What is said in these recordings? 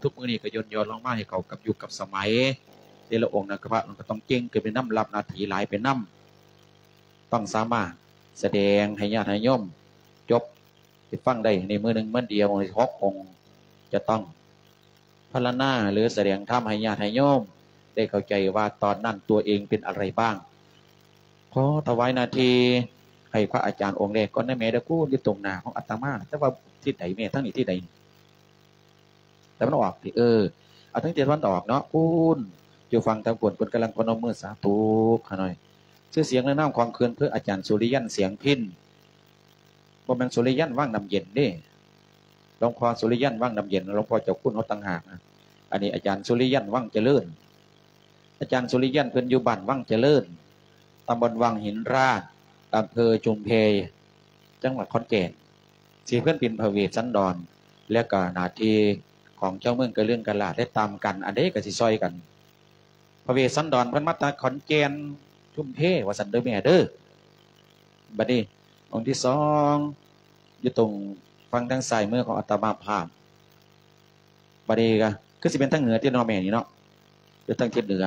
ທຸກມື້ນີ້ກໍຢ່ອນໆລົງມາໃຫ້ເຂົ້າກັບຍຸກກັບສະໄໝ. ແຕ່ລະອົງນະ ພະກໍຕ້ອງເກັ່ງຂຶ້ນໄປນຳ, ຮັບໜ້າທີ່ຫຼາຍໄປນຳ, ຕ້ອງສາມາດສະແດງໃຫ້ຍາດໃຫ້ໂຍມຈົບ ໄດ້ຟັງໄດ້ໃນມື້ໜຶ່ງມື້ດຽວ ໃຫ້ຫົກອົງ ຈະຕ້ອງພັນລະນາ ຫຼື ສະແດງທຳໃຫ້ຍາດໃຫ້ໂຍມໄດ້ເຂົ້າໃຈວ່າຕອນນັ້ນຕົວເອງເປັນອະໄລບ້າງ. ຂໍຖວາຍໜ້າທີ່ໃຫ້ພະອາຈານອົງແລກກ່ອນນະແມ່ເດີ ຄູນຢູ່ຕົງໜ້າຂອງອາດຕະມາ, ແຕ່ວ່າທິດໃດແມ່? ທາງນີ້ທິດໃດ? ຕາເວັນອອກຕິ? ເອີ ເອົາທາງທິດຕາເວັນອອກເນາະ, ພຸ້ນ ຢູ່ຝັ່ງທາງພຸ້ນ ເພິ່ນກຳລັງພະນົມມືສາທຸຂະໜ້ອຍ. ຊື່ສຽງ ແລະ ນາມຂອງເພິ່ນ ຄືອາຈານສຸລິຍັນ ສຽງພິນ, ບໍ່ແມ່ນສຸລິຍັນ ວັງນ້ຳເຢັນເດ້, ຫຼວງພໍ່ສຸລິຍັນ ວັງນ້ຳເຢັນ ຫຼວງພໍ່ເຈົ້າຄຸນເຮົາຕ່າງຫາກ. ອັນນີ້ອາຈານສຸລິຍັນ ວັງຈະເລີນ, ອາຈານສຸລິຍັນ ເພິ່ນຢູ່ບ້ານວັງຈະເລີນ, ຕຳບົນວັງຫີນລາດ, ອຳເພີຊຸມເພ, ຈັງຫວັດຂອນແກ່ນ. ຊິເພິ່ນເປັນພະເວດສັນດອນ ແລະ ກະໜ້າທີ່ຂອງຊາວເມືອງກະເລື່ອງກະລາດ ແລະ ຕາມກັນ ອັນໃດກະຊິຊ່ອຍກັນ. ພະເວດສັນດອນເພິ່ນມາຈາກຂອນແກ່ນ ຊຸມເພ ວ່າຊັ້ນເດີແມ່ເດີ. ບັດນີ້ອົງທີສອງ ຢູ່ຕົງຝັ່ງທາງຊ້າຍມືຂອງອາດຕະມາພາບ. ບັດນີ້ກະຄືຊິເປັນທາງເໜືອຕິເນາະແມ່ນີ້ເນາະ, ຢູ່ທາງທິດເໜືອ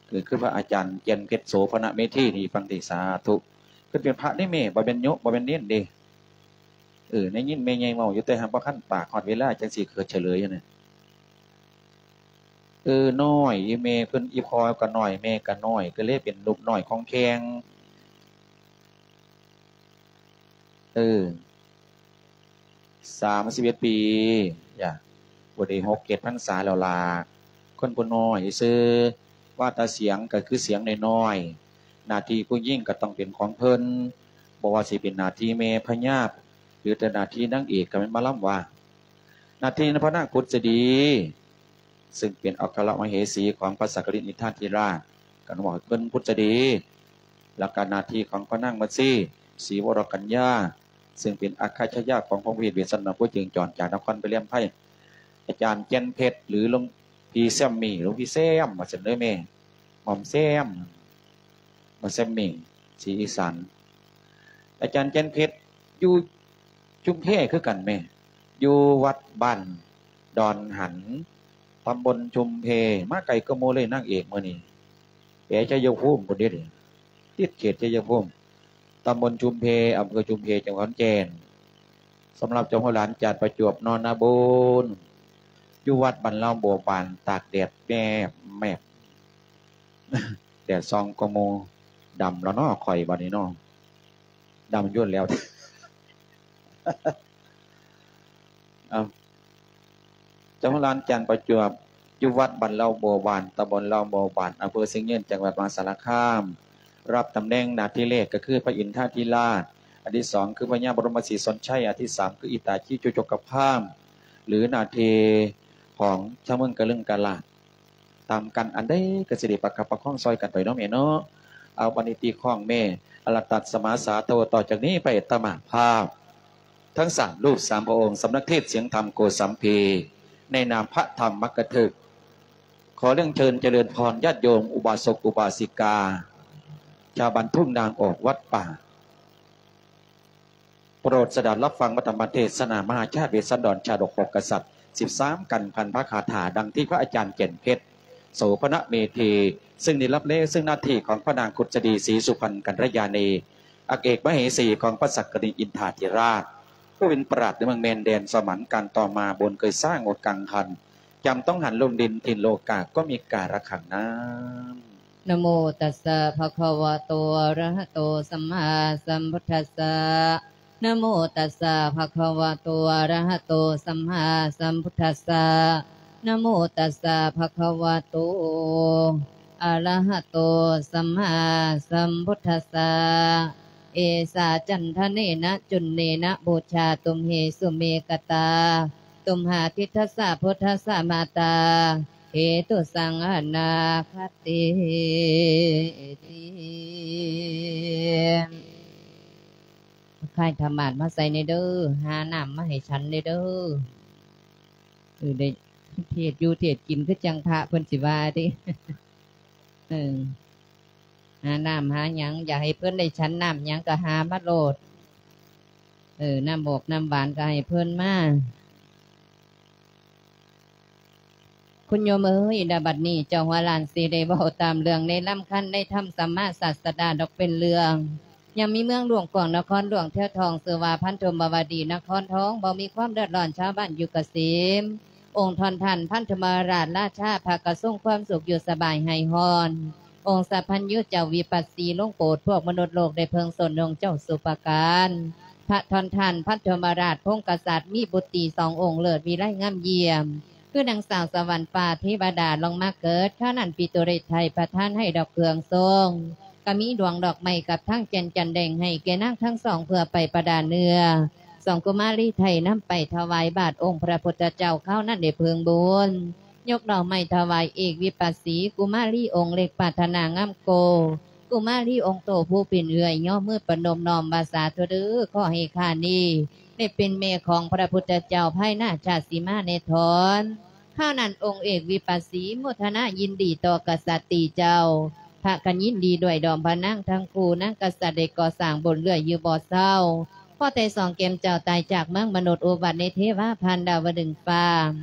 ຄື ຄືພະອາຈານແກ່ນເພັດ ໂສພະນະເມທີ ນີ້ ຟັງຕິ ສາທຸ. ເພິ່ນເປັນພະເດ້ແມ່, ບໍ່ແມ່ນໂຍມ ບໍ່ແມ່ນເນນເດ້. ເອີ ໄດ້ຍິນແມ່ໃຫຍ່ເວົ້າຢູ່ ແຕ່ຫາກບໍ່ຄັນປາກ, ຮອດເວລາຈັ່ງຊິເກີດສະເຫຼີຍຫັ້ນນະ. ເອີ ນ້ອຍ, ອີ່ແມ່ເພິ່ນ ອີ່ພໍ່ກໍນ້ອຍ ແມ່ກໍນ້ອຍ ກໍເລີຍເປັນລູກນ້ອຍຂອງແພງ. ເອີ ສາມສິບເອັດປີ ຢາ ບໍ່ໄດ້ຫົກເຈັດພັນສາແລ້ວລະ. ຄົນຜູ້ນ້ອຍຊື່ ວ່າແຕ່ສຽງກໍຄືສຽງນ້ອຍໆ, ໜ້າທີ່ຜູ້ຍິງກໍຕ້ອງເປັນຂອງເພິ່ນ, ບໍ່ວ່າຊິເປັນໜ້າທີ່ແມ່ພະຍາ ຫຼື ແຕ່ໜ້າທີ່ນາງເອກກໍແມ່ນໝໍລຳວ່າ. ໜ້າທີ່ນະພະນາງພຸດສະດີ ຊຶ່ງເປັນອັກຄະລະມະເຫສີຂອງພະສັກກະລິນອິນທາທິລາດ ກໍເວົ້າເພິ່ນພຸດສະດີ, ແລ້ວກໍໜ້າທີ່ຂອງພະນາງມັດສີ ສີວະຣະກັນຍາ ຊຶ່ງເປັນອັກຄະຊາຍາຂອງພະເວດ ເວດສັນດອນ ຜູ້ເຈິງຈອນຈາກນະຄອນໄປແຫຼມໄພ, ອາຈານແກ່ນເພັດ ຫຼື ຫຼວງພີ່ແຊມມີ ຫຼວງພີ່ແຊມ ວ່າຊັ້ນເດີແມ່ ໝ່ອມແຊມ ໝ່ອມແຊມມີ ສີອີສານ. ອາຈານແກ່ນເພັດ ຢູ່ຊຸມແພຄືກັນແມ່ ຢູ່ວັດບ້ານດອນຫັນ ຕຳບົນຊຸມແພ, ມາໄກກວ່າໝູ່ເລີຍນາງເອກມື້ນີ້ ແປໄຊຍະພູມພຸ້ນເດ້ ຕິດເຂດໄຊຍະພູມ, ຕຳບົນຊຸມແພ ອຳເພີຊຸມແພ ຈັງຫວັດຂອນແກ່ນ. ສຳລັບເຈົ້າຫົວຫຼານຈານປະຈວບ ນອນນາບຸນ ຢູ່ວັດບ້ານລາວບົວບານ ຕາກແດດແມບໆ ແດດສ່ອງກວ່າໝູ່. ດຳແລ້ວເນາະ ຂ້ອຍບາດນີ້ເນາະ ດຳຢູ່ແລ້ວ. ເອົາ ເຈົ້າຂອງຫຼານຈັນປະຈວບ ຢູ່ວັດບ້ານເລົ່າບົວບານ ຕຳບົນເລົ່າບົວບານ ອຳເພີຊຽງຍືນ ຈັງຫວັດມະຫາສາລະຄາມ ຮັບຕຳແໜ່ງໜ້າທີ່ແລກກໍຄືພະອິນທາທິລາດ, ອັນທີສອງຄືພະຍາບໍລົມມະສີສົນໄຊ, ອັນທີສາມຄືອິດຕາຊີຈຸຈົກກະພາມ ຫຼື ໜ້າທີ່ຂອງຊາວເມືອງກະລຶງກະລາດ. ຕາມກັນ ອັນໃດກໍຊິໄດ້ປະຄັບປະຄອງຊ່ອຍກັນໄປເນາະແມ່ເນາະ. ເອົາ ບັດນີ້ຕີຄ້ອງແມ່ ອະລະຕັດສະມາສາໂທ ຕໍ່ຈາກນີ້ໄປອາດຕະມາພາບ ທັງສາມຮູບສາມພະອົງ ສຳນັກເທດສຽງທຳໂກສຳພີ ໃນນາມພະທຳມັກກະທຶກ ຂໍເລື່ອງເຊີນຈະເລີນພອນ ຍາດໂຍມ ອຸບາສົກອຸບາສິກາ ຊາວບ້ານທົ່ງນາງອອກວັດປ່າ ໂປດສະດັດຮັບຟັງພະທຳມະເທດສະນາມະຫາຊາດເວດສັນດອນຊາດອກຫົກກະສັດ ສິບສາມກັນພັນພະຄາຖາ ດັ່ງທີ່ພະອາຈານແກ່ນເພັດ ໂສພະນະເມທີ ຊຶ່ງໄດ້ຮັບແລເຊິ່ງໜ້າທີ່ຂອງພະນາງຄຸດສະດີ ສີສຸພັນກັນທະຍານີ ອັກເອກມະເຫສີຂອງພະສັກກະລິນອິນທາທິລາດ ຜູ້ເປັນປາດໃນເມືອງແມ່ນແດນສະຫວັນ ການຕໍ່ມາບຸນເຄີຍສ້າງອົດກັງຫັນ ຈຳຕ້ອງຫັນລົງດິນຖິ່ນໂລກາ ກໍມີກາລະຄັງນາມ. ນະໂມຕັດສະ ພະຄະວະໂຕ ອະລະຫະໂຕ ສຳມາສຳພຸດທັດສະ ນະໂມຕັດສະ ພະຄະວະໂຕ ອະລະຫະໂຕ ສຳມາສຳພຸດທັດສະ ນະໂມຕັດສະ ພະຄະວະໂຕ ອະລະຫະໂຕ ສຳມາສຳພຸດທັດສະ ເອສາຈັນທະເນນະ ຈຸນເນນະ ບູຊາຕຸມເຫສຸເມກະຕາ ຕຸມຫາທິດທັດສະ ພຸດທັດສະມາຕາ ເຫຕຸສັງອະນາຄະຕິຕິ ຄ້າຍທຳມາດມາໃສ່ແດ່ເດີ ຫານ້ຳມາໃຫ້ສັນແດ່ເດີ. ເອີ ໄດ້ເທດຢູ່ເທດກິນ ຄືຈັ່ງພະເພິ່ນຊິວ່າຕິ. ເອີ ຫານ້ຳຫາຫຍັງ ຢາກໃຫ້ເພິ່ນໄດ້ສັນນ້ຳຫຍັງກໍຫາມາໂລດ. ເອີ ນ້ຳບອກນ້ຳຫວານກໍໃຫ້ເພິ່ນມາ. ຄຸນໂຍມເອີຍ ນະບັດນີ້ເຈົ້າຫົວຫຼານຊິໄດ້ເວົ້າຕາມເລື່ອງໃນລຳຄັນໃນທຳສຳມາສາດສະດາດອກເປັນເລື່ອງ. ຍັງມີເມືອງຫຼວງກວາງນະຄອນຫຼວງແຖວທອງ ຊື່ວ່າພັນທຸມມະວະດີນະຄອນທອງ ບໍ່ມີຄວາມເດືອດຮ້ອນ ຊາວບ້ານຢູ່ກະເສມ. ອົງທ່ານທ່ານພັນທຸມະລາດລາຊາ ພັກກະຊົງຄວາມສຸກ ຢູ່ສະບາຍໄຮ້ຮ້ອນ. ອົງສັບພັນຍູເຈົ້າວິປັດສີ ລົງໂປດພວກມະນຸດໂລກໄດ້ເພິ່ງຊົນອົງເຈົ້າສຸປະການ. ພະທ່ານທ່ານພັນທຸມະລາດພົງກະສັດ ມີບຸດຕີສອງອົງເລີດວິໄລງາມຢ້ຽມ ຄືນາງສາວສະຫວັນຟ້າເທວະດາລົງມາເກີດ. ຄາວນັ້ນປິໂຕເຣດໄທປະທານໃຫ້ດອກເຄື່ອງຊົງ ກະມີດວງດອກໄມ້ກັບທັງແກ່ນຈັນແດງໃຫ້ແກ່ນາງທັງສອງເພື່ອໄປປະດາເນື້ອ. ສອງກຸມາລີໄທນຳໄປຖວາຍບາດອົງພະພຸດທະເຈົ້າ ຄາວນັ້ນໄດ້ເພິ່ງບຸນ ຍົກດອກໄມ້ຖວາຍເອກວິປັດສີ ກຸມາລີອົງເລັກປາດຖະໜາງາມໂກ ກຸມາລີອົງໂຕຜູ້ເປັນເອື້ອຍ ຍໍມືປະນົມນ້ອມວ່າ ສາທຸເດີ ຂໍໃຫ້ຂ້ານີ້ໄດ້ເປັນແມ່ຂອງພະພຸດທະເຈົ້າພາຍໜ້າຊາດສີມາແນ່ທອນ. ຄາວນັ້ນອົງເອກວິປັດສີໂມທະນາຍິນດີຕໍ່ກະສັດຕີເຈົ້າ ພາກັນຍິນດີດ້ວຍດອມພະນາງທັງຄູ່. ນາງກະສັດໄດ້ກໍ່ສ້າງບຸນເລື້ອຍຢູ່ບໍ່ເຊົາ ພໍແຕ່ສອງແກ້ມເຈົ້າຕາຍຈາກເມືອງມະນຸດ ອຸບັດໃນເທວາຜ່ານດາວະດຶງຟ້າ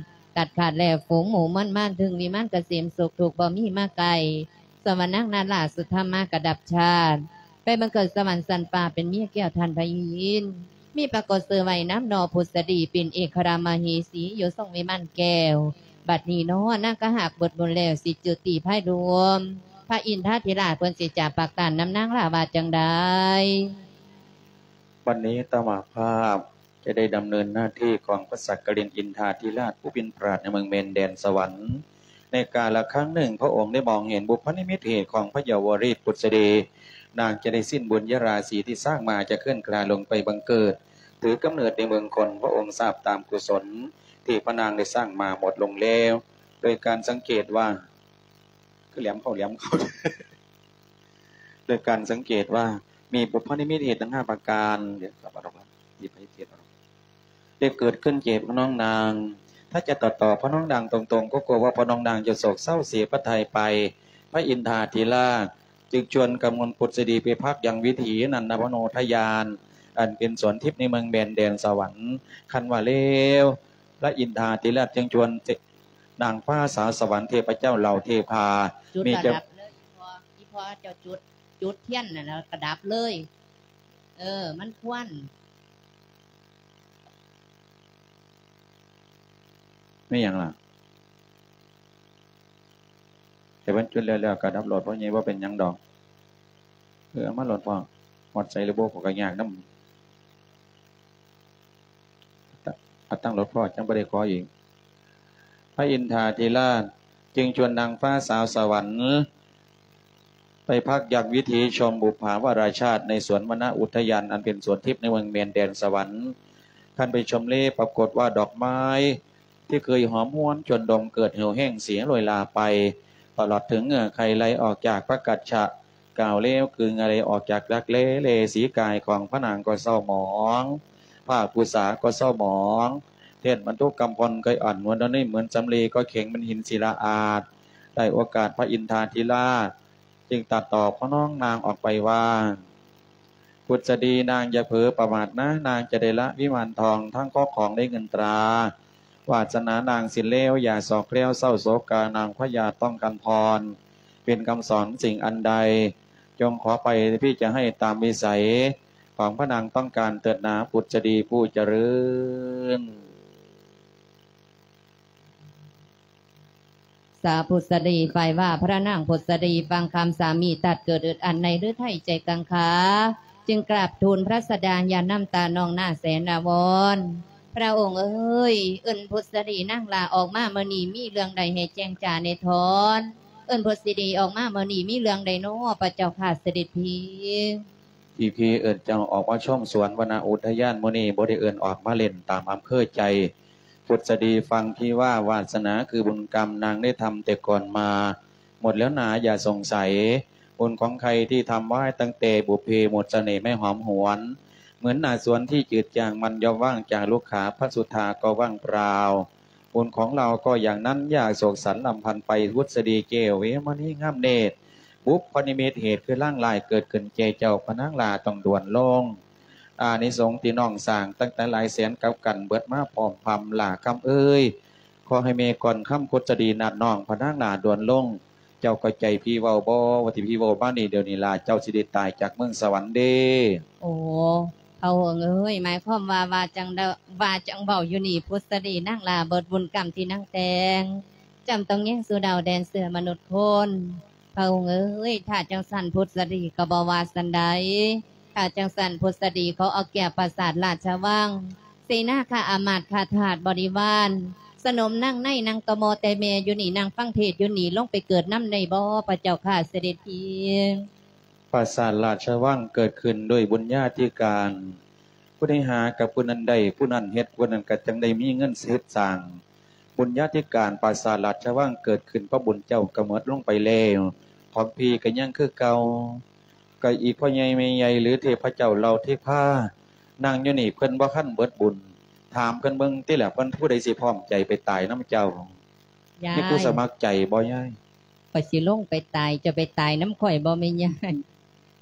ຕັດຂາດແລ້ວຝູງໝູ່ມວນມານ ເຖິງວິມານກະເສມສຸກ ທຸກບໍ່ມີມາໃກ້. ສ່ວນວ່ານາງນາລາສຸທຳມາກະດັບຊາດ ໄປບັງເກີດສະຫວັນຊັ້ນຟ້າ ເປັນເມຍແກ້ວທ່ານພະອິນ ມີປາກົດຊື່ໄວ້ນາມໜໍພຸດສະດີ ເປັນເອກຄະລາມະເຫສີ ຢູ່ຊົງວິມານແກ້ວ. ບັດນີ້ນໍ ນາງກະຫາກເບິດບຸນແລ້ວ ສິຈຸຕິພາຍລວມ ພະອິນທາທິລາດເພິ່ນຊິຈະປະການນຳນາງລາວ່າຈັ່ງໃດ? ບັດນີ້ຕະມາພາບ ຈະໄດ້ດຳເນີນໜ້າທີ່ຂອງພະສັກກະລິນອິນທາທິລາດ ຜູ້ເປັນປາດໃນເມືອງແມນແດນສະຫວັນ. ໃນກາລະຄັ້ງໜຶ່ງ ພະອົງໄດ້ມອງເຫັນບຸບພະນິມິດເຫດຂອງພະເຍົາວະຣີດພຸດສະດີ ນາງຈະໄດ້ສິ້ນບຸນຍະລາສີທີ່ສ້າງມາ ຈະເຄື່ອນຄລາຍລົງໄປບັງເກີດ ຖືກຳເນີດໃນເມືອງຄົນ. ພະອົງຊາບຕາມກຸສົນທີ່ພະນາງໄດ້ສ້າງມາໝົດລົງແລ້ວ ໂດຍການສັງເກດວ່າ ຄືແຫຼມເຂົ້າແຫຼມເຂົ້າ ໂດຍການສັງເກດວ່າມີບຸບພະນິມິດເຫດທັງຫ້າປະການ ດຽວ ໄດ້ເກີດຂຶ້ນແກ່ພະນ້ອງນາງ. ຖ້າຈະຕັດຕໍ່ພະນ້ອງນາງຕົງໆ ກໍກົວວ່າພະນ້ອງນາງຈະໂສກເສົ້າເສຍພະໄທໄປ. ພະອິນທາທິລາດຈຶ່ງຊວນກຳມົນພຸດສະດີໄປພັກຍັງວິຖີນັນນະມະໂນທະຍານ ອັນເປັນສວນທິບໃນເມືອງແມນແດນສະຫວັນ. ຄັນວ່າແລ້ວ ພະອິນທາທິລາດຈຶ່ງຊວນນາງຟ້າສາວສະຫວັນ ເທບພະເຈົ້າເຫຼົ່າເທພາ ຈຸດ ມີ ລະ ເຈົ້າ ດັບເລີຍ ອີ່ພໍ່ ເຈົ້າຈຸດ ຈຸດທຽນນັ້ນລະກະດັບເລີຍ. ເອີ ມັນຄວັນ ແມ່ນຫຍັງລະ? ໃຫ້ເພິ່ນຈຸດແລ້ວໆກະດັບໂລດ ພໍ່ໃຫຍ່ ບໍ່ເປັນຫຍັງດອກ. ເອີ ເອົາມາໂລດພໍ່ ຮອດໃສຫຼືບໍ່ ຂ້ອຍກະຍາກນຳ. ເອົາຕັ້ງໂລດພໍ່ ຈັ່ງບໍ່ໄດ້ຂໍອີກ. ພະອິນທາທິລາດຈຶ່ງຊວນນາງຟ້າສາວສະຫວັນ ໄປພັກຍັງວິຖີຊົມບຸບພາວະລາຊາດໃນສວນວະນະອຸທະຍານ ອັນເປັນສວນທິບໃນເມືອງແມນແດນສະຫວັນ. ຄັນໄປຊົມເລປາກົດວ່າດອກໄມ້ທີ່ເຄີຍຫອມຫວນ ຈົນດົມເກີດເຫີ່ວແຫ້ງເສຍໂລຍລາໄປ ຕະຫຼອດເຖິງເຫື່ອໄຄໄຫຼອອກຈາກພະກັດສະ ກ່າວແລ້ວຄືເຫື່ອໄຫຼອອກຈາກຫຼັກແລ ແລສີກາຍຂອງພະນາງກໍເສົ້າໝອງ ຜ້າປູສາກໍເສົ້າໝອງ ແທ່ນບັນທຸກຳພົນກໍອ່ອນນວນດອນນີ້ ເໝືອນສຳລີກໍແຂງເປັນຫີນສິລາອາດ. ໄດ້ໂອກາດພະອິນທາທິລາດຈຶ່ງຕັດຕໍ່ພະນ້ອງນາງອອກໄປວ່າ ພຸດສະດີ ນາງຢ່າເຜີປະໝາດນາ ນາງຈະໄດ້ລະວິມານທອງ ທັງຄອບຄອງໄດ້ເງິນຕາ ວາດສະໜານາງສິ້ນແລ້ວ ຢ່າສອກແຄ້ວເສົ້າໂສກາ ນາງພະຍາຕ້ອງການພອນ ເປັນຄຳສອນສິ່ງອັນໃດ ຈົ່ງຂໍໄປ ພີ່ຈະໃຫ້ຕາມວິໄສຂອງພະນາງຕ້ອງການເທີດນາ ພຸດສະດີຜູ້ຈະເລີນ. ສາພຸດສະດີ ຝ່າຍວ່າພະນາງພຸດສະດີຟັງຄຳສາມີຕັດເກີດອຶດອັດໃນລືໄທໃຈກັງຄາ ຈຶ່ງກາບທູນພະສະດາຢ່ານ້ຳຕານອງໜ້າແສນອາວອນ. ພະອົງເອີຍ ເອີ້ນພຸດສະດີນາງຫຼ້າອອກມາມື້ນີ້ ມີເລື່ອງໃດໃຫ້ແຈ້ງຈາແນ່ທອນ? ເອີ້ນພຸດສະດີອອກມາມື້ນີ້ ມີເລື່ອງໃດນໍພະເຈົ້າຂ້າສະເດັດພີ? ທີ່ພີ່ເອີ້ນເຈົ້າອອກມາຊົມສວນວະນະອຸທະຍານມື້ນີ້ ບໍ່ໄດ້ເອີ້ນອອກມາຫຼິ້ນຕາມອຳເພີໃຈ. ພຸດສະດີ ຟັງພີ່ວ່າ ວາດສະໜາຄືບຸນກຳນາງໄດ້ທຳແຕ່ກ່ອນມາ ໝົດແລ້ວນາ ຢ່າສົງໄສ. ບຸນຂອງໃຄທີ່ທຳໄວ້ຕັ້ງແຕ່ບຸບເພ ໝົດສະເໜ່ແມ່ຫອມຫວນ ເໝືອນໜ້າສວນທີ່ຈືດຈາງ ມັນຍ່ອມວ່າງຈາກລຸກຂາ ພະສຸທາກໍວ່າງເປົ່າ. ບຸນຂອງເຮົາກໍຢ່າງນັ້ນ ຢ່າໂສກສັນລຳພັນໄປ. ພຸດສະດີແກ້ວເວມະນີງາມເນດ ບຸບພະນິມິດເຫດຄືລາງລາຍເກີດຂຶ້ນແກ່ເຈົ້າ ພະນາງຫຼ້າຕ້ອງດ່ວນລົງ. ອານິສົງທີ່ນ້ອງສ້າງຕັ້ງແຕ່ຫຼາຍແສນກັບກັນເບິດມາພ້ອມພຳ ຫຼ້າຄຳເອີຍ. ຂໍ ຂໍໃຫ້ແມ່ກ່ອນຄຳພຸດສະດີນັດນ້ອງພະນາງໜ້າດ່ວນລົງ. ເຈົ້າເຂົ້າໃຈພີ່ເວົ້າບໍ່? ວ່າທີ່ພີ່ເວົ້າມານີ້ ດຽວນີ້ລະເຈົ້າຊິໄດ້ຕາຍຈາກເມືອງສະຫວັນເດ້. ໂອ້ ພະອົງເອີຍ ໝາຍຄວາມວ່າ ວ່າຈັ່ງໃດ ວ່າຈັ່ງເວົ້າຢູ່ນີ້ ພຸດສະດີນາງຫຼ້າເບິດບຸນກຳທີ່ນາງແຕ່ງ ຈຳຕ້ອງແຍງສູ່ດາວແດນເສືອມະນຸດຄົນ. ພະອົງເອີຍ ຖ້າຈັ່ງຊັ້ນພຸດສະດີກໍບໍ່ວ່າຊັ້ນໃດ. ຖ້າຈັ່ງຊັ້ນພຸດສະດີຂໍເອົາແກ້ວປາສາດລາຊະວັງ ເສນາຂ້າອາມາດຂ້າທາດບໍລິວານ ສະໜົມນາງໃນນາງຕະມໍແຕ່ແມ່ຢູ່ນີ້ ນາງຟັງເທດຢູ່ນີ້ ລົງໄປເກີດນຳໄດ້ບໍ່ ພະເຈົ້າຂ້າ ເສດັດພີ? ປາສາດລາຊະວັງເກີດຂຶ້ນດ້ວຍບຸນຍາທິການ. ຜູ້ໃດຫາກັບຜູ້ນັ້ນໄດ້ ຜູ້ນັ້ນເຮັດ ຜູ້ນັ້ນກໍຈັ່ງໄດ້ມີເງິນເຮັດສ້າງ. ບຸນຍາທິການປາສາດລາຊະວັງເກີດຂຶ້ນ ເພາະບຸນເຈົ້າກໍໝົດລົງໄປແລ້ວ ຂອງພີ່ກໍຍັງຄືເກົ່າ. ກໍອີກພໍ່ໃຫຍ່ແມ່ໃຫຍ່ ຫຼືເທບພະເຈົ້າເຫຼົ່າເທພາ ນັ່ງຢູ່ນີ້ ເພິ່ນບໍ່ທັນເບິດບຸນ. ຖາມເພິ່ນເບິ່ງຕິລະ ເພິ່ນຜູ້ໃດຊິພ້ອມໃຈໄປຕາຍນຳເຈົ້າ? ຍາຍ ມີຜູ້ສະໝັກໃຈບໍ່ຍາຍ? ຂ້ອຍຊິລົງໄປຕາຍ ເຈົ້າໄປຕາຍນຳຂ້ອຍບໍ່ແມ່ຍາຍ?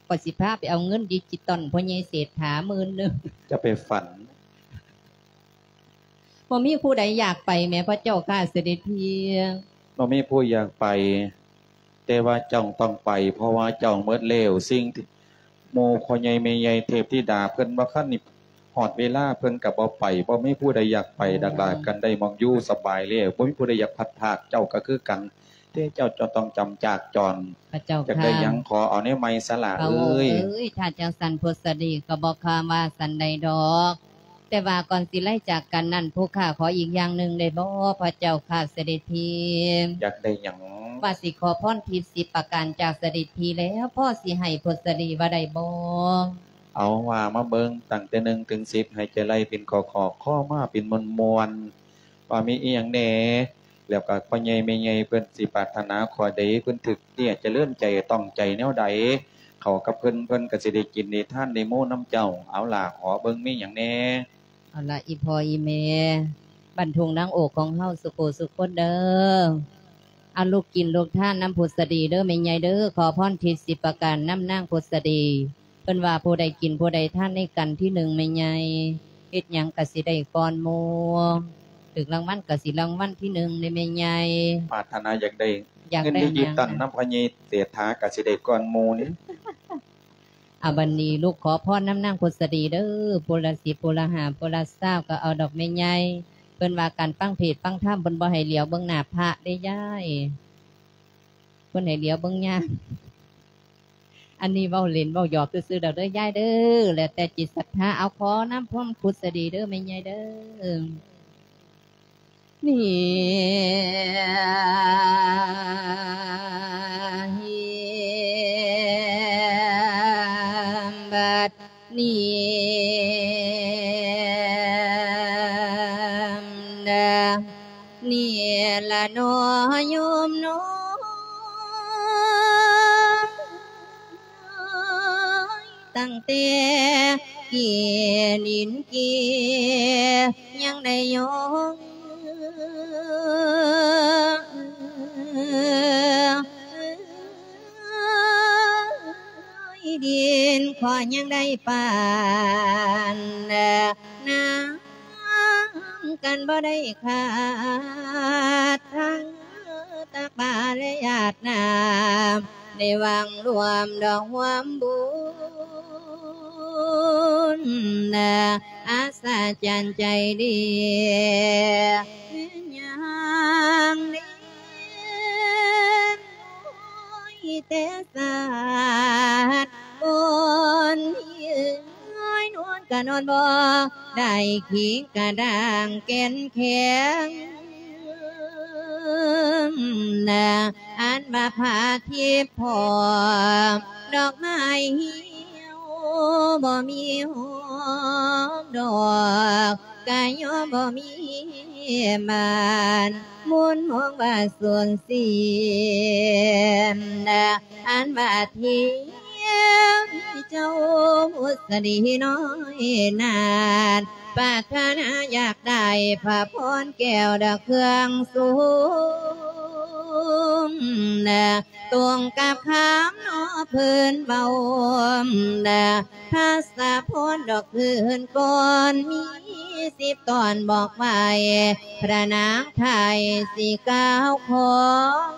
ຂ້ອຍຊິພາໄປເອົາເງິນດິຈິຕອນພໍ່ໃຫຍ່ເສດຖາໝື່ນໜຶ່ງ. ຈະໄປຝັນ. ບໍ່ມີຜູ້ໃດຢາກໄປແໝ່ ພະເຈົ້າຂ້າ ເສດັດພີ. ບໍ່ມີຜູ້ຢາກໄປ ແຕ່ວ່າເຈົ້າຕ້ອງໄປ ເພາະວ່າເຈົ້າໝົດແລ້ວ. ສິ່ງທີ່ໝູ່ພໍ່ໃຫຍ່ແມ່ໃຫຍ່ ເທບທິດາ ເພິ່ນບໍ່ທັນຮອດເວລາ ເພິ່ນກໍບໍ່ໄປ. ບໍ່ມີຜູ້ໃດຢາກໄປດອກຫຼ້າ ກັນໄດ້ໝ່ອງຢູ່ສະບາຍແລ້ວ ບໍ່ມີຜູ້ໃດຢາກພັດພາກ. ເຈົ້າກໍຄືກັນ ແຕ່ເຈົ້າຈະຕ້ອງຈຳຈາກຈອນ. ພະເຈົ້າຂ້າ ຢາກໄດ້ຫຍັງຂໍເອົາແນວໃໝ່ຊະຫຼ້າເອີຍ. ພະອົງເອີຍ ຖ້າຈັ່ງຊັ້ນພຸດສະດີກໍບໍ່ຄາວ່າຊັ້ນໃດດອກ. ແຕ່ວ່າກ່ອນຊິໄລ່ຈາກກັນນັ້ນ ຜູ້ຂ້າຂໍອີກຢ່າງໜຶ່ງໄດ້ບໍ່ ພະເຈົ້າຂ້າ ເສດັດພີ? ຢາກໄດ້ຫຍັງ? ວ່າຊິຂໍພອນທິບສິບປະການຈາກເສດັດພີແລ້ວ ພໍຊິໃຫ້ພຸດສະດີວ່າໄດ້ບໍ່? ເອົາ ວ່າມາເບິ່ງ ຕັ້ງແຕ່ໜຶ່ງເຖິງສິບ ໃຫ້ເຈົ້າໄລ່ເປັນຂໍ້ໆ ຂໍມາເປັນມ່ວນໆ ວ່າມີອີ່ຫຍັງແດ່. ແລ້ວກໍພໍ່ໃຫຍ່ແມ່ໃຫຍ່ເພິ່ນຊິປາດຖະໜາຂໍ້ໃດ ເພິ່ນຖືກເນຍຈະເລີນໃຈຕ້ອງໃຈແນວໃດ ເຂົ້າກັບເພິ່ນ ເພິ່ນກໍຊິໄດ້ກິນໄດ້ທານໄດ້ໂມນຳເຈົ້າ. ເອົາຫຼ້າ ຂໍເບິ່ງມີຫຍັງແດ່. ເອົາລະ ອີ່ພໍ່ອີ່ແມ່ ບ້ານທົ່ງນາງໂອກຂອງເຮົາ ສຸຜູ້ສຸຄົນເດີ ອາ ລູກກິນລູກທານນຳພຸດສະດີເດີແມ່ໃຫຍ່ເດີ. ຂໍພອນທິບສິບປະການນຳນາງພຸດສະດີ. ເພິ່ນວ່າຜູ້ໃດກິນຜູ້ໃດທານໃນກັນທີໜຶ່ງແມ່ໃຫຍ່ ເຮັດຫຍັງກະຊິໄດ້ກ່ອນໝູ່ ຖືກລາງວັນກະຊິລາງວັນທີໜຶ່ງເດ້ແມ່ໃຫຍ່. ປາດຖະໜາຢາກໄດ້ ຢາກໄດ້ເງິນດິຈິຕອນນຳພໍ່ໃຫຍ່ເສດຖາກະຊິໄດ້ກ່ອນໝູ່ນີ້. ອາ ບັດນີ້ລູກຂໍພອນນຳນາງພຸດສະດີເດີ ຜູ້ລະສິບ ຜູ້ລະຫ້າ ຜູ້ລະຊາວ ກໍເອົາດອກແມ່ໃຫຍ່. ເພິ່ນວ່າການຟັງເທດຟັງທຳ ເພິ່ນບໍ່ໃຫ້ຫຼຽວເບິ່ງໜ້າພະເດ້ຍາຍ ເພິ່ນໃຫ້ຫຼຽວເບິ່ງຍາມ. ອັນນີ້ເວົ້າຫຼິ້ນເວົ້າຫຍອກຊື່ໆດອກເດີຍາຍເດີ ແລ້ວແຕ່ຈິດສັດທາ. ເອົາ ຂໍນຳພວມພຸດສະດີເດີແມ່ໃຫຍ່ເດີ. ນີ້ ບັດນີ້ ນີ້ລະເນາະໂຍມເນາະ ຕັ້ງແຕ່ກີ້ດິນກີ້ຍັງໄດ້ຢອງ ດິນກໍຍັງໄດ້ປານ ນ້ຳກັນບໍ່ໄດ້ຂາດ ທັງຕັກບາດ ແລະ ຢາດນ້ຳ ໄດ້ຫວັງລວມດອກຮ່ວມບຸນ ອັດສະຈັນໃຈດີ ແມ່ນຫຍັງເດ້ ໂອ້ຍ ແຕ່ສາດ ຄົນທີ່ເອີຍ ນອນກະນອນບໍ່ໄດ້ ຂີງກະດ້າງແກ່ນແຂງ ອັນວ່າພະທິບພ້ອມ ດອກໄມ້ຮຽວບໍ່ມີຫອມດອກ ກະຍອມບໍ່ມີໝານ ມຸນມອງວ່າສູນເສຍ ອັນວ່າທີ່ເຈົ້າພຸດສະດີນ້ອຍນັ້ນ ປາດຖະໜາຢາກໄດ້ພະພອນແກ້ວດອກເຄື່ອງສູງ ຕົງກັບຄຳເນາະເພິ່ນເວົ້າ ທັດສະພົນດອກຄືນກ່ອນ ມີສິບຕອນບອກໄວ້ ພະນາງໄທຊິກ່າວຂອງ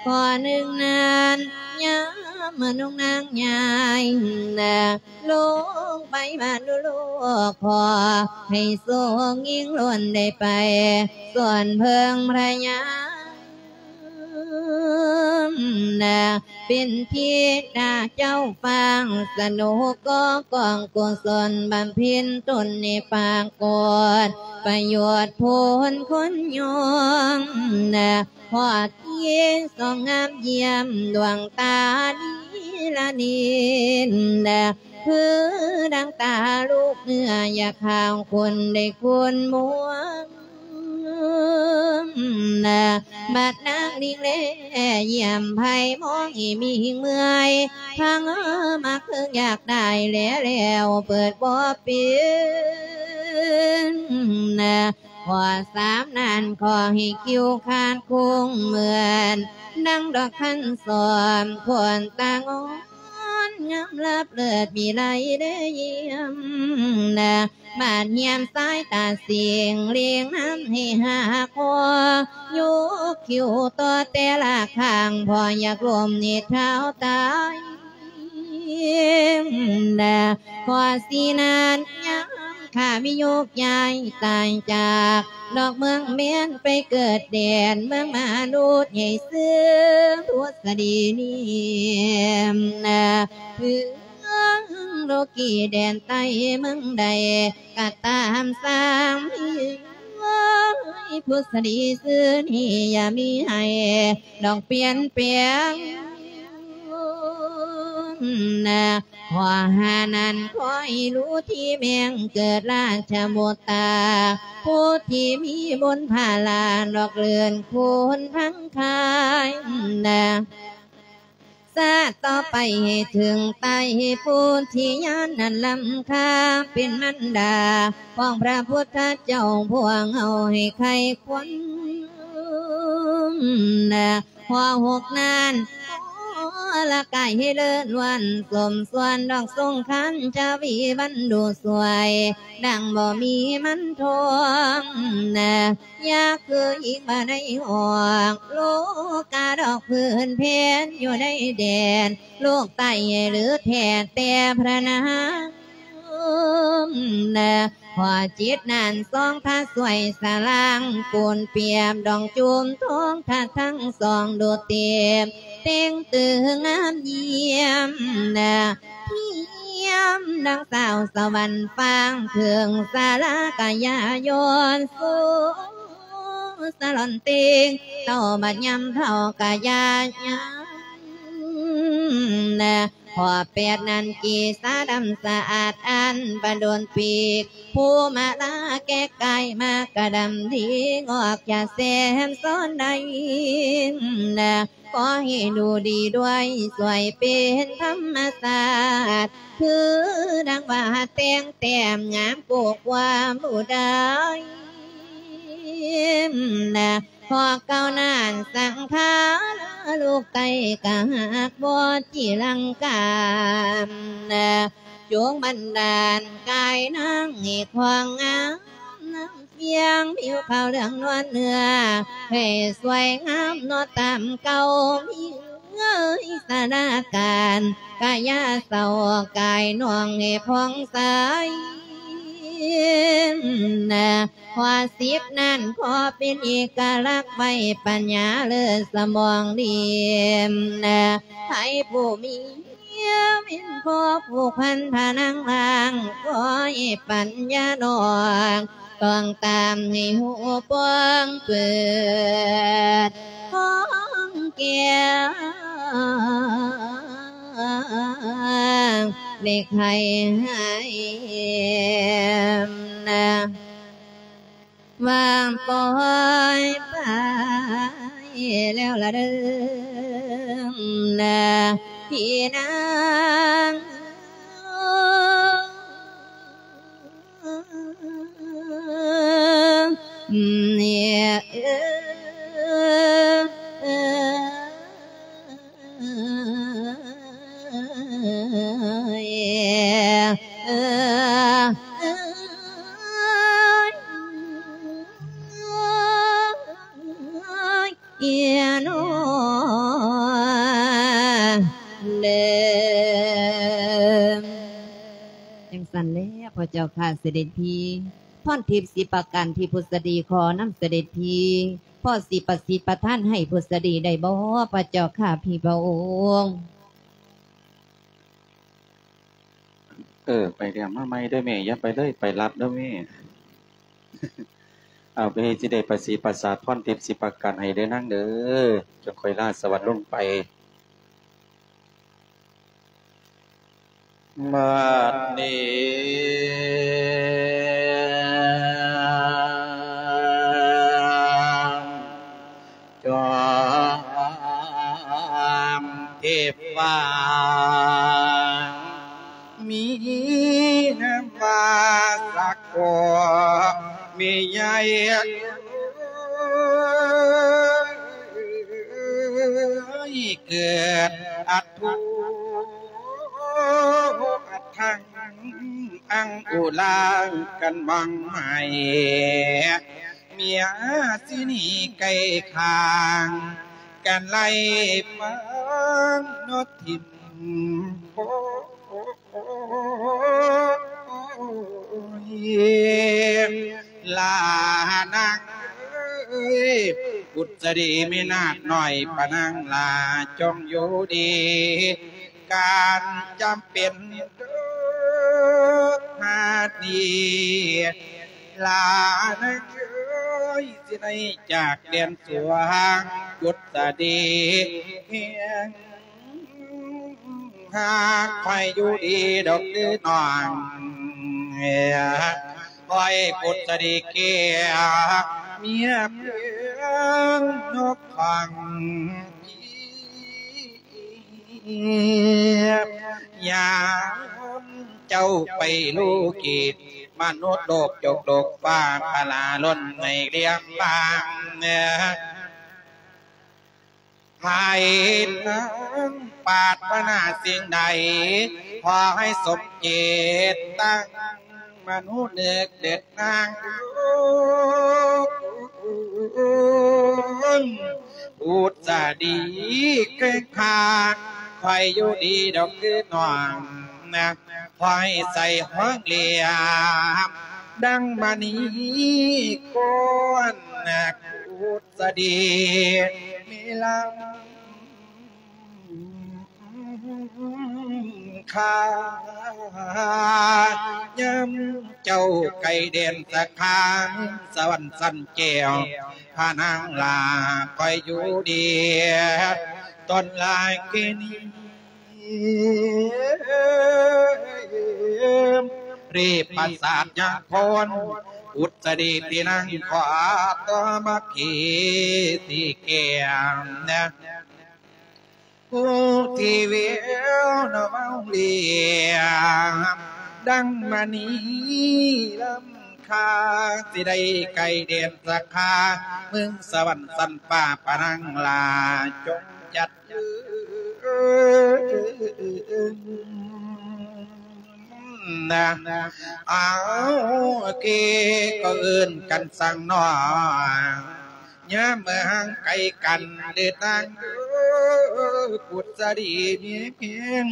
ຂໍ້ໜຶ່ງນັ້ນ ຍາມນາງຍາຍ ລົງໄປບ້ານໂລກ ຂໍໃຫ້ໂຊກຍິ່ງລົ້ນໄດ້ໄປສວນເພິ່ງພະຍາ ເປັນທິດາເຈົ້າຟ້າ ສະໜຸກກໍກອງກຸສົນ ບຳເພັນຕົນໃນປາກົດ ປະໂຫຍດຜົນຄົນຍອງ ພໍທີ່ສອງງາມຢ້ຽມ ດວງຕານີລະນິນ ຄືດັ່ງຕາລູກເນື້ອ ຢາກຫາວຄົນໄດ້ຄຸນມວນ ບັດນາງລິງແລຢ້ຽມໃຜ ມອງອີ່ມີຫິງເມື່ອຍ ທາງເອີມາເຄິ່ງຢາກໄດ້ແລ ແລ້ວເປີດບໍ່ເປັນ ຂໍ້ສາມນັ້ນ ຂໍໃຫ້ຄິວຂາດຄົງເໝືອນ ດັ່ງດອກຄັນສອມ ຄົນຕາງອນ ງາມລັບເລີດວິໄລໄດ້ຢ້ຽມ ບາດຢ້ຽມສາຍຕາສິງ ເລງນຳໃຫ້ຫາຂໍ ຍົກຄິວຕໍ່ແຕ່ລະຂ້າງ ພໍຢາກລົມນິດເທົ້າຕາຍ ຂໍສີນານຍາມຂ້າວິໂຍກຍ້າຍຕາຍຈາກ ນອກເມືອງແມ່ນໄປເກີດແດນ ເມືອງມະນຸດໃຫຍ່ຊື່ພຸດສະດີນີ້ ເມືອງໂລກີແດນໃຕ້ເມືອງໃດ ກະຕາມສ້າງມີເອີຍ ພຸດສະດີຊື່ນີ້ຢ່າມີໃຫ້ດອກປ່ຽນແປງ ຂໍ້ຫ້ານັ້ນ ຂໍໃຫ້ຮູ້ທີ່ແມ່ງເກີດລາຊະມຸດຕາ ຜູ້ທີ່ມີບຸນພາລາ ດອກເລື່ອນຄູນທັງຂາຍ ຊາດຕໍ່ໄປໃຫ້ເຖິງໄຕ ຜູ້ທີ່ຍານນັ້ນລ້ຳຄ່າ ເປັນມານດາຂອງພະພຸດທະເຈົ້າ ພວກເຮົາໃຫ້ໄຄຄວັນ ຂໍ້ຫົກນັ້ນ ຂໍລະກາຍໃຫ້ເລີດລ້ວນ ສົມສ່ວນດອກສົງຄານຈະວີວັນດູສວຍ ດັ່ງບໍ່ມີມັນທອງ ຢ່າຄືອີກບໍ່ໄດ້ອອກ ໂລກາດອກພື້ນແຜ່ນຢູ່ໃນແດນ ໂລກໃຕ້ຫຼືແທ້ແຕ່ພະນາງ ພໍຈິດນັ້ນສອງພະຊ່ວຍສະລ້າງ ປູນປຽບດອງຈູມທອງ ທັດທັງສອງດູເຕັມ ເຕັງຕຶງງາມຢ້ຽມ ທຽມດັ່ງສາວສະຫວັນຟ້າງ ເຄື່ອງສາລາກະຢ່າຍ້ອນ ໂສສະຫຼອນເຕັງ ເຕົ້າບັດຍາມເຖົ້າກະຢ່າຍາມ ຂໍ້ແປດນັ້ນ ເກສາດຳສະອາດອັນປະດົນປີກ ພູມາລາແກະກາຍມາກະດຳດີ ງອກຈາກແສມຊ້ອນໃດ ຂໍໃຫ້ດູດີດ້ວຍ ຊ່ວຍເປັນທຳມະຊາດ ຄືດັ່ງວ່າແຕ່ງແຕ້ມງາມໂກກຄວາມຜູ້ໃດ ນະ ພໍເກົ່ານັ້ນສັງຂາລາລູກໄຕ້ກະຫາກບໍ່ຈີລັງກາ ນະ ຈົ່ງບັນດານກາຍນາງໃຫ້ຄວາງງາມ ນຳສຽງຜິວຂາວເຫຼືອງນວນເນື້ອ ໃຫ້ສວຍງາມເນາະຕາມເກົ່າ ມີເອີຍສະໜາການ ກະຢ່າເສົ້າກາຍນ້ອງໃຫ້ຜ່ອງໃສ ນະ ຂໍ້ສິບນັ້ນ ຂໍເປັນເອກະລັກໄວ້ ປັນຍາເລີດສະໝອງດີ ນະ ໃຜຜູ້ມີເມຍເປັນພໍ່ຜູກພັນພະນາງລ່າງ ຂໍໃຫ້ປັນຍານ້ອງຕ້ອງຕາມໃຫ້ຮູ້ປ່ອງເປີດ ຂອງແກ້ວ ເດັກໃຫ້ໃຫ້ ນະ ວ່າປ່ອຍໄປແລ້ວລະເດີ ນະ ພີ່ນາງ ເອີ ເອີຍໂນເດີ. ຈັ່ງຊັ້ນແລ້ວ ພະເຈົ້າຂ້າ ເສດັດພີ. ພອນທິບສິບປະການທີ່ພຸດສະດີຂໍນຳເສດັດພີ ພໍຊິປະສິດປະທານໃຫ້ພຸດສະດີໄດ້ບໍ່ ພະເຈົ້າຂ້າ ພີ່ພະອົງ? ເອີ ໄປແລ້ວມາໃໝ່ເດີແມ່ ຢ່າໄປເລີຍ ໄປລັບເດີແມ່. ເອົາ ແມ່ຊິໄດ້ປະສິດປະສາດພອນທິບສິບປະການໃຫ້ເດີນາງເດີ ຈັ່ງຄ່ອຍລາສະຫວັດລົງໄປ. ບັດນີ້ຈອມເທບຟ້າ ມີນາມວ່າສັກໂຄ ມີໃຫຍ່ເກີດອັດ ທຸອັດທັງອັງອຸລາກັນໝອງໄໝ ເມຍສິນີໄກ່ຄາງ ກັນໄລ່ຟັງນົກທິ່ມໂພ ໂອ້ຍ ລານາງເອີຍ ບຸດສະດີມີນາດນ້ອຍປານາງຫຼ້າ ຈົ່ງຢູ່ດີ ການຈຳເປັນເດີ ຫາດນີ້ ລານາງເອີຍ ຊິໄດ້ຈາກແດນສວງ ບຸດສະດີແຮງ ຫາກຂ້ອຍຢູ່ດີດອກເດີນ້ອງ ຂ້ອຍພຸດສະດີແກ້ວ ເມຍເພິ່ນນົກຂອງ ຍາມເຈົ້າໄປລູກິດ ມະນຸດໂລກຈົກໂລກຟ້າ ພະລາລົ້ນໃນລຽມບາງ ໃຜນາງປາດຖະໜາສິ່ງໃດ ຂໍໃຫ້ສົມເຈດຕັ້ງມະນຸເນີກເດີນາງ ອຸດສະດີເຄີງຄາ ຂ້ອຍຢູ່ດີດອກຄືນ້ອງນະ ຂ້ອຍໃສ່ຫ້ອງເລຍ ດັ່ງມະນີກ້ອນນະ ອຸດສະດີມີລຳຄ່າ ຍາມເຈົ້າໄກ່ແດນສະຂາ ສະຫວັນສັນແກ້ວ ພະນາງຫຼ້າ ຂ້ອຍຢູ່ດີ ຕອນລາຍເກນີ ເຣປະສາດຍາໂຄນ ອຸດສະດີທີ່ນັ່ງ ຂໍຕໍ່ມາຄີທີ່ແກ້ມນະ ຜູ້ທີ່ແວວນະເວົ້າລຽມ ດັ່ງມະນີລຳຄ່າ ຊິໄດ້ໄກ່ແດນສະຂາ ເມືອງສະຫວັນສັນຟ້າ ພະນາງຫຼ້າ ຈົ່ງຈັດ ນະ ເອົາເກກໍເອີ້ນກັນສັງໜໍ ຍາມເມື່ອຫ່າງໄກກັນເດີນາງເດີ ກຸດສະດີມີພຽງ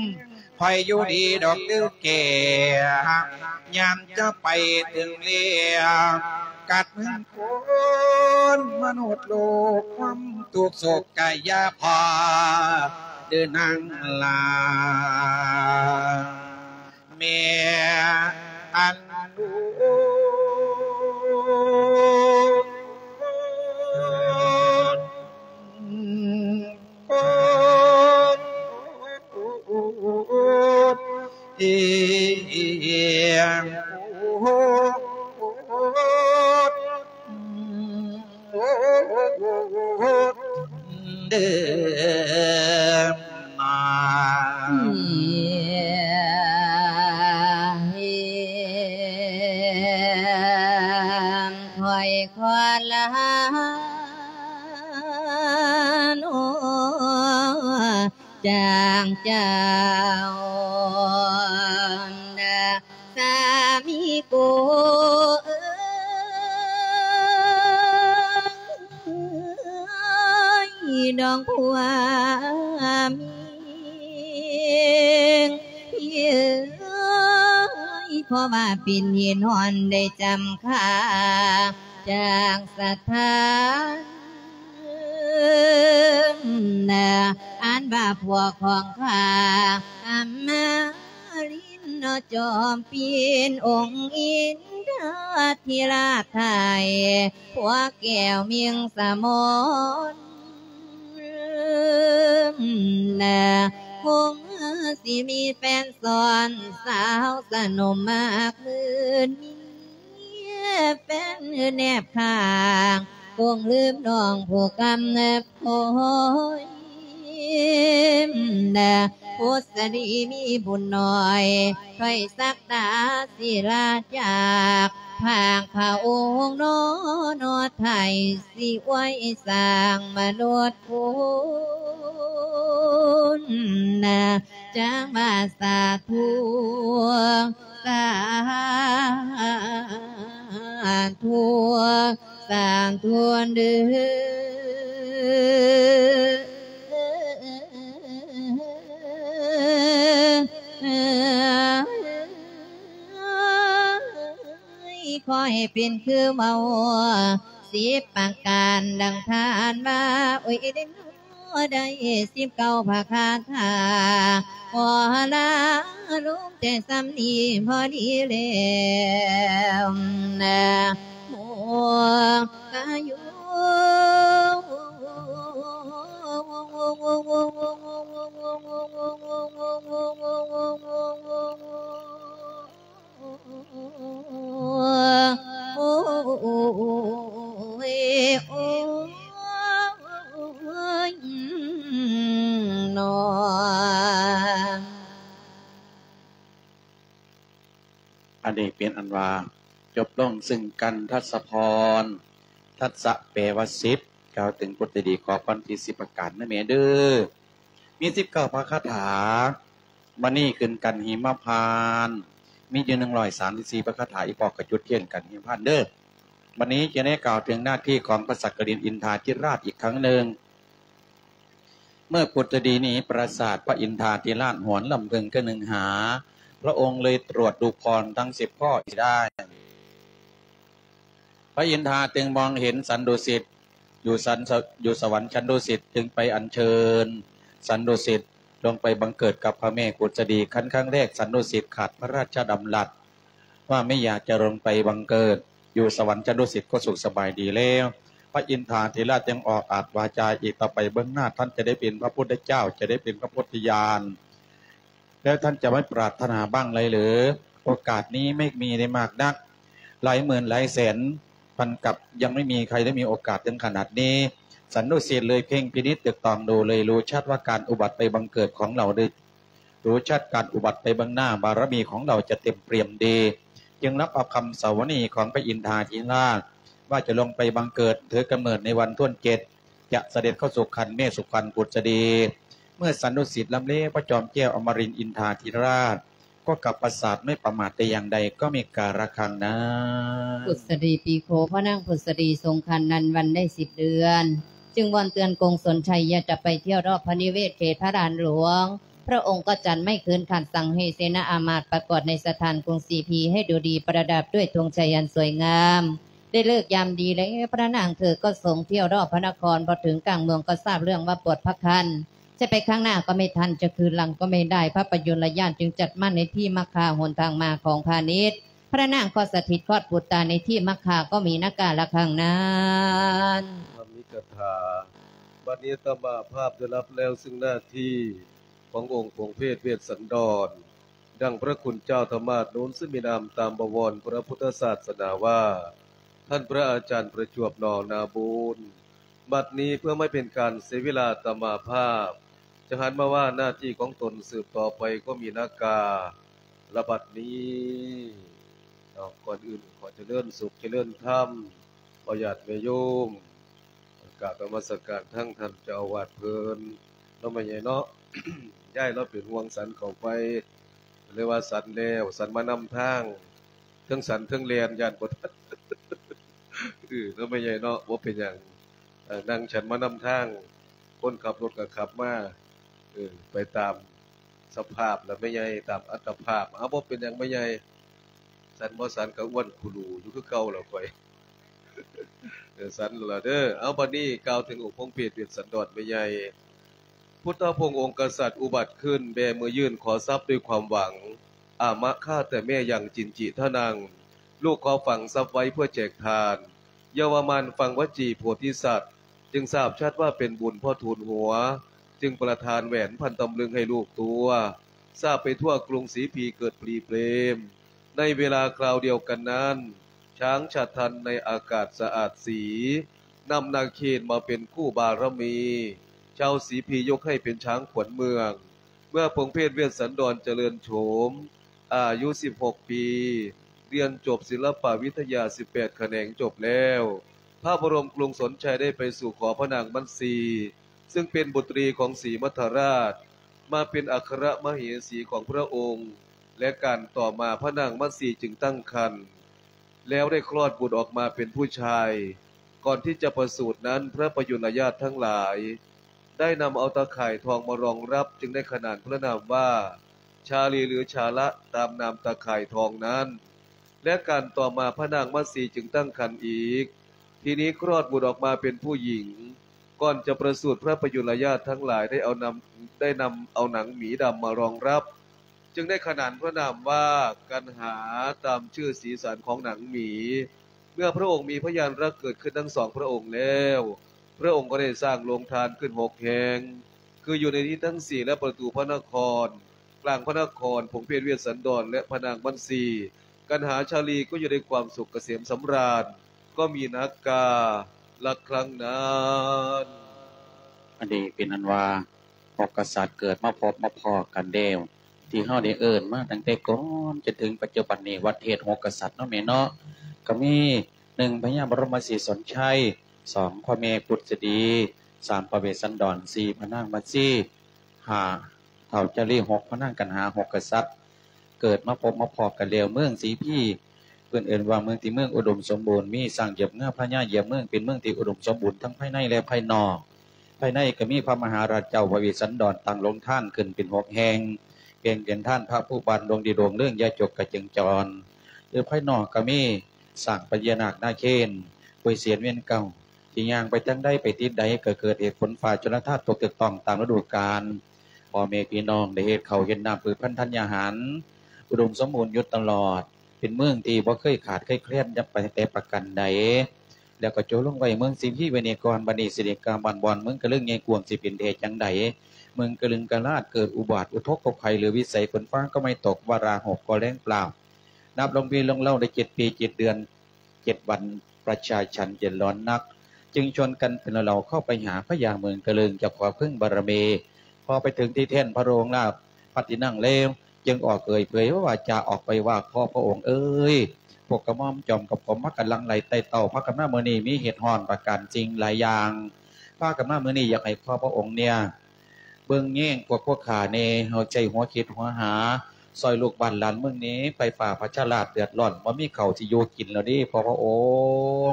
ຂ້ອຍຢູ່ດີດອກເດີແກ້ວ ຍາມຈະໄປເຖິງແລ້ວ ກັດເມືອງຄົນມະນຸດໂລກ ຄວາມທຸກໂສກກະຢ່າພໍເດີນາງຫຼ້າ ແມ່ອັນດູເດີມາ ຂ້ອຍຂໍລາໂນ ຈາງເຈົ້ານະ ສາມີກູເອີ ຂອງຜົວເມຍ ເອີຍ ເພາະວ່າເປັນເຫດຮ້ອນໄດ້ຈຳຂ້າຈາກສະຖານ ອັນວ່າພວກຂອງຂ້າ ອຳມາລິນ ເນາະ ຈອມປິ່ນ ອົງອິນທາທິລາດໄທ ພວກແກ້ວມິງສະໝອນ ຄົງຊິມີແຟນຊ້ອນ ສາວສະໜຸ່ມມາກໝື່ນ ເມຍແຟນແນບຂ້າງ ຄົງລືມນ້ອງຜູ້ກຳ ໂອ້ຍ ພຸດສະດີມີບຸນໜ້ອຍ ໄພສັກດາສິລາຈາກ ພາກພະອົງນອນອດໄທ ຊິອວຍສ້າງມະນຸດຄຸນນາ ຈັ່ງວ່າສາທຸ ສາທຸ ສາທຸເດີ ຂໍໃຫ້ເປັນຄືເວົ້າສິບປະການ ດັ່ງທ່ານວ່າ ໂອ້ຍ ເດ້ ໄດ້ສິບເກົ້າພະຄາຖາ ຂໍລາລົງແຕ່ສ່ຳນີ້ພໍດີແລ້ວນະ ໂມກາຍຸ ໂອ້ຍ ໂອ້ຍ ເນາະ ອັນນີ້ເປັນອັນວ່າຈົບລົງ ຊຶ່ງກັນທັດສະພອນ ທັດສະແປວ່າສິບ ກ່າວເຖິງຜົນດີ ຂໍພອນທີ່ສິບປະການນະແມ່ເດີ. ມີສິບເກົ້າພະຄາຖາ ມະນີຂຶ້ນກັນຫິມະພານ ມີຢູ່ໜຶ່ງຮ້ອຍສາມສິບສີ່ພະຄາຖາ ອີ່ພໍ່ກໍຈຸດທຽນກັນຫິມະພານເດີ. ບັດນີ້ຈະໄດ້ກ່າວເຖິງໜ້າທີ່ຂອງພະສັກກະລິນອິນທາທິລາດອີກຄັ້ງໜຶ່ງ. ເມື່ອກຸດຈະດີໜີປາສາດ ພະອິນທາທິລາດຫວນລຳເພິງກະໜຶ່ງຫາ ພະອົງເລີຍຕວດດູພອນທັງສິບຂໍ້ອີກໄດ້. ພະອິນທາຈຶ່ງມອງເຫັນສັນດຸສິດ ຢູ່ສັນ ຢູ່ສະຫວັນຊັ້ນດຸສິດ ຈຶ່ງໄປອັນເຊີນສັນດຸສິດລົງໄປບັງເກີດກັບພະແມ່ກຸດຈະດີ. ຄັນຄັ້ງແລກສັນດຸສິດຂາດພະລາຊະດຳລັດວ່າໄມ່ຢາກຈະລົງໄປບັງເກີດຢູ່ສະຫວັນຊັ້ນດຸສິດກໍສຸກສະບາຍດີແລ້ວ. ພະອິນທາທິລາດຈຶ່ງອອກອາດວາຈາອີກ ຕໍ່ໄປເບື້ອງໜ້າທ່ານຈະໄດ້ເປັນພະພຸດທະເຈົ້າ ຈະໄດ້ເປັນພະໂພທິຍານ ແລ້ວທ່ານຈະໄມ່ປາດຖະໜາບ້າງໄລເລີ? ໂອກາດນີ້ໄມ່ມີໄດ້ມາກນັກ ຫຼາຍໝື່ນຫຼາຍແສນ ພັນກັບຍັງໄມ່ມີໃຄໄດ້ມີໂອກາດເຖິງຂະໜາດນີ້. ສັນດຸສິດເລີຍເພັ່ງພິນິດຕຶກຕອງດູ ເລີຍຮູ້ຊັດວ່າການອຸບັດໄປບັງເກີດຂອງເຮົາ ເລີຍຮູ້ຊັດການອຸບັດໄປເບື້ອງໜ້າ ບາລະມີຂອງເຮົາຈະເຕັມປ່ຽມດີ ຈຶ່ງຮັບເອົາຄຳສາວະນີຂອງພະອິນທາທິລາດ ວ່າຈະລົງໄປບັງເກີດ ຖືກຳເນີດໃນວັນທວນເຈັດ ຈະສະເດັດເຂົ້າສູ່ຄັນແມ່ສຸຄັນກຸດຈະດີ. ເມື່ອສັນດຸສິດລຳເລ ພະຈອມແກ້ວອະມະລິນອິນທາທິລາດກໍກັບປາສາດໄມ່ປະໝາດແຕ່ຢ່າງໃດ ກໍມີກາລະຄັງນານ. ກຸດສະດີປີໂຄ ພະນາງພຸດສະດີຊົງຄັນນັ້ນວັນໄດ້ສິບເດືອນ ຈຶ່ງວອນເຕືອນກົງສົນໄຊ ຢ່າຈະໄປທ່ຽວລອບພະນິເວດເຂດພະລານຫຼວງ. ພະອົງກໍຈັດໄມ້ຄືນຂັດສັ່ງໃຫ້ເສນາອາມາດປະກອບໃນສະຖານກຸງສີພີ ໃຫ້ດູດີປະດັບດ້ວຍທຸງໄຊອັນສວຍງາມ. ໄດ້ເລີກຍາມດີແລ້ວ ພະນາງເທີກໍຊົງທ່ຽວລອບພະນະຄອນ ພໍເຖິງກາງເມືອງກໍຊາບເລື່ອງວ່າປວດພະຄັນ ຈະໄປຂ້າງໜ້າກໍໄມ່ທັນ ຈະຄືນຫຼັງກໍໄມ່ໄດ້ ພະປະຍຸນລະຍາດຈຶ່ງຈັດໝັ້ນໃນທີ່ມັກຄາ ຫົນທາງມາຂອງພານິດ. ພະນາງກໍສະຖິດຄອດປູດຕາໃນທີ່ມັກຄາ ກໍມີນາກາລະຄັງນັ້ນ. ທຳມິກະຖາ ບັດນີ້ອາດຕະມາພາບໄດ້ຮັບແລ້ວ ຊຶ່ງໜ້າທີ່ຂອງອົງຂົງເພດເວດສັນດອນ ດັ່ງພະຄຸນເຈົ້າທຳມາດນູນ ຊຶ່ງມີນາມຕາມບະວອນພະພຸດທະສາສະໜາວ່າ ທ່ານພະອາຈານປະຈວບ ໜອນາບູນ. ບັດນີ້ເພື່ອບໍ່ໃຫ້ເປັນການເສຍເວລາ ອາດຕະມາພາບຈະຫັນມາວ່າໜ້າທີ່ຂອງຕົນສືບຕໍ່ໄປ ກໍມີນາກາລະບັດນີ້ເນາະ. ກ່ອນອື່ນຂໍຈະເລີນສຸກຈະເລີນທຳ ພໍ່ຍາດແມ່ໂຍມ ກາບນະມັດສະການທັງທ່ານເຈົ້າອາວາດເພິ່ນເນາະ ແມ່ໃຫຍ່ເນາະ. ຍາຍລາວເປັນຫ່ວງສັນເຂົ້າໄປ ເລີຍວ່າສັນແລ້ວ ສັນມານຳທາງ ເທິງສັນເທິງແລ່ນ ຢ້ານບໍ່ທັນ ເອີ ເນາະ ແມ່ໃຫຍ່ເນາະ. ບໍ່ເປັນຫຍັງ ເອີ ນັ່ງສັນມານຳທາງ ຄົນຂັບລົດກໍຂັບມາ ເອີ ໄປຕາມສະພາບລະແມ່ໃຫຍ່ ຕາມອັດຕະພາບ. ເອົາ ບໍ່ເປັນຫຍັງແມ່ໃຫຍ່ ສັນບໍ່ສັນກໍອ້ວນຄູລູຢູ່ຄືເກົ່າລະຂ້ອຍ ເອີ ສັນລະເດີ. ເອົາ ບັດນີ້ກ່າວເຖິງອົງພົງເພດເວດສັນດອນແມ່ໃຫຍ່. ພຸດທະອົງຄະສັດອຸບັດຂຶ້ນ ແບມືຍື່ນຂໍຊັບດ້ວຍຄວາມຫວັງ. ອາມະຄາແຕ່ແມ່ຍັງ ຈິນຈິທະນັງ ລູກຂໍຝັງຊັບໄວ້ເພື່ອແຈກທານ. ເຍົາວະມານຟັງວະຈີໂພທິສັດ ຈຶ່ງຊາບຊັດວ່າເປັນບຸນພໍທູນຫົວ ຈຶ່ງປະທານແຫວນພັນຕຳລຶງໃຫ້ລູກຕົວ ຊາບໄປທົ່ວກຸງສີພີເກີດປຣີເປຣມ. ໃນເວລາຄາວດຽວກັນນັ້ນ ຊ້າງຊາດທັນໃນອາກາດສະອາດສີ ນຳນາເຄນມາເປັນຄູ່ບາລະມີ ຊາວສີພີຍົກໃຫ້ເປັນຊ້າງຂວັນເມືອງ. ເມື່ອພົງເພດເວດສັນດອນຈະເລີນໂສມ ອາຍຸສິບຫົກປີ ຮຽນຈົບສິລະປະວິທະຍາສິບແປດຂະແໜງຈົບແລ້ວ ພະບໍລົມກຸງສົນໄຊໄດ້ໄປສູ່ຂໍພະນາງມັດສີ ຊຶ່ງເປັນບຸດຣີຂອງສີມັດທະລາດ ມາເປັນອັກຄະມະເຫສີຂອງພະອົງ ແລະ ການຕໍ່ມາພະນາງມັດສີຈຶ່ງຕັ້ງຄັນ ແລ້ວໄດ້ຄລອດບຸດອອກມາເປັນຜູ້ຊາຍ. ກ່ອນທີ່ຈະປະສູດນັ້ນ ພະປະຍຸນລະຍາດທັງຫຼາຍ ໄດ້ນຳເອົາຕາຂ່າຍທອງມາລອງຮັບ ຈຶ່ງໄດ້ຂະໜານພະນາມວ່າ ຊາລີ ຫຼື ຊາລະ ຕາມນາມຕາຂ່າຍທອງນັ້ນ ແລະ ການຕໍ່ມາພະນາງມັດສີຈຶ່ງຕັ້ງຄັນອີກ. ທີນີ້ຄລອດບຸດອອກມາເປັນຜູ້ຍິງ. ກ່ອນຈະປະສູດ ພະປະຍຸນລະຍາດທັງຫຼາຍໄດ້ເອົານຳ ໄດ້ນຳເອົາໜັງໝີດຳມາລອງຮັບ ຈຶ່ງໄດ້ຂະໜານພະນາມວ່າ ກັນຫາ ຕາມຊື່ສີສັນຂອງໜັງໝີ. ເມື່ອພະອົງມີພະຍານລັກເກີດຂຶ້ນທັງສອງພະອົງແລ້ວ ພະອົງກໍໄດ້ສ້າງໂຮງທານຂຶ້ນຫົກແຫ່ງ ຄືຢູ່ໃນທິດທັງສີ່ ແລະ ປະຕູພະນະຄອນ, ກາງພະນະຄອນ, ພົງເພດເວດສັນດອນ ແລະ ພະນາງມັດສີ. ກັນຫາ ຊາລີ ກໍຢູ່ດ້ວຍຄວາມສຸກກະເສມສຳລານ ກໍມີນັກກາ ລັກຄັ້ງນັ້ນ. ອັນນີ້ເປັນອັນວ່າ ຫົກກະສັດເກີດມາພົບມາພໍ້ກັນແລ້ວ ທີ່ເຮົາໄດ້ເອີ້ນມາຕັ້ງແຕ່ກ່ອນຈົນເຖິງປັດຈຸບັນນີ້ ວັດເທດຫົກກະສັດເນາະແມ່ເນາະ ກໍມີ ໜຶ່ງ ພະຍາບໍລົມມະສີສົນໄຊ, ສອງ ພະແມ່ພຸດສະດີ, ສາມ ພະເວດສັນດອນ, ສີ່ ພະນາງມັດສີ, ຫ້າ ທ້າວຈາລີ, ຫົກ ພະນາງກັນຫາ. ຫົກກະສັດເກີດມາພົບມາພໍ້ກັນແລ້ວ ເມືອງສີພີ ເພິ່ນເອີ້ນວ່າເມືອງທີ່ເມືອງອຸດົມສົມບູນ ມີຊ້າງຢຽບເງືອ ພະຍາຢຽບເມືອງ ເປັນເມືອງທີ່ອຸດົມສົມບູນທັງພາຍໃນ ແລະ ພາຍນອກ. ພາຍໃນກໍມີພະມະຫາລາດເຈົ້າ ພະເວດສັນດອນ ຕັ້ງໂຮງທານຂຶ້ນເປັນຫົກແຫ່ງ ແບ່ງເປັນທານພະພູບານ ດວງດີ ດວງເລື່ອງ ຢາຈົກ ກະເຈິງຈອນ. ໂດຍພາຍນອກກໍມີຊ້າງພະຍານາກນາເຄນ ຫ້ວຍເສນ ວຽນເກົ້າ ທີ່ຍ່າງໄປທາງໃດ ໄປທິດໃດ ກໍເກີດເຫດຝົນຟ້າຊົນລະທານຕົກຖືກຕ້ອງຕາມລະດູການ. ພໍ່ແມ່ພີ່ນ້ອງໄດ້ເຮັດເຂົ້າເຮັດນ້ຳ ພືດພັນທັນຍາຫານ ອຸດົມສົມບູນຢູ່ຕະຫຼອດ ເປັນເມືອງທີ່ບໍ່ເຄີຍຂາດເຄີຍແຄລນແຕ່ປະການໃດ ແລ້ວກໍໂຈະລົງໄວ້ເມືອງສີພີໄວ້ນີ້ກ່ອນ. ບັດນີ້ຊິໄດ້ກ່າວບ້ານບ່ອນເມືອງກະເລີງໃຫຍ່ກວ້າງ ຊິເປັນແທ້ຈັ່ງໃດ. ເມືອງກະລຶງກະລາດເກີດອຸບາດອຸທົກພະໄພ ຫຼື ວິໄສຝົນຟ້າກໍໄມ່ຕົກ ວາລະຫົກກໍແລ້ງເປົ່າ. ນັບລົງປີລົງເລົາໄດ້ເຈັດປີເຈັດເດືອນເຈັດວັນ ປະຊາຊັນເດືອດຮ້ອນໜັກ ຈຶ່ງຊວນກັນເປັນເຫຼົ່າໆເຂົ້າໄປຫາພະຍາເມືອງກະເລີງ ຈະຂໍເພິ່ງບາລະມີ. ພໍໄປເຖິງທີ່ແທ່ນພະໂລຫະລາດພັດທີ່ນັ່ງແລ້ວ ຈຶ່ງອອກເອີ່ຍເຜີຍວາຈາອອກໄປວ່າ ຂໍພະອົງເອີຍ ພວກກະໝ່ອມຈອມກັບກອມພາກັນຫຼັ່ງໄຫຼໄຕ່ເຕົ້າ ພາກັນມາມື້ນີ້ມີເຫດຮ້ອນປະການສິ່ງຫຼາຍຢ່າງ ພາກັນມາມື້ນີ້ຢາກໃຫ້ຂໍພະອົງເນ່ຍ ເບິ່ງແຍງພວກພວກຂ້າແນ່ ເຮົາໃຊ້ຫົວຄິດຫົວຫາ ຊ່ອຍລູກບ້ານຫຼານເມືອງແນ່ ໄຟຟ້າປະຊາລາດເດືອດຮ້ອນ ບໍ່ມີເຂົ້າຊິຢູ່ກິນແລ້ວເດ້ ຂໍພະອົ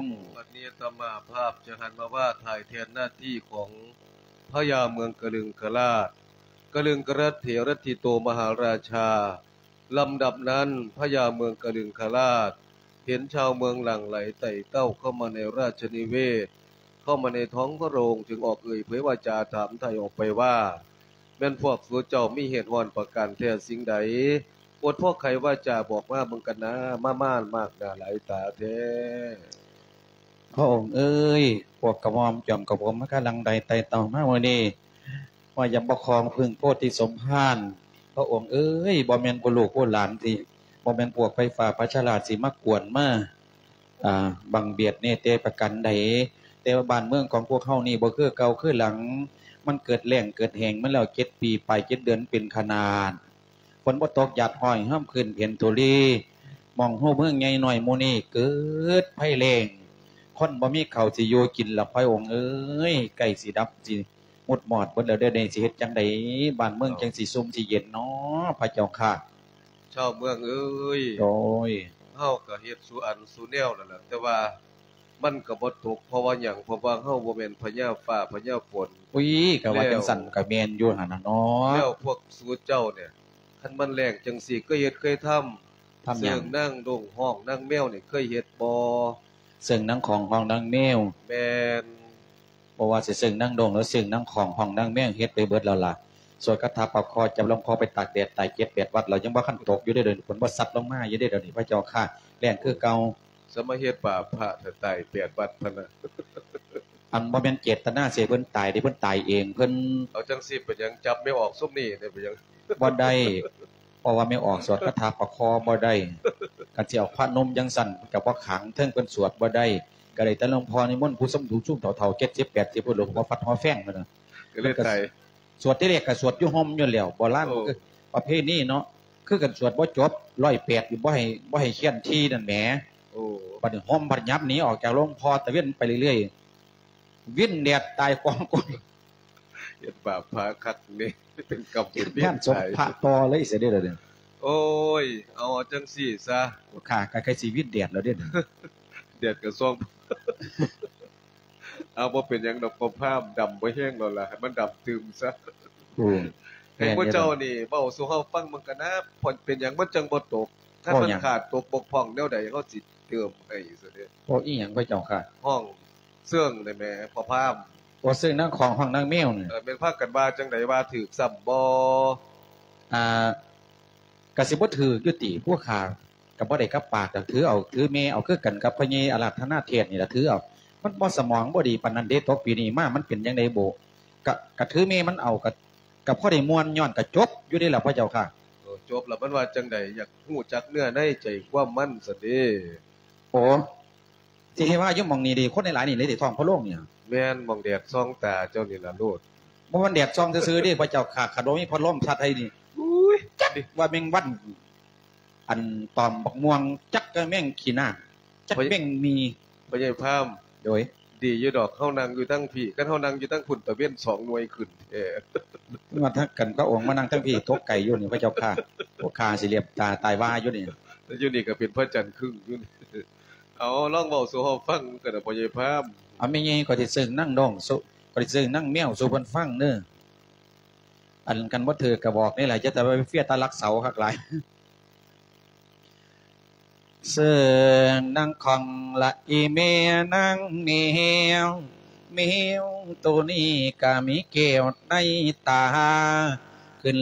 ງ. ບັດນີ້ອາດຕະມາພາບຈະຫັນມາວ່າຖ່າຍແທນໜ້າທີ່ຂອງພະຍາເມືອງກະລຶງກະລາດ ກະລຶງກະລັດເຖລັດທິໂຕມະຫາລາຊາ. ລຳດັບນັ້ນ ພະຍາເມືອງກະລຶງກະລາດ ເຫັນຊາວເມືອງຫຼັ່ງໄຫຼໄຕ່ເຕົ້າເຂົ້າມາໃນລາຊະນິເວດ ເຂົ້າມາໃນທ້ອງພະໂລງ ຈຶ່ງອອກເອີ່ຍເຜີຍວາຈາຖາມໄຖ່ອອກໄປວ່າ ແມ່ນພວກສູເຈົ້າມີເຫດຮ້ອນປະການແທ້ສິ່ງໃດ? ອົດພໍໄຂວາຈາບອກມາເບິ່ງກັນນາ ມາມານມາກໜ້າຫຼາຍຕາແທ້. ພະອົງເອີຍ ພວກກະໝ່ອມຈອມກະຜົມມາກະຫຼັ່ງໄຫຼໄຕ່ເຕົ້າມາມື້ນີ້ ວ່າຢາກມາຂໍເພິ່ງໂພທິສົມພານ. ພະອົງເອີຍ ບໍ່ແມ່ນພວກລູກພວກຫຼານທີ່ ບໍ່ແມ່ນພວກໄຟຟ້າປະຊາລາດຊິມາກວນມາ ອາ ບັງບຽດແນ່ແຕ່ປະການໃດ ແຕ່ວ່າບ້ານເມືອງຂອງພວກເຮົານີ້ບໍ່ຄືເກົ່າຄືຫຼັງ ມັນເກີດແລ້ງເກີດແຫ້ງມາແລ້ວເຈັດປີປາຍ ເຈັດເດືອນເປັນຂະໜາດ ຝົນບໍ່ຕົກ ຢາດຮ້ອຍ ຮຳຄືນເພັນທຸລີ ໝ່ອງຮູ້ເມືອງໃຫຍ່ນ້ອຍໝູ່ນີ້ເກີດໄພແລ້ງ ຄົນບໍ່ມີເຂົ້າຊິຢູ່ກິນລະ ພະອົງເອີຍ ໃກ້ຊິດັບຊິມຸດມອດເບິດແລ້ວເດ້ ນີ້ຊິເຮັດຈັ່ງໃດ ບ້ານເມືອງຈັ່ງຊິຊຸ່ມຊິເຢັນເນາະ ພະເຈົ້າຂ້າ. ຊາວເມືອງເອີຍ ໂດຍ ເຮົາກໍເຮັດສູ່ອັນສູ່ແນວນັ້ນລະ ແຕ່ວ່າ ມັນກໍບໍ່ຕົກ ເພາະວ່າຫຍັງ? ເພາະວ່າເຮົາບໍ່ແມ່ນພະຍາຟ້າພະຍາຝົນ. ອຸ້ຍ ກໍວ່າ ແລ້ວ ຈັ່ງຊັ້ນກໍແມ່ນຢູ່ຫັ້ນນະເນາະ. ແລ້ວພວກສູເຈົ້ານີ້ ຄັນມັນແລ້ງຈັ່ງຊີ້ ເຄີຍເຮັດເຄີຍທຳ? ທຳຫຍັງ? ເຊິ່ງນາງດົງຮ້ອງນາງແມວນີ້ ເຄີຍເຮັດບໍ່? ເຊິ່ງນາງຂອງຮ້ອງນາງແມວ? ແມ່ນ. ບໍ່ວ່າຊິເຊິ່ງນາງດົງ ຫຼື ເຊິ່ງນາງຂອງຮ້ອງນາງແມວ ເຮັດໄປເບິດແລ້ວລະ. ສວດຄາຖາປະຄໍ ຈັບລຳຄໍໄປຕາກແດດ ຕາຍເຈັດແປດວັດແລ້ວ ຍັງບໍ່ທັນຕົກຢູ່ເດ້ ເດີ ຝົນບໍ່ຊັດລົງມາຢູ່ເດ້ ດຽວນີ້ ພະເຈົ້າຂ້າ ແລ່ນຄືເກົ່າ. ສະມາເຮັດບາບພະ ຖ້າຕາຍແປດວັດພຸ້ນນະ. ອັນ ບໍ່ແມ່ນເຈດຕະນາຊິໃຫ້ເພິ່ນຕາຍເດ້ ເພິ່ນຕາຍເອງເພິ່ນ. ເອົາ ຈັ່ງຊີ້ເປັນຫຍັງ? ຈັບແມ່ອອກຊຸມນີ້ເດ້ ເປັນຫຍັງ? ບໍ່ໄດ້ ເພາະວ່າແມ່ອອກສວດຄາຖາປະຄໍບໍ່ໄດ້. ຄັນຊິເອົາພະນົມຈັ່ງຊັ້ນ ມັນກໍບໍ່ຂາງ ເທິງເພິ່ນສວດບໍ່ໄດ້ ກໍໄດ້ແຕ່ຫຼວງພໍ່ນິມົນຜູ້ຊົມ ຜູ້ຊຸມເຖົ້າໆ ເຈັດສິບແປດສິບ ພຸ້ນ ຫຼວງພໍ່ຟັດຫໍແຟງພຸ້ນນະ ກໍເລີຍຕາຍ. ສວດ ທີແລກກໍສວດຢູ່ຮົ່ມຢູ່ແລ້ວ ໂບລານ ໂອ້ ປະເພນີເນາະ ຄືກັນ ສວດບໍ່ຈົບ ຮ້ອຍແປດ ຢູ່ ບໍ່ໃຫ້ ບໍ່ໃຫ້ຄຽນທີ່ນັ້ນແໝ. ໂອ້ ບັດນີ້ຮົ່ມພັດຫຍັບໜີອອກຈາກຫຼວງພໍ່ ຕະເວັນໄປເລື້ອຍໆ ວິນແດດຕາຍກອງໂກຍ. ເຮັດບາບພະຄັກນີ້ ເປັນກຳເປັນເວນ ງານສົບພະຕໍ່ເລີຍຊິເດ້ລະເດ້. ໂອ້ຍ ເອົາຈັ່ງຊີ້ຊະ ຂ້າກໍໃກ້ຊິວິນແດດແລ້ວເດ້ ແດດກໍສ່ອງ. ເອົາ ບໍ່ເປັນຫຍັງດອກ ພໍ່ພາມ ດຳບໍ່ແຮງແລ້ວລະ ໃຫ້ມັນດຳຕື່ມຊະ. ໂອ້ ໃຫ້ພວກເຈົ້ານີ້ເວົ້າສູ່ເຮົາຟັງເບິ່ງກັນນະ ເປັນຫຍັງມັນຈັ່ງບໍ່ຕົກ? ຄັນມັນຂາດຕົກບົກຜ່ອງແນວໃດ ເຮົາຊິເຕີມໃຫ້ຊະເດ້. ເວົ້າອີ່ຫຍັງພະເຈົ້າຂ້າ? ຮ້ອງເຊິ່ງໄດ້ແໝ ພໍ່ພາມ. ໂອ້ ເຊິ່ງນາງຂອງຮ້ອງນາງແມວນີ້. ເອີ ແມ່ນພາກັນວ່າຈັ່ງໃດ? ວ່າຖືກຊ້ຳບໍ່? ອ່າ ກະຊິບໍ່ຖືກຢູ່ຕິ ຜູ້ຂ້າ ກະບໍ່ໄດ້ກັບປາກ ກະຖືເອົາ ຖືແມ່ເອົາ ຄືກັນກັບພໍ່ໃຫຍ່ອາລາທະນາເທດນີ້ລະ ຖືເອົາ. ມັນບໍ່ ສະໝອງບໍ່ດີປານນັ້ນເດ້ ຕົກປີນີ້ມາ ມັນເປັນຈັ່ງໃດບໍ່? ກະ ກະຖືແມ່ມັນເອົາ ກະ ກະພໍໄດ້ມ່ວນ ຍ້ອນກະຈົບຢູ່ເດ້ລະພະເຈົ້າຂ້າ. ໂອ້ ຈົບລະມັນວ່າຈັ່ງໃດ? ຢາກຮູ້ຈັກເນື້ອໃນໃຈຄວາມມັນຊັ້ນເດ້. ໂອ້ ຊິໃຫ້ວ່າຢູ່ໝ່ອງນີ້ເດ້ ຄົນຫຼາຍໆນີ້ເດ້ ທ້ອງພະໂລງນີ້. ແມ່ນ ໝ່ອງແດດສ່ອງຕາເຈົ້ານີ້ລະໂລດ. ບໍ່ແມ່ນແດດສ່ອງຊື່ໆເດ້ພະເຈົ້າຂ້າ ຄັນບໍ່ມີພັດລົມພັດໃຫ້ນີ້ ອຸ້ຍ ຈັກວ່າແມງວັນ ອັນຕອມບັກມ່ວງ ຈັກແມ່ງຂີ້ໜ້າ ຈັກແມ່ງມີ. ພໍ່ໃຫຍ່ພາມ ໂດຍ ດີຢູ່ດອກ ເຮົານັ່ງຢູ່ທາງພີ້ ຄັນເຮົານັ່ງຢູ່ທາງພຸ້ນ ຕາເວັນສອງໜ່ວຍຂຶ້ນແທ້. ມາທັກກັນພະອົງ ມານັ່ງທາງພີ້ ຕົກໄກຢູ່ນີ້ພະເຈົ້າຂ້າ ພວກຂ້າຊິຫຼຽບຕາຕາຍວ່າຢູ່ນີ້ ຢູ່ນີ້ກໍເປັນພະຈັນຄຶ້ງຢູ່ນີ້. ເອົາ ລອງເວົ້າສູ່ເຮົາຟັງກັນນະ ພໍ່ໃຫຍ່ພາມ. ເອົາ ແມ່ໃຫຍ່ ຂ້ອຍຊິເຊິ່ງນາງດອງ ຂ້ອຍຊິເຊິ່ງນາງແມວສູ່ເພິ່ນຟັງເດີ. ອັນ ຄັນບໍ່ຖືກກະບອກນີ້ແຫຼະ ຢ່າແຕ່ວ່າໄປເຟຍຕາລັກເສົາຄັກຫຼາຍ. ເຊິ່ງນາງຂອງລະອີແມ່ນາງແມວ ແມວໂຕນີ້ກະມີແກ້ວໃນຕາ ຂຶ້ນ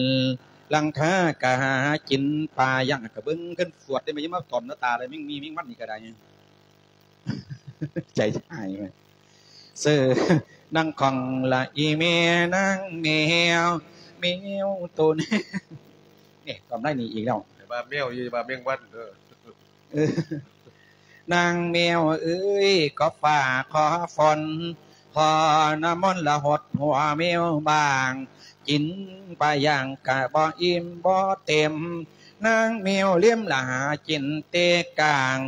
ຫຼັງຄາກະຫາກິນປາຢ່າງ ກະເບິ່ງຂຶ້ນສວດໄດ້ ມາຢູ່ມາຕອມໜ້າຕາໄດ້ ແມ່ງມີແມງວັນນີ້ກະໄດ້. ໃຈຮ້າຍແມ່ ເຊີນນາງຂອງລະອີແມ່ນາງແມວ ແມວໂຕນີ້ ນີ້ ຕອມໄດ້ນີ້ອີກແລ້ວ ວ່າແມວ ຢ່າວ່າແມງວັນເດີ. ເອີ ນາງແມວເອີຍ ຂໍຟ້າຂໍຝົນ ຂໍນ້ຳມົນລະຫົດຫົວແມວບ້າງ ກິນປາຢ່າງກະບໍ່ອີ່ມບໍ່ເຕັມ ນາງແມວເລັມລະຫາກິນແຕ່ກາງ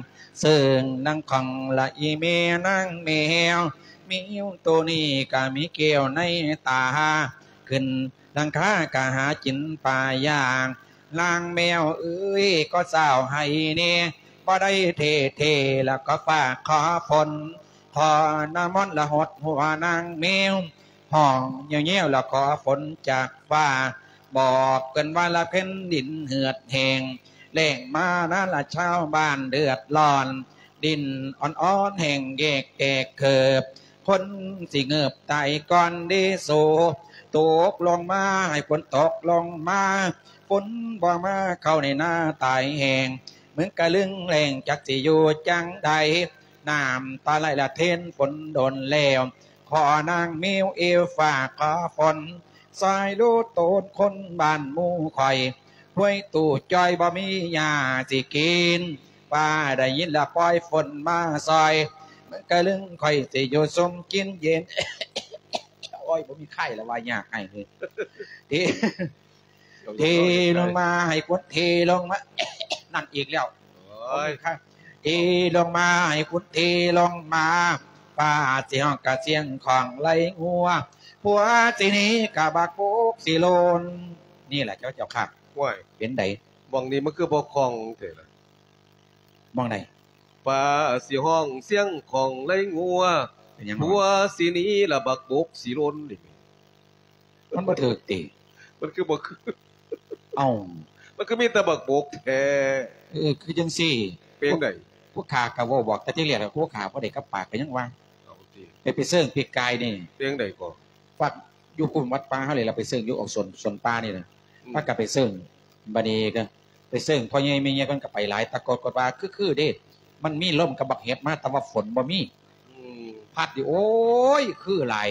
ເຊິ່ງນາງຂອງລະອີແມ່ນາງແມວ ແມວໂຕນີ້ກະມີແກ້ວໃນຕາ ຂຶ້ນຫຼັງຄາກະຫາກິນປາຢ່າງ ນາງແມວເອີຍ ຂໍເຊົ້າໃຫ້ແດ່ ບໍ່ໄດ້ເທເທ ລະຂໍຟ້າຂໍຝົນ ຂໍນ້ຳມົນລະຫົດຫົວນາງແມວ ຮ້ອງແຍ່ວໆ ລະຂໍຝົນຈາກຟ້າ ບອກເພິ່ນວ່າລະແຜ່ນດິນເຫືອດແຫ້ງ ແລ້ງມານາລະຊາວບ້ານເດືອດຮ້ອນ ດິນອ່ອນໆ ແຫ້ງແຢກແຕກເຂີບ ຄົນຊິເງີບຕາຍກ່ອນເດໂຊ ຕົກລົງມາ ໃຫ້ຝົນຕົກລົງມາ ຝົນບໍ່ມາ ເຂົ້າໃນນາຕາຍແຫ້ງ ເມືອງກະລຶງແລ້ງຈັກຊິຢູ່ຈັ່ງໃດ ນ້ຳຕາໄຫຼລະເທນຝົນດົນແລ້ວ ຂໍນາງແມວເອີຍ ຟ້າຂໍຝົນ ຊ່ອຍລູກໂຕນຄົນບ້ານໝູ່ຂ້ອຍ ຫ້ວຍຕູ້ຈ່ອຍບໍ່ມີຫຍ້າຊິກິນ ຟ້າໄດ້ຍິນລະປ່ອຍຝົນມາຊ່ອຍ ເມືອງກະລຶງຂ້ອຍຊິຢູ່ຊຸ່ມກິນເຢັນ ໂອ້ຍ ບໍ່ມີໄຂ້ລະວ່າຍາກໃຫ້ເດ ເທລົງມາໃຫ້ຝົນ ເທລົງມາ ນັ້ນອີກແລ້ວ ໂອ້ຍ ເທລົງມາໃຫ້ຝົນ ເທລົງມາ ຟ້າຊິຮ້ອງກະສຽງຂອງໄຫຼງົວ ຜົວຊິໜີກະບັກໂກກຊິໂລນ ນີ້ແຫຼະເຈົ້າ ເຈົ້າຂ້າ ໂອ້ຍ ເປັນໃດ? ໝ່ອງນີ້ມັນຄືບໍ່ຄ່ອງແທ້ລະ? ໝ່ອງໃດ? ປ່າ ຊິຮ້ອງສຽງຂອງໄລ່ງົວ ເປັນຫຍັງ ຜົວຊິໜີ ລະບັກບົກຊິຫຼົ່ນ ນີ້ ມັນບໍ່ຖືກຕິ? ມັນຄືບໍ່ຄື? ເອົ້າ ມັນຄືມີແຕ່ບັກບົກແທ້? ເອີ ຄືຈັ່ງຊີ້ ເປັນໃດ? ຜູ້ຂ້າກໍເວົ້າບອກແຕ່ທີແລກ ຜູ້ຂ້າບໍ່ໄດ້ກັບປາກ ກໍຍັງວ່າ ເອົາຕິ ໄປ ໄປເຊີງປີກກາຍນີ້ ເປັນໃດກໍ? ວັດ ຢູ່ກຸ່ມວັດປ່າເຮົານີ້ລະ ໄປເຊີງຢູ່ອອກສວນ ສວນປ່ານີ້ນະ ອືມ ພາກັນໄປເຊີງ ບັດນີ້ກໍໄປເຊີງ ພໍ່ໃຫຍ່ແມ່ໃຫຍ່ເພິ່ນກໍໄປຫຼາຍ ແຕ່ກໍ ກໍວ່າຄືໆເດ້ ມັນມີລົມກັບບັກເຫັບມາ ແຕ່ວ່າຝົນບໍ່ມີ ອືມ ພັດຢູ່ ໂອ້ຍ ຄືຫຼາຍ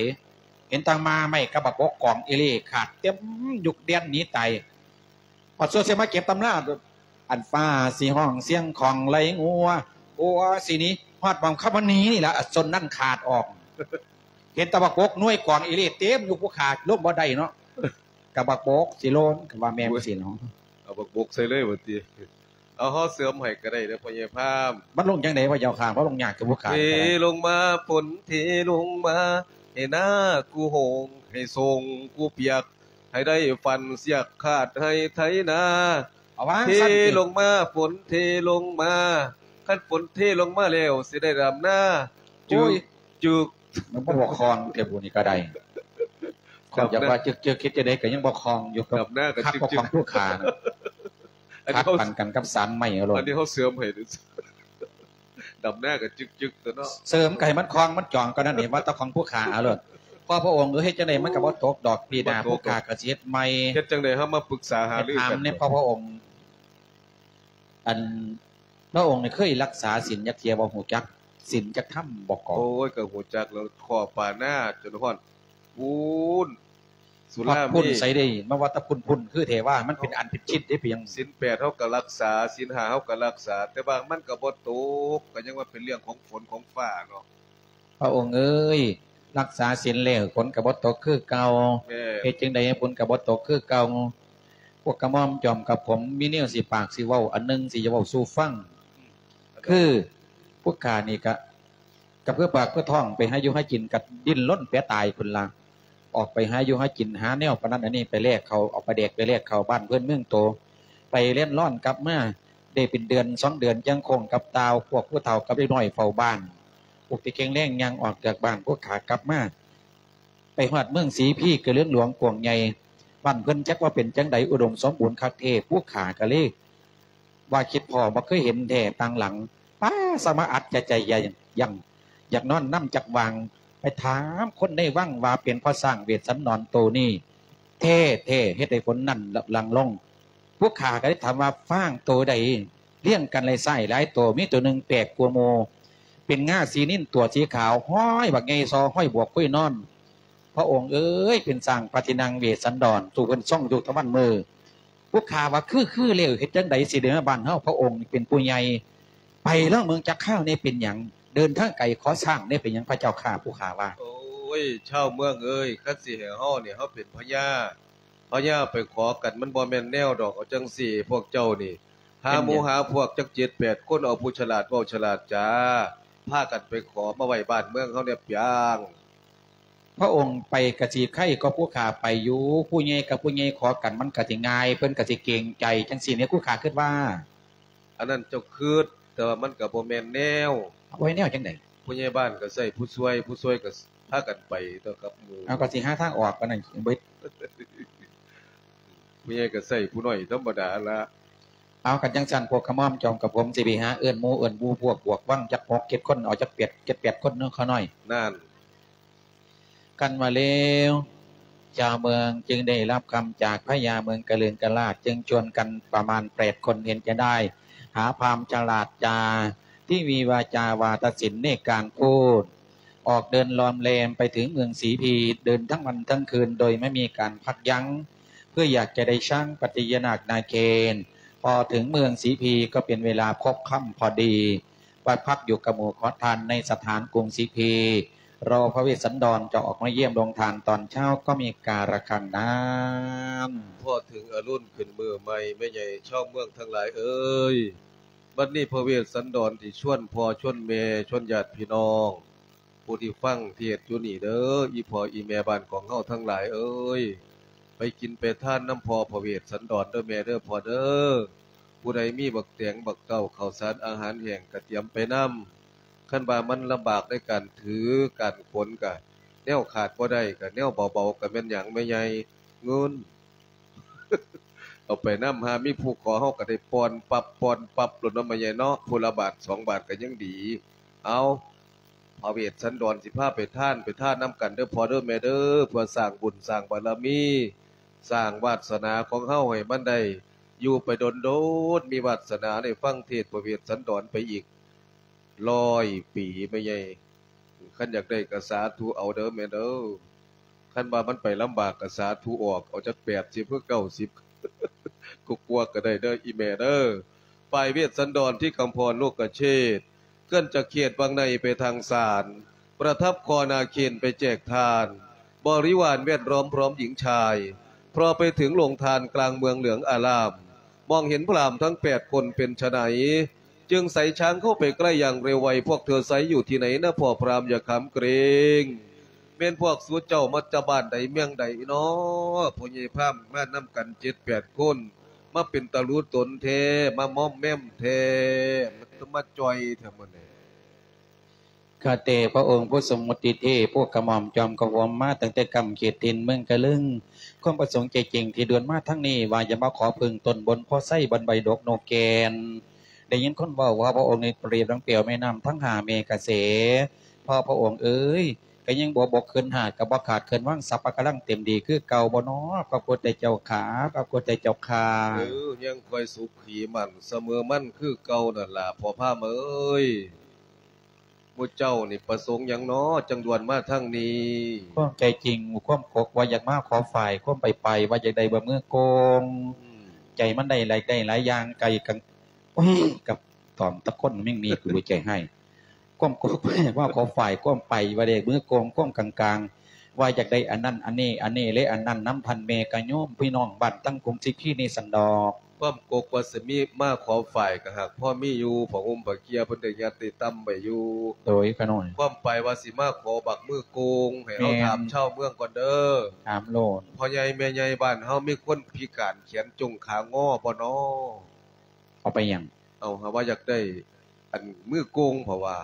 ເຫັນແຕ່ໝາໄມ້ກັບບັກບົກກອງອີ່ຫຼີຂາດເຕັມຢູ່ ແລ່ນໜີຕາຍ ຮອດສ່ວນຊິມາເກັບຕຳລາ ອັນຟ້າຊິຮ້ອງສຽງຂອງໄລ່ງົວ ຜົວຊິໜີ ຮອດໝ່ອງຄຳວ່າໜີນີ້ລະ ສົ້ນນັ້ນຂາດອອກ ເຫັນແຕ່ບັກບົກໜ່ວຍກອງອີ່ຫຼີເຕັມຢູ່ ຜູ້ຂ້າລົງບໍ່ໄດ້ເນາະ ກະບັກບົກຊິຫຼົ່ນ ກະວ່າແມ່ນ ໂອ້ຍ ຊິເນາະ ເອົາບັກບົກໃສ່ເລີຍວ່າຕິ ເອົາ ເຮົາເສີມໃຫ້ກໍໄດ້ເດີ ພໍ່ໃຫຍ່ພາມ ມັນລົງຈັ່ງໃດວະເຈົ້າຂ້າ ມັນລົງຍາກຄືຜູ້ຂ້າ ເທລົງມາ ຝົນເທລົງມາ ໃຫ້ນາກູໂຮງ ໃຫ້ສົ້ງກູປຽກ ໃຫ້ໄດ້ຝັນສຽກຄາດໄຮ່ໄຖນາ ເອົາວ່າ ເທລົງມາ ຝົນເທລົງມາ ຄັນຝົນເທລົງມາແລ້ວ ຊິໄດ້ດຳນາ ໂອ້ຍ ຈຸກ ມັນບໍ່ຄອງແທ້ບຸນີ້ກໍໄດ້ ຂ້ອຍຢາກວ່າຈຶກໆ ເຮັດຈັ່ງໃດກໍຍັງບໍ່ຄອງຢູ່ ດຳນາກໍ ຄັກ ຈຶກໆ ບໍ່ຄອງຜູ້ຂ້ານະ ອັນນີ້ເຮົາ ຂັດປັນກັນກັບສານໄມ້ເອົາໂລດ ອັນນີ້ເຮົາເສີມໃຫ້ ດຳນາກໍຈຶກໆ ຕົວເນາະ ເສີມກໍໃຫ້ມັນຄອງມັນຈອງກໍນັ້ນເອງ ວ່າແຕ່ຂອງຜູ້ຂ້າເອົາໂລດ ພໍ່ພະອົງເອີຍ ເຮັດຈັ່ງໃດມັນກໍບໍ່ຕົກດອກ ປີໜ້າ ບໍ່ຕົກດອກ ຜູ້ຂ້າກໍຊິເຮັດໃໝ່ ເຮັດຈັ່ງໃດເຮົາມາປຶກສາຫາລືກັນ ຖາມແດ່ພໍ່ພະອົງ ອັນ ພະອົງນີ້ເຄີຍລັກສາສິນຈັກເທື່ອບໍ່? ຮູ້ຈັກສິນຈັກທຳບໍ່ກໍ? ໂອ້ຍ ກໍຮູ້ຈັກແລ້ວ ຂໍປານາຈົນຮອດພຸ້ນ ສຸລາ ຮອດພຸ້ນ ມີ ໃສເດ້ ມາວ່າແຕ່ພຸ້ນໆ ຄືແທ້ວ່າ ມັນເປັນອັນເປັນຊິດເດ້ ເປັນຫຍັງ? ສິນແປດເຮົາກໍລັກສາ ສິນຫ້າເຮົາກໍລັກສາ ແຕ່ວ່າມັນກໍບໍ່ຕົກ ກໍຍັງວ່າເປັນເລື່ອງຂອງຝົນຂອງຟ້າເນາະ. ພະອົງເອີຍ ລັກສາສິນແລ້ວ ຝົນກໍບໍ່ຕົກຄືເກົ່າ. ແມ່ນ. ເຮັດຈັ່ງໃດໃຫ້ຝົນກໍບໍ່ຕົກຄືເກົ່າ? ພວກກະໝ່ອມຈອມກັບຜົມມີແນວຊິປາກຊິເວົ້າອັນໜຶ່ງ ຊິເວົ້າສູ່ຟັງ. ອືມ. ຄືພວກຂ້ານີ້ກະ ກະເພື່ອປາກເພື່ອທ້ອງ ໄປຫາຢູ່ຫາກິນ ກະດີ້ນລົນແປຕາຍພຸ້ນລະ. ອອກໄປຫາຢູ່ຫາກິນ ຫາແນວປານນັ້ນອັນນີ້ ໄປແລກເຂົ້າ ເອົາປາແດກໄປແລກເຂົ້າບ້ານເພື່ອນເມືອງໂຕ ໄປແລ່ນລອນກັບມາ ໄດ້ເປັນເດືອນສອງເດືອນ ຈັ່ງຄົງກັບຕ່າວ ພວກຜູ້ເຖົ້າກັບເດັກນ້ອຍເຝົ້າບ້ານ. ພວກທີ່ແຂງແຮງຍ່າງອອກຈາກບ້ານ ພວກຂ້າກັບມາ ໄປຮອດເມືອງສີພີ ກະເລື່ອງຫຼວງກວ້າງໃຫຍ່ ບ້ານເພິ່ນຈັກວ່າເປັນຈັ່ງໃດ ອຸດົມສົມບູນຄັກແທ້. ພວກຂ້າກະເລີຍວ່າຄິດພໍ້ ບໍ່ເຄີຍເຫັນແທ້ຕ່າງຫຼັງ. ປ້າ ສະມາອັດຈະໃຈຢ່າງ ຢາກນອນນຳຈັກຫວ່າງ ໄປຖາມຄົນໃນວັງວ່າເປັນພໍ່ຊ້າງເວດສັນດອນໂຕນີ້ແທ້ໆ ເຮັດໃຫ້ຝົນນັ້ນຫຼັ່ງລົງ. ພວກຂ້າກໍໄດ້ຖາມວ່າ ຊ້າງໂຕໃດ ລຽງກັນຫຼາຍຊ້າຍຫຼາຍໂຕ ມີໂຕໜຶ່ງແປກກວ່າໝູ່ ເປັນງາສີນິນຕົວະສີຂາວ ຮ້ອຍບັກໃຫຍ່ຊໍ ຮ້ອຍບວກຄຸຍນອນ. ພະອົງເອີຍ ເປັນຊ້າງພະທີ່ນັ່ງເວດສັນດອນ ສູ່ເພິ່ນຊົງຢູ່ຕະວັນມື້. ພວກຂ້າວ່າ ຄື ຄືແລ້ວ ເຮັດຈັ່ງໃດຊິໄດ້ມາບ້ານເຮົາ? ພະອົງເປັນຜູ້ໃຫຍ່ ໄປລອງເບິ່ງຈັກຄາວແດ່ ເປັນຫຍັງ ເດີນທາງໄກ ຂໍຊ້າງແດ່ ເປັນຫຍັງພະເຈົ້າຂ້າ? ພວກຂ້າວ່າ ໂອ້ຍ ຊາວເມືອງເອີຍ ຄັນຊິໃຫ້ເຮົານີ້ ເຮົາເປັນພະຍາ ພະຍາໄປຂໍກັນ ມັນບໍ່ແມ່ນແນວດອກ. ເອົາຈັ່ງຊີ້ ພວກເຈົ້ານີ້ ຫາໝູ່ຫາພວກຈັກເຈັດແປດຄົນ ເອົາຜູ້ສະຫຼາດເວົ້າສະຫຼາດຈາ ພາກັນໄປຂໍມາໄວ້ບ້ານເມືອງເຮົາແດ່ປຽງ. ພະອົງໄປກະຊິໄຄກວ່າຜູ້ຂ້າໄປຢູ່ ຜູ້ໃຫຍ່ກັບຜູ້ໃຫຍ່ຂໍກັນ ມັນກະຊິງ່າຍ ເພິ່ນກະຊິເກງໃຈ ຈັ່ງຊີ້ແມ່ ຜູ້ຂ້າຄິດວ່າ. ອັນນັ້ນເຈົ້າຄິດ ແຕ່ວ່າມັນກະບໍ່ແມ່ນແນວ. ບໍ່ແມ່ນແນວຈັ່ງໃດ? ຜູ້ໃຫຍ່ບ້ານກະໃຊ້ຜູ້ຊ່ວຍ ຜູ້ຊ່ວຍກະພາກັນໄປຕົວະກັບໝູ່. ເອົາ ກະຊິຫາທາງອອກປານນັ້ນເບິດ. ຜູ້ໃຫຍ່ກະໃຊ້ຜູ້ນ້ອຍທຳມະດາລະ. ເອົາ ຄັນຈັ່ງຊັ້ນ ພວກຂະໝ່ອມຈອມກະຜົມຊິໄປຫາເອີ້ນໝູ່ເອີ້ນໝູ່ ພວກບວກວັງຈັກຫົກເຈັດຄົນ ເອົາຈັກແປດ ເຈັດແປດຄົນເນາະ ຂ້ານ້ອຍ. ນັ້ນ. ຄັນວ່າແລ້ວ ຊາວເມືອງຈຶ່ງໄດ້ຮັບຄຳຈາກພະຍາເມືອງກະເລີງກະລາດ ຈຶ່ງຊວນກັນປະມານແປດຄົນ ເຫັນຈະໄດ້ຫາພາມສະຫຼາດຈາ ທີ່ມີວາຈາວ່າຕະສິນໃນການພູດ ອອກເດີນລອມແລມໄປເຖິງເມືອງສີພີ ເດີນທັງວັນທັງຄືນໂດຍບໍ່ມີການພັກຢັ້ງ ເພື່ອຢາກຈະໄດ້ຊ້າງປັດຕິຍະນາກນາເຄນ. ພໍເຖິງເມືອງສີພີກໍເປັນເວລາພົບຄ່ຳພໍດີ ໄປພັກຢູ່ກັບໝູ່ຂໍທານໃນສະຖານກຸງສີພີ ລໍພະເວດສັນດອນຈະອອກມາຢ້ຽມໂລງທານຕອນເຊົ້າກໍມີກາລະຄັງນານ. ພໍເຖິງອະລຸນຂຶ້ນມື້ໃໝ່ ແມ່ໃຫຍ່ຊາວເມືອງທັງຫຼາຍເອີຍ, ບັດນີ້ພະເວດສັນດອນຊິຊວນພໍ່ຊວນແມ່ ຊວນຍາດພີ່ນ້ອງ ຜູ້ທີ່ຟັງເທດຢູ່ນີ້ເດີ ອີ່ພໍ່ອີ່ແມ່ບ້ານຂອງເຮົາທັງຫຼາຍເອີຍ, ໄປກິນໄປທານນຳພໍ່ພະເວດສັນດອນເດີແມ່ເດີພໍ່ເດີ. ຜູ້ໃດມີບັກແຕງ ບັກເຕົ້າ ເຂົ້າສານ ອາຫານແຫ້ງ ກະຕຽມໄປນຳ. ຄັນວ່າມັນລຳບາກໃນການຖືການຂົນ ກະແນວຂາດບໍ່ໄດ້ ກະແນວເບົາໆ ກະແມ່ນຫຍັງແມ່ໃຫຍ່? ເງິນ. ເອົາໄປນຳ ຫາມີຜູ້ຂໍ ເຮົາກະໄດ້ປ່ອນປັບ ປ່ອນປັບໂລດເນາະແມ່ໃຫຍ່ເນາະ, ຜູ້ລະບາດສອງບາດກະຍັງດີ. ເອົາ ພະເວດສັນດອນຊິພາໄປທານ ໄປທານນຳກັນເດີພໍ່ເດີແມ່ເດີ ເພື່ອສ້າງບຸນສ້າງບາລະມີ ສ້າງວາດສະໜາຂອງເຮົາໃຫ້ມັນໄດ້ຢູ່ໄປດົນໆ ມີວາດສະໜາໄດ້ຟັງເທດພະເວດສັນດອນໄປອີກຮ້ອຍປີແມ່ໃຫຍ່. ຄັນຢາກໄດ້ກະສາທຸເອົາເດີແມ່ເດີ. ຄັນວ່າມັນໄປລຳບາກກະສາທຸອອກ ເອົາຈັກແປດສິບ ຫຼື ເກົ້າສິບ ກວ່າໆ ກະໄດ້ເດີອີ່ແມ່ເດີ. ປ້າຍເວດສັນດອນ ທີ່ຄຳພອນ ໂລກະເຊດ ເຄື່ອນຈາກເຂດວັງໃນໄປທາງສານ ປະທັບຄອນາເຂນໄປແຈກທານ ບໍລິວານແວດລ້ອມພ້ອມຍິງຊາຍ ເພາະໄປເຖິງໂລງທານກລາງເມືອງເຫຼືອງອາລາມ ມອງເຫັນພຣາມທັງແປດຄົນເປັນຊະໃນ ຈຶ່ງໃສຊ້າງເຂົ້າໄປໃກ້ຢ່າງເລັວໄວ ພວກເທີໄຊຢູ່ທີ່ໃນນະ ພໍ່ພຣາມຢ່າຂາມເກງ. ແມ່ນພວກສູເຈົ້າມາຈາກບ້ານໃດເມືອງໃດເນາະ? ພໍ່ໃຫຍ່ພາມມານຳກັນເຈັດແປດຄົນ ມາເປັນຕາຫຼູຕົນແທ້ ມາມອມແມມແທ້ ມາຈ່ອຍແທ້ມື້ນີ້. ຂ້າແຕ່ພະອົງຜູ້ຊົງມຸດທິເທບ ພວກກະໝ່ອມຈອມກະຫົວມມາຕັ້ງແຕ່ກ້ຳເຂດຖິ່ນເມືອງກະລຶງ. ຄວາມປະສົງໃຈຈິງທີ່ດ່ວນມາທາງນີ້ ວ່າຈະມາຂໍເພິ່ງຕົ້ນບົນໂພໄຊ ບ່ອນໃບດົກນົກແກ່ນ. ໄດ້ຍິນຄົນເວົ້າວ່າພະອົງນີ້ປຽບດັ່ງແປວແມ່ນ້ຳທັງຫ້າແມ່ກະແສ. ພໍ່ພະອົງເອີຍ ກະຍັງບໍ່ບົກເຂີນຫາດ ກະບໍ່ຂາດເຂີນວັງ ສັບພະກຳລັງເຕັມດີຄືເກົ່າບໍ່ນໍ ພະພຸດທະເຈົ້າຂ້າ ພະພຸດທະເຈົ້າຂ້າ? ເອີ ຍັງຄ່ອຍສຸຂີໝັ້ນສະເໝີມັນຄືເກົ່ານັ້ນລະ ພໍ່ພາມເອີຍ. ໝູ່ເຈົ້ານີ້ປະສົງຫຍັງນໍ ຈັ່ງດ່ວນມາທາງນີ້? ຄວາມໃຈຈິງ ຄວາມກົກວ່າຢາກມາຂໍຝ້າຍ ຄວາມໄປໄປວ່າຢາກໄດ້ບະມືໂກງ. ອືມ ໃຈມັນໄດ້ຫຼາຍ ໄດ້ຫຼາຍຢ່າງ ໄກ່ກັງ ໂອ້ຍ ກັບຕອມຕະຄົນແມ່ງມີ ກູໃຈຮ້າຍ. ຄວາມກົກວ່າຢາກມາຂໍຝ້າຍ ຄວາມໄປວ່າໄດ້ມືໂກງ ຄວາມກາງໆ ວ່າຢາກໄດ້ອັນນັ້ນອັນນີ້ ອັນນີ້ແລະອັນນັ້ນນຳ ທ່ານແມ່ກະໂຍມ ພີ່ນ້ອງບ້ານຕັ້ງກຸງສິກຄີນີ້ຊັ້ນດອກ. ຄວາມກົກວ່າຊິມີມາຂໍຝ້າຍ ກະຫາກພໍມີຢູ່ ຜ້າຫົ່ມຜ້າເກຍເພິ່ນໄດ້ຍັດໄດ້ຕຳໄວ້ຢູ່. ໂດຍຂະນ້ອຍ. ຄວາມໄປວ່າຊິມາຂໍບັກມືໂກງ ໃຫ້ເຮົາ ແມ່ນ ຖາມຊາວເມືອງກ່ອນເດີ. ຖາມໂລດ. ພໍ່ໃຫຍ່ແມ່ໃຫຍ່ບ້ານເຮົາມີຄົນພິການແຂນຈົງຂາງໍບໍ່ນໍ? ເອົາໄປຫຍັງ? ເອົາ ຫາວ່າຢາກໄດ້ອັນມືໂກງ ເພາະວ່າ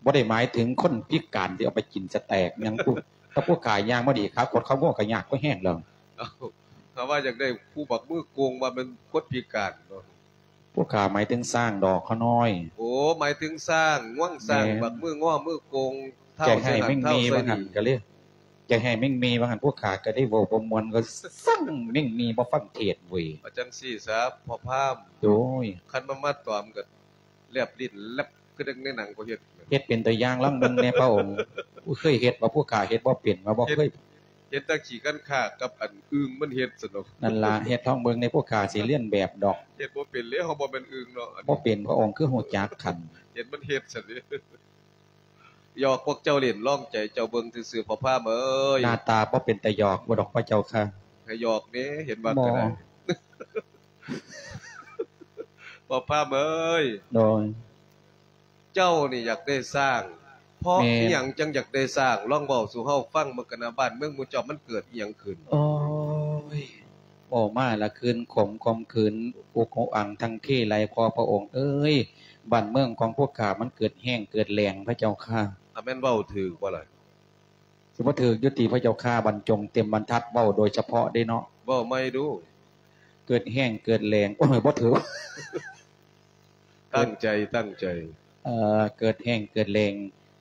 ບໍ່ໄດ້ໝາຍເຖິງຄົນພິການທີ່ເອົາໄປກິນສະແຕັກຫຍັງ ຜູ້ ຖ້າຜູ້ຂາຍ່າງບໍ່ດີ ຂາຄົດຂາງົວກະຍາກພໍແຮງແລ້ວ. ເອົາ ຖ້າວ່າຢາກໄດ້ຜູ້ບັກມືໂກງ ວ່າແມ່ນຄົນພິການເນາະ. ຜູ້ຂາໝາຍເຖິງຊ້າງດອກຂະນ້ອຍ. ໂອ້ ໝາຍເຖິງຊ້າງ ງວງຊ້າງ ແມ່ນ ບັກມືງໍມືໂກງ ທ້າວ ໃຈຮ້າຍ ເຊິ່ງຫັ້ນ ແມ່ງມີ ທ້າວ ວ່າຫັ້ນ ໄຊດີ ກະເລີຍ ໃຈຮ້າຍແມ່ງມີວ່າຫັ້ນ ຜູ້ຂາກະໄດ້ເວົ້າບໍ່ມ່ວນ ກະສັ່ງແມ່ງມີບໍ່ຟັງເທດເວີຍ. ເອົາຈັ່ງຊີ້ສາ ພໍ່ພາມ. ໂດຍ. ຄັນມັນມາຕອມກະແລບລີ້ນແລັບ ຄືດັ່ງໃນໜັງເຂົາເຮັດ. ເຮັດເປັນຕົວຢ່າງລອງເບິ່ງແດ່ພະອົງ. ຜູ້ເຄີຍເຮັດບໍ່? ຜູ້ຂ້າເຮັດບໍ່ເປັນ ວ່າບໍ່ເຄີຍ. ເຮັດແຕ່ຂີ້ຄັນຄາກກັບອັນອຶ່ງມັນເຮັດຊັ້ນດອກ. ນັ້ນລະ ເຮັດລອງເບິ່ງແດ່ ຜູ້ຂ້າຊິລຽນແບບດອກ. ເຮັດບໍ່ເປັນແລ້ວ ເຮົາບໍ່ແມ່ນອຶ່ງເນາະ. ບໍ່ເປັນ ພະອົງຄືຮູ້ຈັກຄັນ. ເຮັດມັນເຮັດຊັ້ນເດ. ຫຍອກພວກເຈົ້າຫຼິ້ນ ລອງໃຈເຈົ້າເບິ່ງຊື່ໆ ພໍ່ພາມເອີຍ. ໜ້າຕາບໍ່ເປັນຕາຫຍອກບໍ່ດອກພະເຈົ້າຂ້າ. ໃຫ້ຫຍອກແດ່ ເຫັນວ່າກະໄດ້. ບໍ່. ພໍ່ພາມເອີຍ. ໂດຍ. ເຈົ້ານີ້ຢາກໄດ້ຊ້າງ ເພາະ ແມ່ນ ອີ່ຫຍັງຈັ່ງຢາກໄດ້ຊ້າງ? ລອງເວົ້າສູ່ເຮົາຟັງເບິ່ງກັນນະ ບ້ານເມືອງໝູ່ເຈົ້າມັນເກີດອີ່ຫຍັງຂຶ້ນ? ໂອ້ຍ ເວົ້າມາລະຄືນຂົມ ຂົມຂືນ ອຸກຫູອັງທັງເທໄຫຼ ພໍ່ພະອົງເອີຍ. ບ້ານເມືອງຂອງພວກຂ້າມັນເກີດແຫ້ງເກີດແລ້ງພະເຈົ້າຂ້າ. ອາ ແມ່ນເວົ້າຖືກບໍ່ລະ? ຊິບໍ່ຖືກຢູ່ຕິພະເຈົ້າຂ້າ? ບັນຈົງເຕັມບັນທັດເວົ້າໂດຍສະເພາະເດ້ເນາະ. ເວົ້າໃໝ່ດູ. ເກີດແຫ້ງເກີດແລ້ງ ໂອ້ຍ ບໍ່ຖືກ. ຕັ້ງໃຈ ຕັ້ງໃຈ. ເອີ ເກີດແຫ້ງເກີດແລ້ງ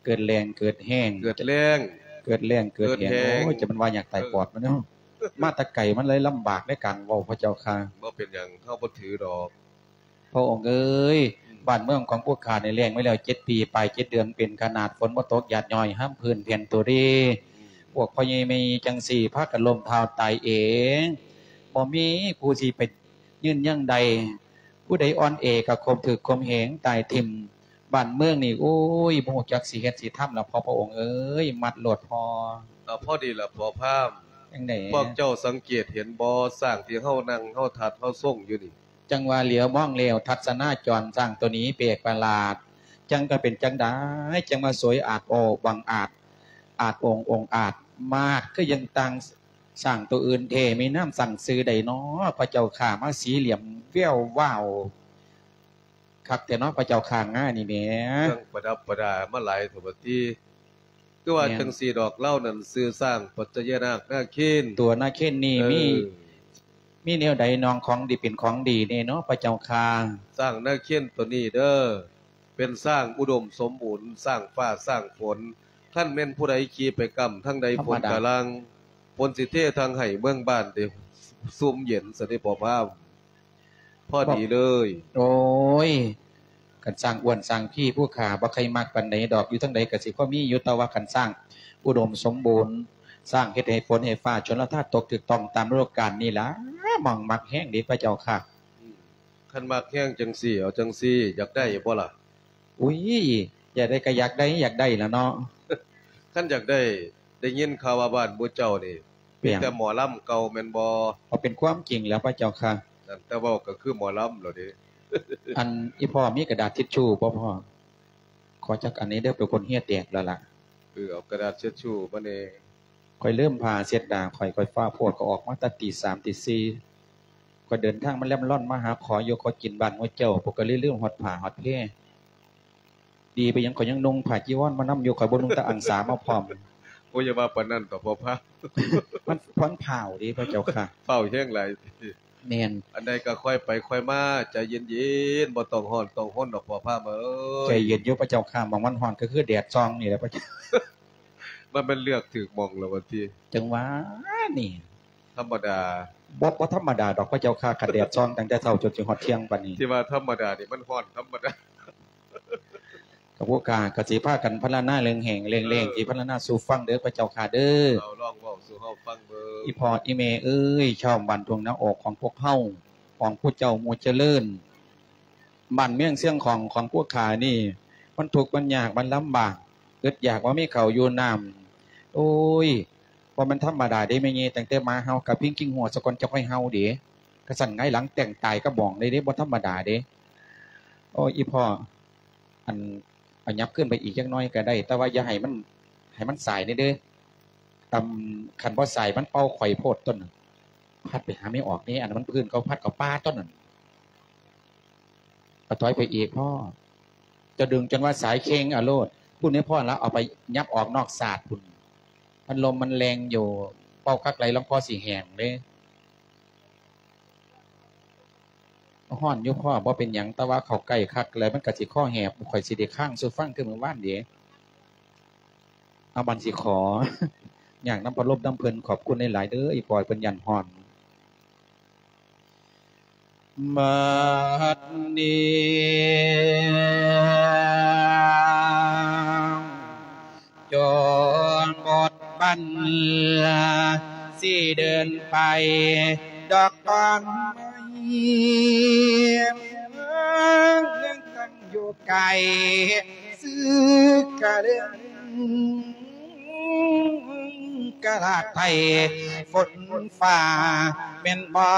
ເກີດແລ້ງເກີດແຫ້ງ ເກີດແລ້ງ ເກີດແລ້ງເກີດແຫ້ງ. ເກີດແຫ້ງ. ໂອ້ຍ ຈະແມ່ນວ່າຢາກຕາຍປອດມັນເນາະ. ເອີ ມາແຕ່ໄກມັນເລີຍລຳບາກໃນການເວົ້າພະເຈົ້າຂ້າ. ບໍ່ເປັນຫຍັງ ເຮົາບໍ່ຖືດອກ. ພະອົງເອີຍ ອືມ ບ້ານເມືອງຂອງພວກຂ້ານີ້ແລ້ງມາແລ້ວເຈັດປີປາຍເຈັດເດືອນເປັນຂະໜາດ ຝົນບໍ່ຕົກ ຢາດຍ້ອຍຫ້າມພື້ນແຜ່ນໂຕເດ. ອືມ ພວກພໍ່ໃຫຍ່ແມ່ໃຫຍ່ຈັ່ງຊີ້ ພາກັນລົ້ມເທົ້າຕາຍເອງ ບໍ່ມີຜູ້ຊິໄປຢືນຢັງໄດ້. ຜູ້ໃດອ່ອນແອກະຂົ່ມຖືກຂົ່ມເຫງຕາຍຖິ້ມ. ບ້ານເມືອງນີ້ ໂອ້ຍ ບໍ່ຮູ້ຈັກຊິເຮັດຊິທຳລະ ພໍ່ພະອົງເອີຍ. ມັດໂລດພໍ່. ເອົາ ພໍດີລະພໍ່ພາມ. ຈັ່ງໃດ? ພວກເຈົ້າສັງເກດເຫັນບໍ່ ຊ້າງທີ່ເຮົານັ່ງ ເຮົາທັດ ເຮົາຊົງຢູ່ນີ້? ຈັ່ງວ່າຫຼຽວມອງແລ້ວ ທັດສະນະຈອນ ຊ້າງໂຕນີ້ແປກປະຫຼາດ ຈັ່ງກະເປັນຈັ່ງໃດ ຈັ່ງມາສວຍອາດໂອບັງອາດ ອາດອົງອົງອາດມາດ ຄືຍັງຕ່າງ ຊ້າງໂຕອື່ນແທ້ ມີນາມຕັ້ງຊື່ໃດນໍ ພະເຈົ້າຂ້າ ມາສີຫຼ້ຽມແວວວາວຄັກແທ້ນໍ ພະເຈົ້າຂ້າ ງານີ້ແໝ. ເຄື່ອງປະດັບປະດາມາຫຼາຍເຖາະບັດນີ້ ຄືວ່າ ແມ່ນ ຈັ່ງຊີ້ດອກ ລາວນັ້ນຊື່ຊ້າງປັດຈະຍະນາກນາເຄນ. ຕົວນາເຄນນີ້ ເອີ ມີ ມີແນວໃດໜອງຂອງດີເປັນຂອງດີແດ່ນໍ ພະເຈົ້າຂ້າ? ຊ້າງນາເຄນໂຕນີ້ເດີ ເປັນຊ້າງອຸດົມສົມບູນ ຊ້າງຟ້າຊ້າງຝົນ ຄັນແມ່ນຜູ້ໃດຂີ່ໄປກ້ຳທາງໃດ ທຳມະດາ ຝົນກະຫຼັ່ງ ຝົນຊິເທທາງໃຫ້ເມືອງບ້ານໄດ້ຊຸ່ມເຢັນຊະເດພໍ່ພາມ ພໍດີເລີຍ. ໂອ້ຍ ຄັນຊ້າງອ້ວນຊ້າງພີຜູ້ຂ້າບໍ່ຄ່ອຍມັກປານໃດດອກ ຢູ່ທາງໃດກະຊິພໍມີຢູ່ ແຕ່ວ່າຄັນຊ້າງອຸດົມສົມບູນ ຊ້າງເຮັດໃຫ້ຝົນໃຫ້ຟ້າຊົນລະທານຕົກຖືກຕ້ອງຕາມລະດູການນີ້ລະ ໝ່ອງມັກແຮງເດພະເຈົ້າຂ້າ. ອືມ ຄັນມັກແຮງຈັ່ງຊີ້ ເອົາຈັ່ງຊີ້ ຢາກໄດ້ບໍ່ລະ? ອຸ້ຍ ຢາກໄດ້ກະຢາກໄດ້ ຢາກໄດ້ລະເນາະ. ຄັນຢາກໄດ້ ໄດ້ຍິນຂ່າວວ່າບ້ານໝູ່ເຈົ້ານີ້ ເປັນຫຍັງ? ມີແຕ່ໝໍລຳເກົ່າແມ່ນບໍ່? ເອົາເປັນຄວາມຈິງແລ້ວພະເຈົ້າຂ້າ. ນັ້ນ ແຕ່ເວົ້າກະຄືໝໍລຳແລ້ວເດ. ອັນ ອີ່ພໍ່ມີກະດາດທິດຊູບໍ່ພໍ່? ຂໍຈັກອັນແດ່ເດີ ເປັນຄົນເຫື່ອແຕກແລ້ວລະ. ເອີ ເອົາກະດາດເຊັດຊູມາແດ່. ຂ້ອຍລືມຜ້າເຊັດໜ້າຂ້ອຍ ຂ້ອຍຟ້າວໂພດ ຂ້ອຍອອກມາແຕ່ຕີສາມຕີສີ່ ຂ້ອຍເດີນທາງມາແລ່ນລ່ອນມາຫາຂໍຢູ່ຂໍກິນບ້ານໝູ່ເຈົ້າ ພວກກະເລີຍລືມຮອດຜ້າຮອດແພ. ດີໄປຫຍັງ ຂ້ອຍຍັງນຸ່ງຜ້າຈີວອນມານຳຢູ່ ຂ້ອຍບໍ່ນຸ່ງແຕ່ອັງສາມາພ້ອມ. ໂອ້ຍ ຢ່າວ່າປານນັ້ນເຖາະພໍ່ພາມ ມັນ ມັນພ້າວເດພະເຈົ້າຂ້າ ພ້າວແຮງຫຼາຍ. ແມ່ນ ອັນໃດກະຄ່ອຍໄປຄ່ອຍມາ ໃຈເຢັນໆ ບໍ່ຕ້ອງຮ້ອນຕ້ອງຮົນດອກພໍ່ພາມເອີຍ. ໃຈເຢັນຢູ່ພະເຈົ້າຂ້າ ໝ່ອງມັນຮ້ອນກະຄືແດດສ່ອງນີ້ແຫຼະພະເຈົ້າ. ມັນແມ່ນເລືອກຖືກໝ່ອງແລ້ວວ່າຕິ. ຈັ່ງຫວານີ້ ທຳມະດາ ບໍ່ ບໍ່ທຳມະດາດອກພະເຈົ້າຂ້າ ຄັນແດດສ່ອງຕັ້ງແຕ່ເຊົ້າຈົນຊິຮອດທ່ຽງປານນີ້ ທີ່ວ່າທຳມະດານີ້ມັນຮ້ອນທຳມະດາ. ກະພວກຂ້າກະຊິພາກັນພັນລະນາເລື່ອງແຫ້ງເລື່ອງແລ້ງ ເອີ ຊິພັນລະນາສູ່ຟັງເດີພະເຈົ້າຂ້າເດີ. ເອົາ ລອງເວົ້າສູ່ເຮົາຟັງເບິ່ງ. ອີ່ພໍ່ອີ່ແມ່ເອີຍ ຊາວບ້ານທົ່ງນາອອກຂອງພວກເຮົາ ຂອງຜູ້ເຈົ້າໝູ່ຈະເລີນ ບ້ານເມືອງເຊືອງຂອງ ຂອງພວກຂ້ານີ້ ມັນທຸກມັນຍາກມັນລຳບາກ ອຶດຢາກ ບໍ່ມີເຂົ້າຢູ່ນ້ຳ. ໂອ້ຍ ບໍ່ແມ່ນທຳມະດາເດ້ແມ່ໃຫຍ່ ຕັ້ງແຕ່ໝາເຫົ່າກະພິງກິ້ງຫົວສາກ່ອນ ຈັ່ງຄ່ອຍເຫົ່າເດ້. ກະຊັ້ນຫງາຍຫຼັງແຕ່ງຕາຍກະໝ່ອງເລີຍເດ້ ບໍ່ທຳມະດາເດ້. ໂອ້ຍ ອີ່ພໍ່ ອັນ ເອົາຫຍັບຂຶ້ນໄປອີກຈັກໜ້ອຍກະໄດ້ ແຕ່ວ່າຢ່າໃຫ້ມັນ ໃຫ້ມັນສາຍແດ່ເດີ. ອຳ ຄັນບໍ່ສາຍມັນເປົ່າຂ້ອຍໂພດຕົ້ນ ພັດໄປຫາແມ່ອອກເດ້ ອັນນັ້ນມັນພື້ນເຂົາພັດເຂົ້າປ່າຕົ້ນນັ້ນ. ກະຖອຍໄປອີກພໍ່ ເຈົ້າດຶງຈົນວ່າສາຍເຄັ່ງເອົາໂລດ ພຸ້ນແມ່ພໍ່ລະ ເອົາໄປຫຍັບອອກນອກສາດພຸ້ນ ພັດລົມມັນແລ່ນຢູ່ ເປົ່າຄັກຫຼາຍລອງຄໍຊິແຫ້ງເດ້. ຮ້ອນຢູ່ພໍ່ ບໍ່ເປັນຫຍັງ ແຕ່ວ່າເຂົ້າໃກ້ຄັກແລ້ວມັນກະຊິຄໍແຫບ ຂ້ອຍຊິໄດ້ຄ້າງສູ່ຟັງຄືມື້ວານເດ. ເອົາ ບັດຊິຂໍ ຍາກນຳພັດລົມນຳເພິ່ນ ຂອບຄຸນຫຼາຍໆເດີ ອີ່ພໍ່ ເພິ່ນຢ້ານຮ້ອນ. ບັດນີ້ ຈົນໝົດບັນ ຊິເດີນໄປດອກຕອນໄມ້ ເມືອງຕັ້ງຢູ່ໄກ ຊື່ກະເລື່ອງກະລາດໄທ ຝົນຟ້າແມ່ນບໍ່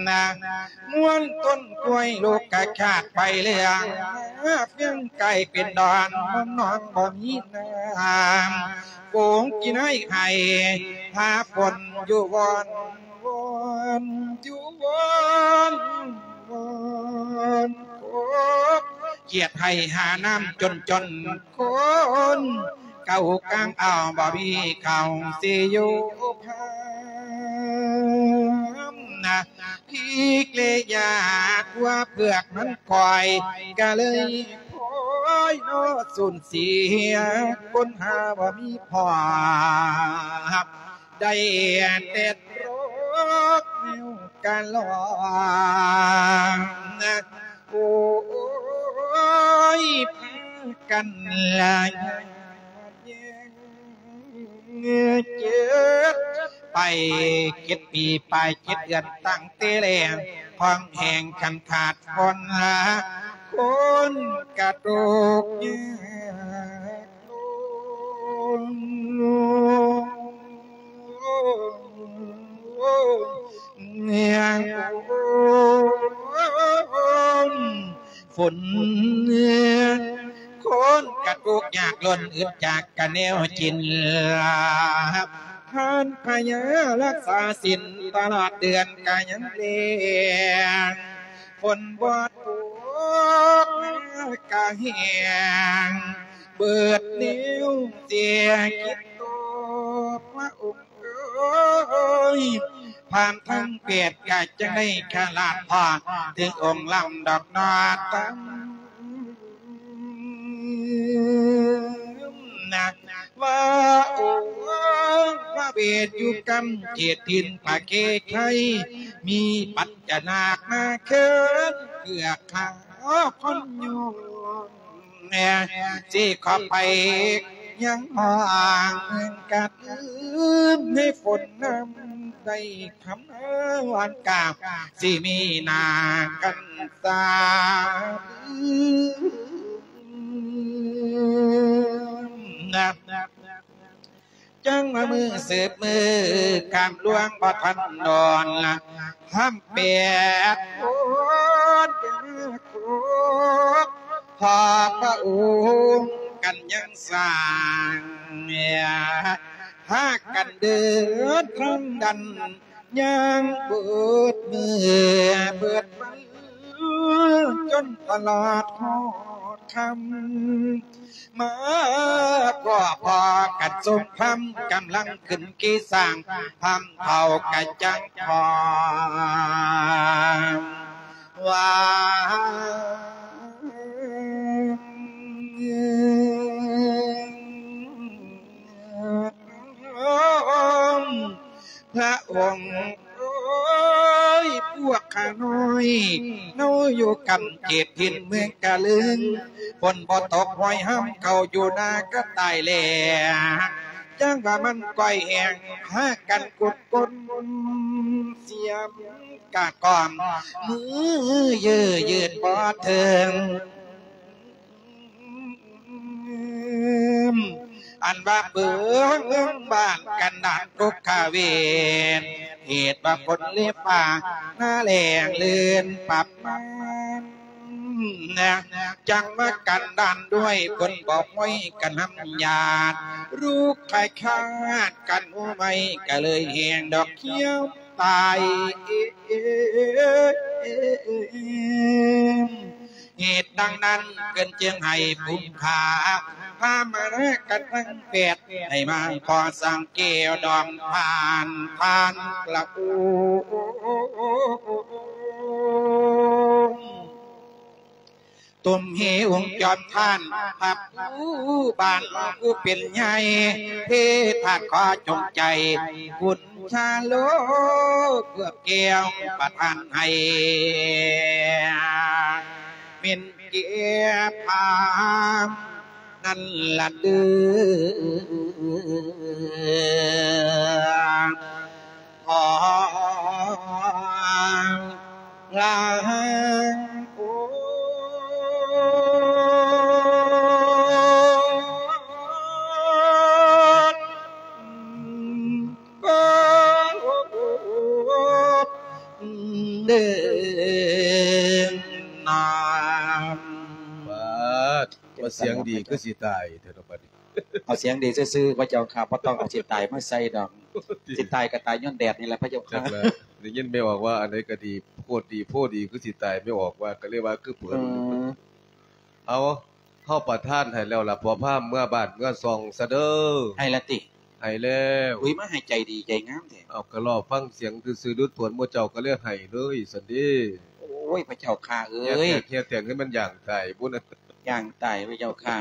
ນະ ມ່ວນຕົ້ນກ້ວຍລູກກະຂາດໄປເລື່ອງ ເຟືອງກາຍເປັນດອນ ເມືອງນອນບໍ່ມີນ້ຳ ໂກງກິນໃຫ້ໄຮ່ ຫາຝົນຢູ່ວອນ ວອນ ຢູ່ວອນ ວອນ ໂກກ ກຽດໄຮ່ຫານ້ຳຈົນໆ ຄົນເກົ່າກາງເອົາ ບໍ່ມີເຂົ້າຊິຢູ່ພາມນະ ພີກເລຍາກ ວ່າເຜືອກມັນຄອຍ ກະເລີຍພອຍເນາະ ສູນເສຍຄົນຫາບໍ່ມີພໍ່ ໄດ້ແຕ່ໂລກແນວກະລອງ ໂອ້ຍ ພາກັນລາຍແຍ່ງ ເຈັດ ໄປເຈັດປີ ໄປເຈັດເດືອນ ຕັ້ງແຕ່ແລງ ຂອງແຮງຄັນຂາດຄົນລະ ຄົນກະຕົກຍາກ ຝົນ ໂຄ ຄົນກະທຸກຍາກລົ້ນ ອຶດຢາກກະແນວກິນ ທານພະຍາຮັກສາສິນ ຕະຫຼອດເດືອນກະຍັງລ້ງ ຝົນບໍ່ຕົກ ນາກະແຫ້ງ ເບິດແນວເສຍກິດໂຕ ພະອົງເອີຍ ຜ່ານທາງແປດກະຈັ່ງໄດ້ຂະລາດພໍ ເຖິງອົງລຳດອກນອດຕຳ ນະ ວ່າ ໂອ້ ພະເວດຢູ່ກຳເຂດຖິ່ນພະເຄໄຄ ມີປັນຈະນາກມາເຄີນ ເພື່ອຂ້າຄົນຍອງ ຊິຂໍໄປຍັງຫ້ອງເມືອງກະຕື່ມ ໃນຝົນນຳໄດ້ຄຳວານກາ ຊິມີໜ້າກັນສາ ນະ ຈັ່ງວ່າມື້ສືບມື້ ຂ້າມລ່ວງບໍ່ທັນດອນ ທຳແປດໂພນ ເປັນໂຄກ ພໍພະອົງກັນຍັງສ້າງ ພາກັນເດີນທາງດັນ ຍ່າງເບິດມື້ເບິດວັນ ຈົນຕະຫຼອດຮອດຄ່ຳ ມາພໍ້ພໍ້ກັນຊົມຄຳ ກຳລັງຂຶ້ນຂີ່ຊ້າງ ພາມເຖົ້າກະຈັ່ງພ້ອມວ່າ ພະອົງ ໂອ້ຍ ພວກຂ້ານ້ອຍ ເຮົາຢູ່ກຳເຂດຖິ່ນເມືອງກະລຶງ ຝົນບໍ່ຕົກ ຫ້ອຍຮຳເຂົ້າຢູ່ນາກະຕາຍແລ້ງ ຈັ່ງວ່າມັນກ້ອຍແຫ້ງ ຫາກັນກຸດກົ້ນ ສຽມກະກອມ ມືເຢີຍຍືດບໍ່ເຖິງ. ອັນວ່າເບິ່ງເມືອງບ້ານກັນດານທຸກຂະເວນ ເຫດວ່າຝົນເລຟ້າໜ້າແລ້ງເລື່ອນປັບມານ ຈັ່ງມາກັນດານດ້ວຍ ເພິ່ນບໍ່ຫ້ອຍກັນນຳຍາດ ລູກຂາຍຂາດກັນຫົວໄມ້ ກະເລີຍແຫ້ງດອກຂຽວຕາຍ ເຫດດັ່ງນັ້ນເພິ່ນຈຶ່ງໃຫ້ບຸມພາ ພາມານາກັນທັງແປດ ໃຫ້ມາຂໍສ້າງແກ້ວດອງຜ່ານ ຜ່ານພະອົງ ຕຸ້ມເຮອົງຈອມທ່ານ ພະພູບ້ານຜູ້ເປັນໃຫຍ່ ເທພາດຂໍຈົ່ງໃຈ ບຸນຊາໂລ ເພື່ອແກ້ວປະທານໃຫ້ ເປັນແກ່ພາມນັ້ນລະເດີ ຂໍລາໂອ ເດີນາ ປາດ ວ່າສຽງດີຄືຊິຕາຍແທ້ເນາະບັດນີ້. ເອົາສຽງດີຊື່ໆ ພະເຈົ້າຂ້າ ບໍ່ຕ້ອງເອົາຊິຕາຍມາໃສ່ດອກ. ຊິຕາຍກໍຕາຍຍ້ອນແດດນີ້ແຫຼະ ພະເຈົ້າຂ້າ. ຈັກລະ ໄດ້ຍິນແມ່ອອກວ່າອັນໃດກໍດີ ໂພດດີໂພດີຄືຊິຕາຍ ແມ່ອອກວ່າ ກໍເລີຍວ່າຄືເພິ່ນ. ເອີ ເອົາ ເຮົາປະທານໃຫ້ແລ້ວລະ ພໍ່ພາມ ເມືອບ້ານເມືອຊ່ອງຊະເດີ. ໃຫ້ລະຕິ? ໃຫ້ແລ້ວ. ອຸ້ຍ ມາໃຫ້ໃຈດີໃຈງາມແທ້. ເອົາ ກໍລໍຟັງສຽງຊື່ໆ ດຸດໂພນ ໝູ່ເຈົ້າກໍເລີຍໃຫ້ເລີຍຊັ້ນເດ. ໂອ້ຍ ພະເຈົ້າຂ້າເອີຍ ເຮັດແທ້ງໃຫ້ມັນຢ່າງຕາຍພຸ້ນນະ. ຢ່າງຕາຍ ພະເຈົ້າຂ້າ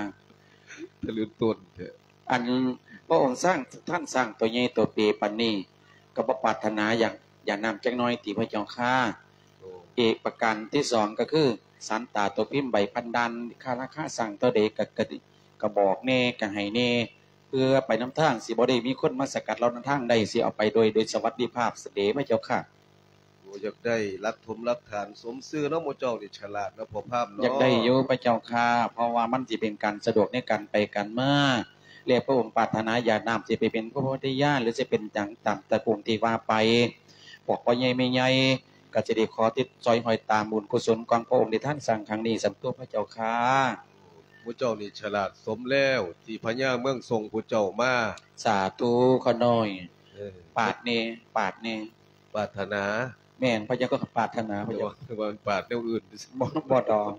ທະລຸຕົ້ນແທ້. ອັນພະອົງຊ້າງ ທ່ານຊ້າງໂຕໃຫຍ່ໂຕເປປານນີ້ ກໍບໍ່ປາດຖະໜາຢາກຢານ້ຳຈັກໜ້ອຍຕິ ພະເຈົ້າຂ້າ? ໂອ້ ອີກປະການທີສອງກໍຄື ສານຕາໂຕພິມໃບພັນດ່ານ ຄ່າລາຄາສ້າງເທົ່າໃດກໍ ກໍ ກໍບອກແດ່ ກໍໃຫ້ແດ່ ເພື່ອໄປນຳທາງ ຊິບໍ່ໄດ້ມີຄົນມາສະກັດເຮົານຳທາງໄດ້ ຊິເອົາໄປໂດຍ ໂດຍສະຫວັດດີພາບຊະເດ ພະເຈົ້າຂ້າ. ໂອ້ ຢາກໄດ້ຫຼັກຖົມຫຼັກຖານສົມຊື່ເນາະ ໝູ່ເຈົ້ານີ້ສະຫຼາດເນາະ ພໍ່ພາມເນາະ. ຢາກໄດ້ຢູ່ພະເຈົ້າຂ້າ ເພາະວ່າມັນຊິເປັນການສະດວກໃນການໄປການມາ ແລະ ພະອົງປາດຖະໜາຢາກນ້ຳຊິໄປເປັນຜູ້ໂພທິຍານ ຫຼື ຊິເປັນຫຍັງຕາມຕະກຸງທີ່ວ່າໄປ ພວກພໍ່ໃຫຍ່ແມ່ໃຫຍ່ກໍຊິໄດ້ຂໍຕິດສອຍຫ້ອຍຕາມບຸນກຸສົນຂອງພະອົງທີ່ທ່ານສ້າງຄັ້ງນີ້ ສັນໂຕ ພະເຈົ້າຂ້າ. ໝູ່ເຈົ້ານີ້ສະຫຼາດສົມແລ້ວ ທີ່ພະຍາເມືອງສົ່ງຜູ້ເຈົ້າມາ. ສາທຸຂ້ານ້ອຍ. ເອີ ປາດແດ່ ປາດແດ່. ປາດຖະໜາ. ແມ່ນ ພະຍາກໍປາດຖະໜາ ພະຍາ. ແຕ່ວ່າ ແຕ່ວ່າປາດແນວອື່ນ. ບໍ່ ບໍ່ດອກ.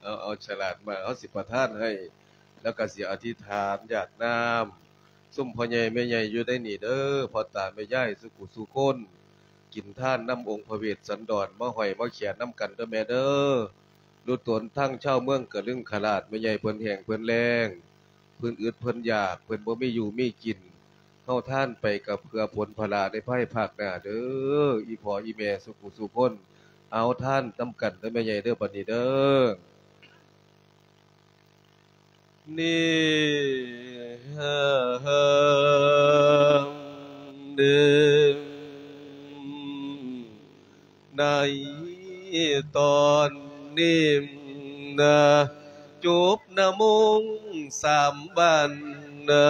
ເອົາ ເອົາສະຫຼາດມາ ເຮົາຊິປະທານໃຫ້ ແລ້ວກໍຊິອະທິຖານຢາດນ້ຳ ຊຸມພໍ່ໃຫຍ່ແມ່ໃຫຍ່ຢູ່ໃນນີ້ເດີ ພໍ່ຕາແມ່ຍາຍ ສູ່ຜູ້ສູ່ຄົນ ກິນທານນຳອົງພະເວດສັນດອນ ມາຫ້ອຍມາແຂນນຳກັນເດີແມ່ເດີ. ລຸດຕົນທາງຊາວເມືອງກະລຶງຄະລາດ ແມ່ໃຫຍ່ເພິ່ນແຫ້ງເພິ່ນແລ້ງ ເພິ່ນອຶດເພິ່ນຢາກ ເພິ່ນບໍ່ມີຢູ່ມີກິນ ເຮົາທານໄປກໍເພື່ອຜົນຜະລາໃນພາຍພາກໜ້າເດີ ອີ່ພໍ່ອີ່ແມ່ສູ່ຜູ້ສູ່ຄົນ. ເອົາທານນຳກັນເດີແມ່ໃຫຍ່ເດີ ບັດນີ້ເດີ. ນີ້ ໃນຕອນນີ້ນະ ຈົບນະມົງສາມບານນະ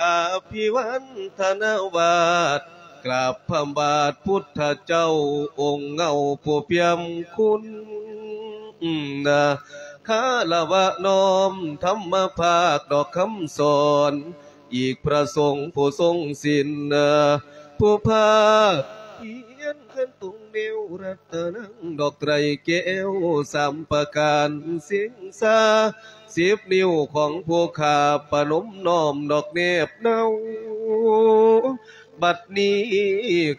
ອະພິວັນທະນາວາດ ກາບພະບາດພຸດທະເຈົ້າ ອົງເງົາຜູ້ປ່ຽມຄຸນນະ ຄາລະວະນ້ອມທຳມະພາກດອກຄຳສອນ ອີກພະສົງຜູ້ຊົງສິນນະ ຜູ້ພາກພຽນເຄື່ອນຕົງແນວ ລັດຕະນັງດອກໄຕແກ້ວສາມປະການ ເສັງສາສິບນິ້ວຂອງຜູ້ຂ້າ ປະນົມນ້ອມດອກແນບເນົາ. ບັດນີ້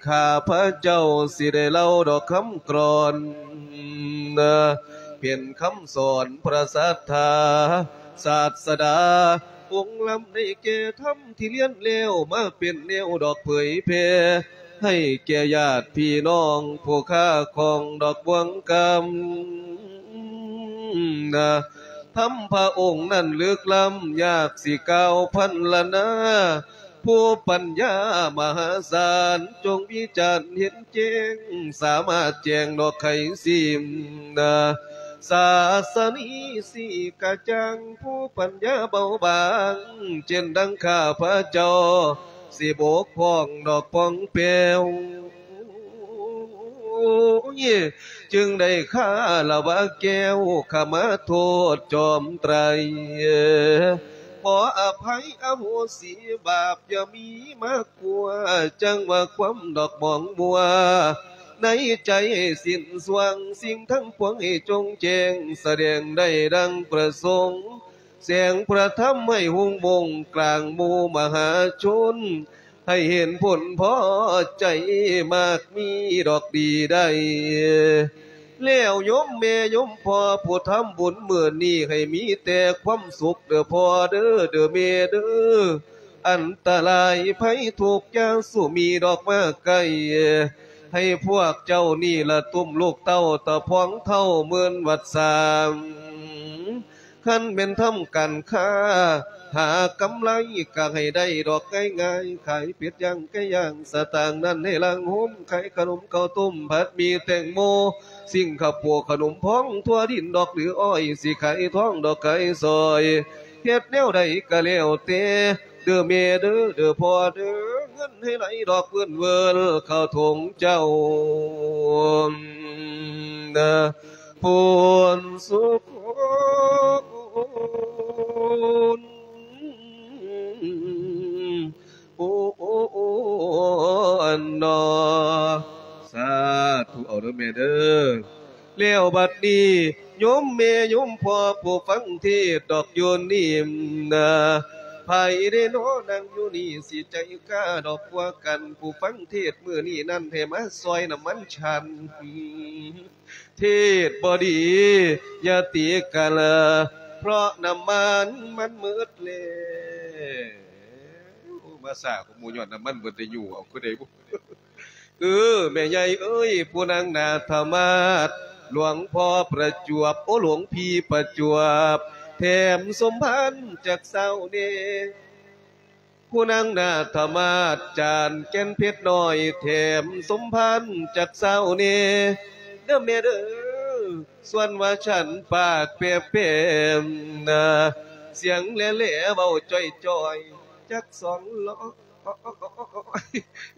ຂ້າພະເຈົ້າຊິໄດ້ເລົ່າດອກຄຳກລອນ ເປັນຄຳສອນພະສັດທາສາດສະດາອົງລຳ ໄດ້ແກ່ທຳທີ່ລຽນແລ້ວ ມາເປັນແນວດອກເຜີຍແຜ່ ໃຫ້ແກ່ຍາດພີ່ນ້ອງຜູ້ຄ້າຂອງດອກບ່ວງກຳນະ. ທຳພະອົງນັ້ນລຶກລ້ຳ ຍາກຊິກ່າວພັນລະນາ ຜູ້ປັນຍາມະຫາສານ ຈົ່ງວິຈານເຫັນແຈ້ງ ສາມາດແຈ້ງດອກໄຂສິ້ມນະ ສາສະນີສີກະຈ່າງ ຜູ້ປັນຍາເບົາບາງ ເຊັ່ນດັ່ງຂ້າພະເຈົ້າ ຊິບົກຜ່ອງດອກປ່ອງແປວ ຈຶ່ງໄດ້ຄາລະວະແກ້ວ ຂະມາໂທດຈອມໄຕ ຂໍອະໄພອະໂຫສິບາບ ຢ່າມີມາກົວ ຈັ່ງວ່າຄວາມດອກໝອງມົວ ໃນໃຈສິ້ນຊ່ວງ ສິ່ງທັງປວງໃຫ້ຈົ່ງແຈ້ງ ສະແດງໄດ້ດັ່ງປະສົງ ແສງພະທຳໃຫ້ຮຸ່ງບົ່ງ ກາງໝູ່ມະຫາຊົນ ໃຫ້ເຫັນຜົນພໍໃຈ ມາກມີດອກດີໄດ້ ແລ້ວໂຍມແມ່ໂຍມພໍ່ ຜູ້ທຳບຸນມື້ນີ້ ໃຫ້ມີແຕ່ຄວາມສຸກເດີພໍ່ເດີ ເດີແມ່ເດີ ອັນຕະລາຍໄພທຸກຢ່າສູ່ມີດອກມາໃກ້ ໃຫ້ພວກເຈົ້ານີ້ລະຕຸ້ມລູກເຕົ້າ ຕະພອງເທົ້າໝື່ນວັດສາ ຄັນແມ່ນທຳການຄ້າ ຫາກຳໄລກໍໃຫ້ໄດ້ດອກງ່າຍໆ ຂາຍເປັດຍ່າງໄກ່ຍ່າງ ສະຕາງນັ້ນໃຫ້ລ້າງໂຮມ ຂາຍຂະໜົມເຂົ້າຕົ້ມ ຜັດໝີ່ແຕງໂມ ສິງຄະໂປ ຂະໜົມພອງທົ່ວດິນດອກ ຫຼືອ້ອຍ ຊິຂາຍທອງດອກຂາຍສ້ອຍ ເຮັດແນວໃດກໍແລ້ວແຕ່ ເດີແມ່ເດີ ເດີພໍ່ເດີ ເງິນໃຫ້ໄຫຼດອກເວີນເວີນ ເຂົ້າຖົງເຈົ້ານະ ພົນສຸຄົນ ໂອ້ ໂອ້ ໂອ້ ອັນນໍ ສາທຸ ເອົາເດີແມ່ເດີ. ແລ້ວບັດນີ້ ໂຍມແມ່ໂຍມພໍ່ຜູ້ຟັງເທດດອກຢູ່ນີ້ນະ ໃຜເດນໍ ນັ່ງຢູ່ນີ້ ຊິໃຈກ້າດອກກວ່າກັນ ຜູ້ຟັງເທດມື້ນີ້ນັ້ນ ໃຫ້ມາຊ່ອຍນ້ຳມັນສັນ ເທດບໍ່ດີ ຢ່າຕີກັນ ເພາະນ້ຳມັນມັນໝົດແລ້ວ. ມາຊ້າກວ່າໝູ່ ຍ້ອນນ້ຳມັນເບິດ ໄດ້ຍູ້ເອົາຄືໃດບຸ. ເອີ ແມ່ໃຫຍ່ເອີຍ ຜູ້ນາງນາທະມາດ ຫຼວງພໍ່ປະຈວບ ໂອ ຫຼວງພີ່ປະຈວບ ແຖມສົມພານຈັກຊາວແດ່. ຜູ້ນາງນາທະມາດ ຈານແກ່ນເພັດນ້ອຍ ແຖມສົມພານຈັກຊາວແດ່ ເດີແມ່ເດີ. ສ່ວນວ່າສັນປາກແປບແປມນະ ສຽງແຫຼໆ ເວົ້າຈ່ອຍໆ ຈັກສອງລໍ້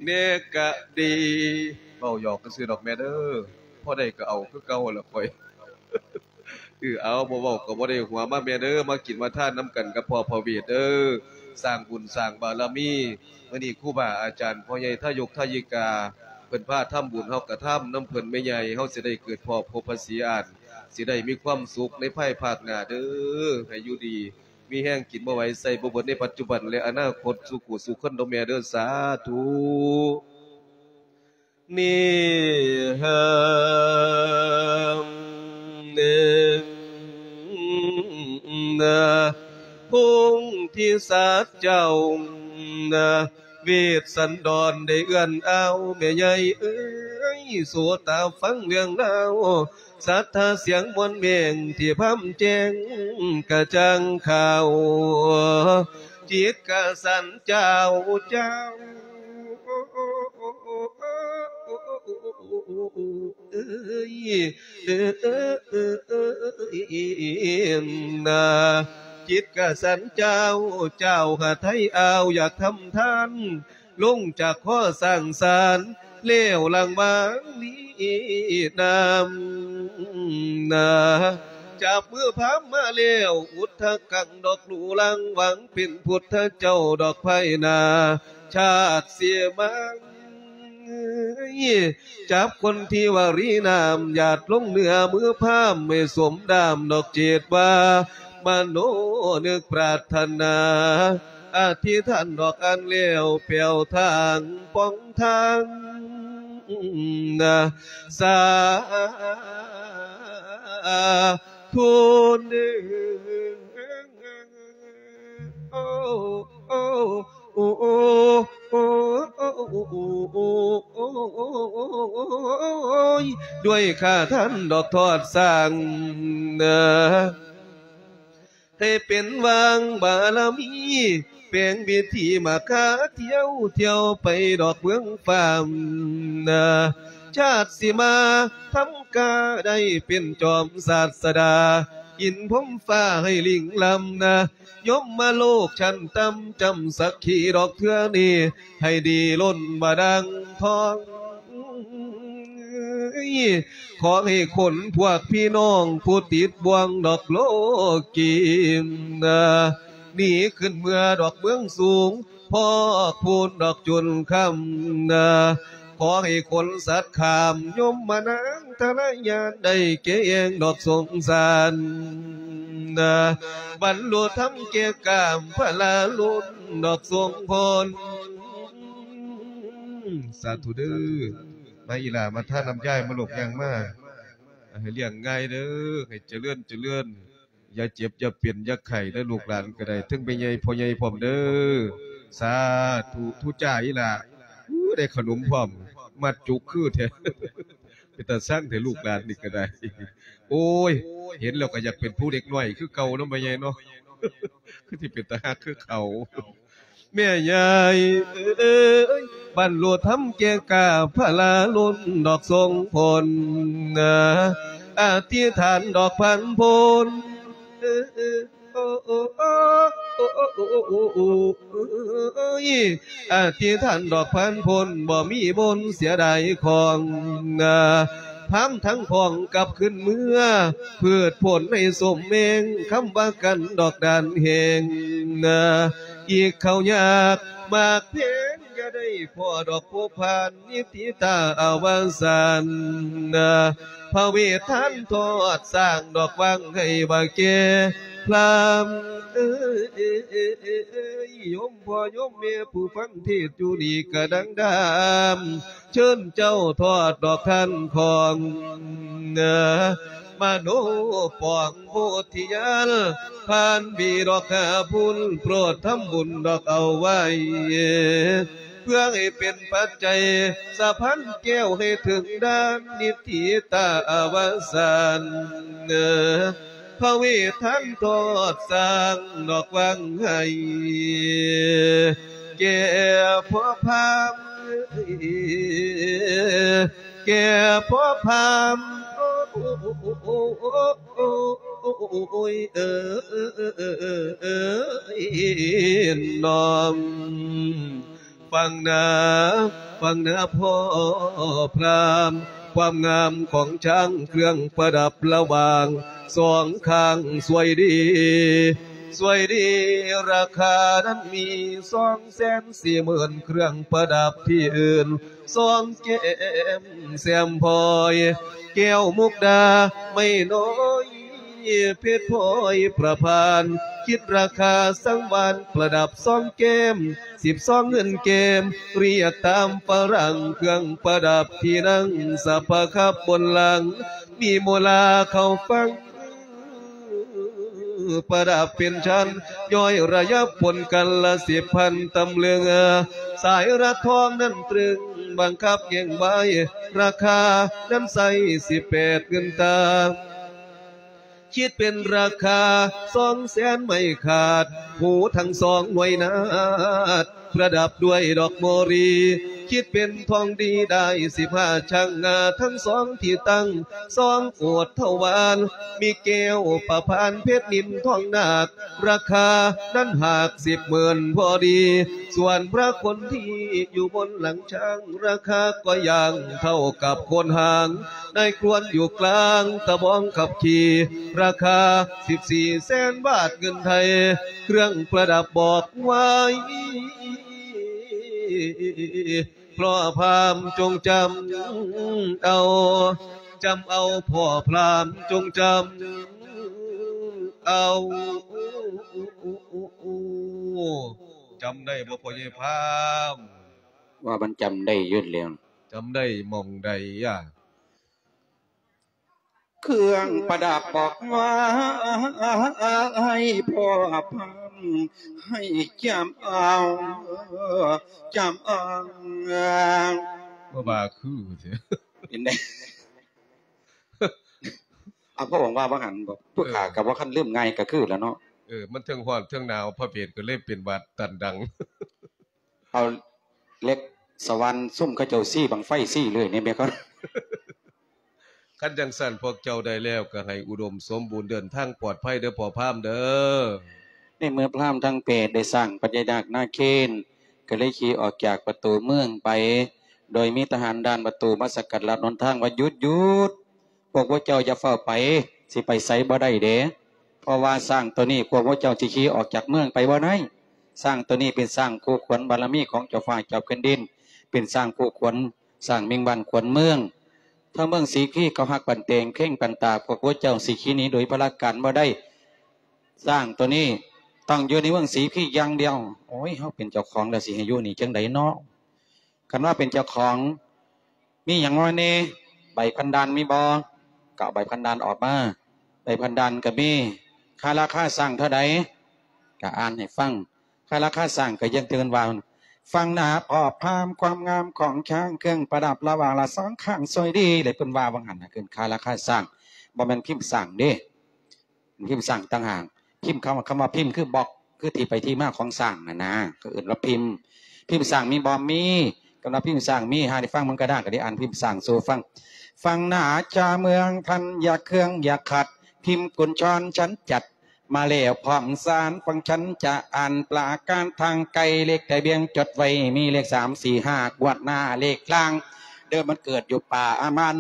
ແດ່ກະດີ ເວົ້າຫຍອກຊື່ດອກແມ່ເດີ ພໍໄດ້ກໍເອົາຄືເກົ່າລະຂ້ອຍ. ເອີ ເອົາ ບໍ່ເວົ້າກໍບໍ່ໄດ້ຫົວ ມາແມ່ເດີ ມາກິນມາທານນຳກັນກັບພໍ່ພະເວດເດີ ສ້າງບຸນສ້າງບາລະມີ. ມື້ນີ້ຄູບາອາຈານ ພໍ່ໃຫຍ່ທາຍົກທາຍິກາ ເພິ່ນພາທຳບຸນ ເຮົາກໍທຳນຳເພິ່ນ ແມ່ໃຫຍ່ ເຮົາຊິໄດ້ເກີດພໍ້ພົບພະສີອາດ ຊິໄດ້ມີຄວາມສຸກໃນພາຍພາກໜ້າເດີ ໃຫ້ຢູ່ດີມີແຮງ ກິນບໍ່ໄຫວໃຊ້ບໍ່ເບິດໃນປັດຈຸບັນ ແລະ ອະນາຄົດ ສູ່ຄູ່ສູ່ຄົນເດີແມ່ເດີ ສາທຸ. ນິຫັ້ນນະ ພົງທິສັດເຈົ້ານະ ເວດສັນດອນໄດ້ເອື້ອນອ້າວ ແມ່ໃຫຍ່ເອີຍ ໂສດຕາຟັງເລື່ອງລາວ ສັດທາສຽງມ່ວນແມງ ທີ່ພຳແຈ້ງກະຈ່າງຂາວ ຈິດກະສັນເຈົ້າ ເຈົ້າ ເອີຍ ເອີຍນາ ຈິດກະສັນເຈົ້າ ເຈົ້າຫາໄທອາວ ຢາກທຳທານ ລົງຈາກຫໍສ້າງສານ ແລ້ວຫຼັງມານີ້ນຳນາ ຈັບມືພາມມາແລ້ວ ອຸດທະກັງດອກລູລັງ ຫວັງເປັນພຸດທະເຈົ້າດອກພາຍໜ້າ ຊາດເສມາ ຈັບຄົນທີ່ວາຣີນາມ ຢາດລົງເນື້ອມືພາມ ໃຫ້ສົມດາມດອກເຈດວ່າ ມະໂນນຶກປາດຖະໜາ ອະທິຖານດອກອັນແລ້ວ ແປວທາງປ່ອງທາງນາ ສາທຸເດີ. ໂອ້ ໂອ້ ໂອ້ ໂອ້ ໂອ້ ໂອ້ ໂອ້ຍ ດ້ວຍຂ້າທ່ານດອກທອດສ້າງ ໃຫ້ເປັນຫວ່າງບາລະມີ ແປງວິຖີມາຄາ ທ່ຽວ ທ່ຽວໄປດອກເມືອງຟ້າ ຊາດຊິມາທຳກາ ໄດ້ເປັນຈອມສາດສະດາ ອິນພົມຟ້າໃຫ້ລິງລຳນາ ຍົມມະໂລກຊັ້ນຕ່ຳ ຈຳສັກຂີດອກເທື່ອນີ້ ໃຫ້ດີລົ້ນບາດາງທອງ. ຂໍໃຫ້ຄົນພວກພີ່ນ້ອງ ຜູ້ຕິດບ່ວງດອກໂລກີນາ ໜີຂຶ້ນເມືອດອກເມືອງສູງ ພອກພູນດອກຈົນຄ່ຳນາ ຂໍໃຫ້ຄົນສັດຂ້າມ ຍົມມະນາງທະລະຍານ ໄດ້ແກ່ແອງດອກສົງສານນາ ບັນລຸທຳແກ່ກ້າມພະລາລຸນດອກຊົງພົນ. ສາທຸເດີ. ມາອີ່ຫຼ້າ ມາທານນຳຍາຍ ມາລູກ ຍ່າງມາ ໃຫ້ລ້ຽງງ່າຍເດີ ໃຫ້ຈະເລີນ ຈະເລີນ ຢ່າເຈັບ ຢ່າເປັນ ຢ່າໄຂ້ເດີ ລູກຫຼານກໍໄດ້ ເຖິງແມ່ໃຫຍ່ພໍ່ໃຫຍ່ພ້ອມເດີ. ສາທຸ ທຸຈ້າອີ່ຫຼ້າ. ໂອ້ ໄດ້ຂະໜົມພ້ອມ ມັດຈຸກຄືແທ້ ເປັນຕາຊັງແທ້ ລູກຫຼານນີ້ກໍໄດ້. ໂອ້ຍ ເຫັນແລ້ວກໍຢາກເປັນຜູ້ເດັກນ້ອຍຄືເກົ່າເນາະ ແມ່ໃຫຍ່ເນາະ ຄືຊິເປັນຕາຮັກຄືເຂົາ. ແມ່ໃຫຍ່ເອີຍ ບັນລຸທຳແກ່ກ້າ ພະລາລຸນດອກຊົງພົນນາ ອະທິຖານດອກພັນພົນ ເອີຍ ອະທິຖານດອກພັນພົນ ບໍ່ມີມົນເສຍດາຍຂອງນາ ພາມທັງຂອງກັບຄືນເມືອ ພືດຜົນໃຫ້ສົມແມງ ຄຳວ່າກັນດອກດານແຮງນາ ອີກເຂົ້າຍາກ ໝາກແພງຢ່າໄດ້ພໍ້ດອກພົບຜ່ານ ນິຕິຕາອະວະສານນາ ພະເວດທ່ານທອດສ້າງດອກວັງໃຫ້ບາແກ່ພຣາມເອີຍ ໂຍມພໍ່ໂຍມແມ່ຜູ້ຟັງເທດຢູ່ນີ້ກະດັງດາມ ເຊີນເຈົ້າທອດດອກທ່ານຂອງນາ ມະໂນປອງໂພທິຍານ ຜ່ານບີດອກຫ້າພຸນ ໂປດທຳບຸນດອກເອົາໄວ້ ເພື່ອໃຫ້ເປັນປັດໄຈສະພານແກ້ວ ໃຫ້ເຖິງດ່ານນິດຖິຕາອະວະສານ ພະເວດທັນທອດສ້າງດອກວັງໃຫ້ ແກ່ພໍ່ພາມ ແກ່ພໍ່ພາມ ໂອ້ຍ ເອີຍ ນ້ອມ ຟັງນາ ຟັງນາພໍ່ພຣາມ ຄວາມງາມຂອງຊ້າງ ເຄື່ອງປະດັບລະຫວ່າງສອງຂ້າງສວຍດີ ສວຍດີ ລາຄານັ້ນມີສອງແສນສີ່ໝື່ນ ເຄື່ອງປະດັບທີ່ອື່ນສອງແກ້ມແຊມພອຍ ແກ້ວມຸກດາໄມ້ນ້ອຍ ເພັດພອຍປະພານ ຄິດລາຄາສັງວານ ປະດັບສອງແກ້ມ ສິບສອງເງິນແກ້ມ ລຽກຕາມຝຣັ່ງ ເຄື່ອງປະດັບທີ່ນັ່ງ ສະພະຂັບບົນຫຼັງ ມີໂມລາເຂົ້າຝັ່ງ ປະດັບເປັນຊັ້ນ ຍ້ອຍລະຍັບປົນກັນລະສິບພັນຕຳເລຶງ ສາຍລັດທອງນັ້ນຕຶງ ບັງຄັບແຫ່ງໄວ້ ລາຄານັ້ນໃຊ້ສິບແປດເງິນຕາ ຄິດເປັນລາຄາສອງແສນໄມ້ຂາດ ຫູທັງສອງໜ່ວຍນາດ ປະດັບດ້ວຍດອກໂມລີ ຄິດເປັນທອງດີໄດ້ສິບຫ້າຊ່າງງາ ທັງສອງທີ່ຕັ້ງສອງໂອດຖະວານ ມີແກ້ວປະພານເພັດນິນທອງນາກ ລາຄານັ້ນຫາກສິບໝື່ນພໍດີ ສ່ວນພະຄົນທີ່ຢູ່ບົນຫຼັງ ຊ່າງ ລາຄາກໍຢ່າງເທົ່າກັບໂຄນຫາງ ນາຍຄວນຢູ່ກລາງຕະບອງຂັບຂີ່ ລາຄາສິບສີ່ແສນບາດເງິນໄທ ເຄື່ອງປະດັບບອກໄວ້ ພໍ່ພາມຈົ່ງຈຳເອົາ ຈຳເອົາ ພໍ່ພາມຈົ່ງຈຳເອົາ ຈຳໄດ້ບໍ່ພໍ່ໃຫຍ່ພາມ? ວ່າມັນຈຳໄດ້ຢູ່ແລ້ວ ຈຳໄດ້ໝ່ອງໃດອະ? ເຄື່ອງປະດັບບອກໄວ້ ພໍ່ພາມໃຫ້ຈຳເອົາ ຈຳເອົາ ບໍ່ວ່າຄື ເປັນໄດ? ອາ ພະອົງວ່າວ່າຫັ້ນບໍ? ຜູ້ຂ້າກໍບໍ່ຄັນລືມງ່າຍ ກໍຄືລະເນາະ. ເອີ ມັນເທິງຮ້ອນເທິງໜາວ ພະເວດກໍເລີຍເປັນຫວັດຕັນດັງ. ເອົາເຫຼັກສະຫວ່ານ ຊຸມເຂົາເຈົ້າຊີ້ບັ້ງໄຟຊີ້ເລື້ອຍນີ້ແມ່ນບໍ່? ຄັນຈັ່ງຊັ້ນພວກເຈົ້າໄດ້ແລ້ວ ກໍໃຫ້ອຸດົມສົມບູນ ເດີນທາງປອດໄພເດີພໍ່ພາມເດີ. ໃນເມື່ອພາມທັງແປດໄດ້ສ້າງພະຍານາກນາເຄນ ກໍເລີຍຂີ່ອອກຈາກປະຕູເມືອງໄປ ໂດຍມີທະຫານດ່ານປະຕູມາສະກັດລັດຫົນທາງວ່າ ຢຸດ ຢຸດ! ພວກພວກເຈົ້າຢ່າຟ້າວໄປ ຊິໄປໃສບໍ່ໄດ້ເດ້ ເພາະວ່າຊ້າງໂຕນີ້ພວກພວກເຈົ້າຊິຂີ່ອອກຈາກເມືອງໄປບໍ່ໄດ້. ຊ້າງໂຕນີ້ເປັນຊ້າງຄູ່ຂວັນບາລະມີຂອງເຈົ້າຟ້າເຈົ້າແຜ່ນດິນ ເປັນຊ້າງຄູ່ຂວັນ ຊ້າງເມັງບ້ານຂວັນເມືອງ. ທາງເມືອງສີຄີເຂົາຮັກປານແຕງເຄັ່ງປານຕາ ພວກພວກເຈົ້າຊິຂີ່ໜີໂດຍພະລາການບໍ່ໄດ້. ຊ້າງໂຕນີ້ຕ້ອງຢູ່ໃນເມືອງສີຄີຢ່າງດຽວ. ໂອ້ຍ ເຮົາເປັນເຈົ້າຂອງແລ້ວ ຊິໃຫ້ຢູ່ນີ້ຈັ່ງໃດເນາະ? ຄັນວ່າເປັນເຈົ້າຂອງ ມີຫຍັງມາແດ່? ໃບພັນດານມີບໍ່? ກໍເອົາໃບພັນດານອອກມາ. ໃບພັນດານກໍມີ. ຄ່າລາຄາຊ້າງເທົ່າໃດ? ກໍອ່ານໃຫ້ຟັງ. ຄ່າລາຄາຊ້າງກໍຢ່າງທີ່ເພິ່ນວ່າ ຟັງໜ້າພໍ່ພາມ ຄວາມງາມຂອງຊ້າງ ເຄື່ອງປະດັບລະຫວ່າງລະສອງຂ້າງສວຍດີ ແລະເພິ່ນວ່າວ່າຫັ້ນນະ ຄືຄ່າລາຄາຊ້າງ ບໍ່ແມ່ນພິມຊ້າງເດ້. ພິມຊ້າງຕ່າງຫາກ. ພິມ ຄຳ ຄຳວ່າພິມຄືບລັອກ ຄືທີ່ໄປທີ່ມາຂອງຊ້າງນັ້ນນະ ເຂົາເອີ້ນວ່າພິມ. ພິມຊ້າງມີບໍ່? ມີ. ຄຳວ່າພິມຊ້າງມີ ຫາໄດ້ຟັງມັນກໍໄດ້ ກໍໄດ້ອ່ານພິມຊ້າງສູ່ຟັງ. ຟັງໜ້າຈາເມືອງທ່ານ ຢ່າເຄືອງຢ່າຂັດ ພິມກຸນຊອນ ສັນຈັດ ມາແລ້ວພ້ອມສານ ຟັງສັນຈະອ່ານ ປະການທາງໄກ ເລກທະບຽນຈົດໄວ້ ມີເລກສາມ ສີ່ ຫ້າ ກວດໜ້າເລກລ່າງ ເດີມມັນເກີດຢູ່ປ່າອາມານ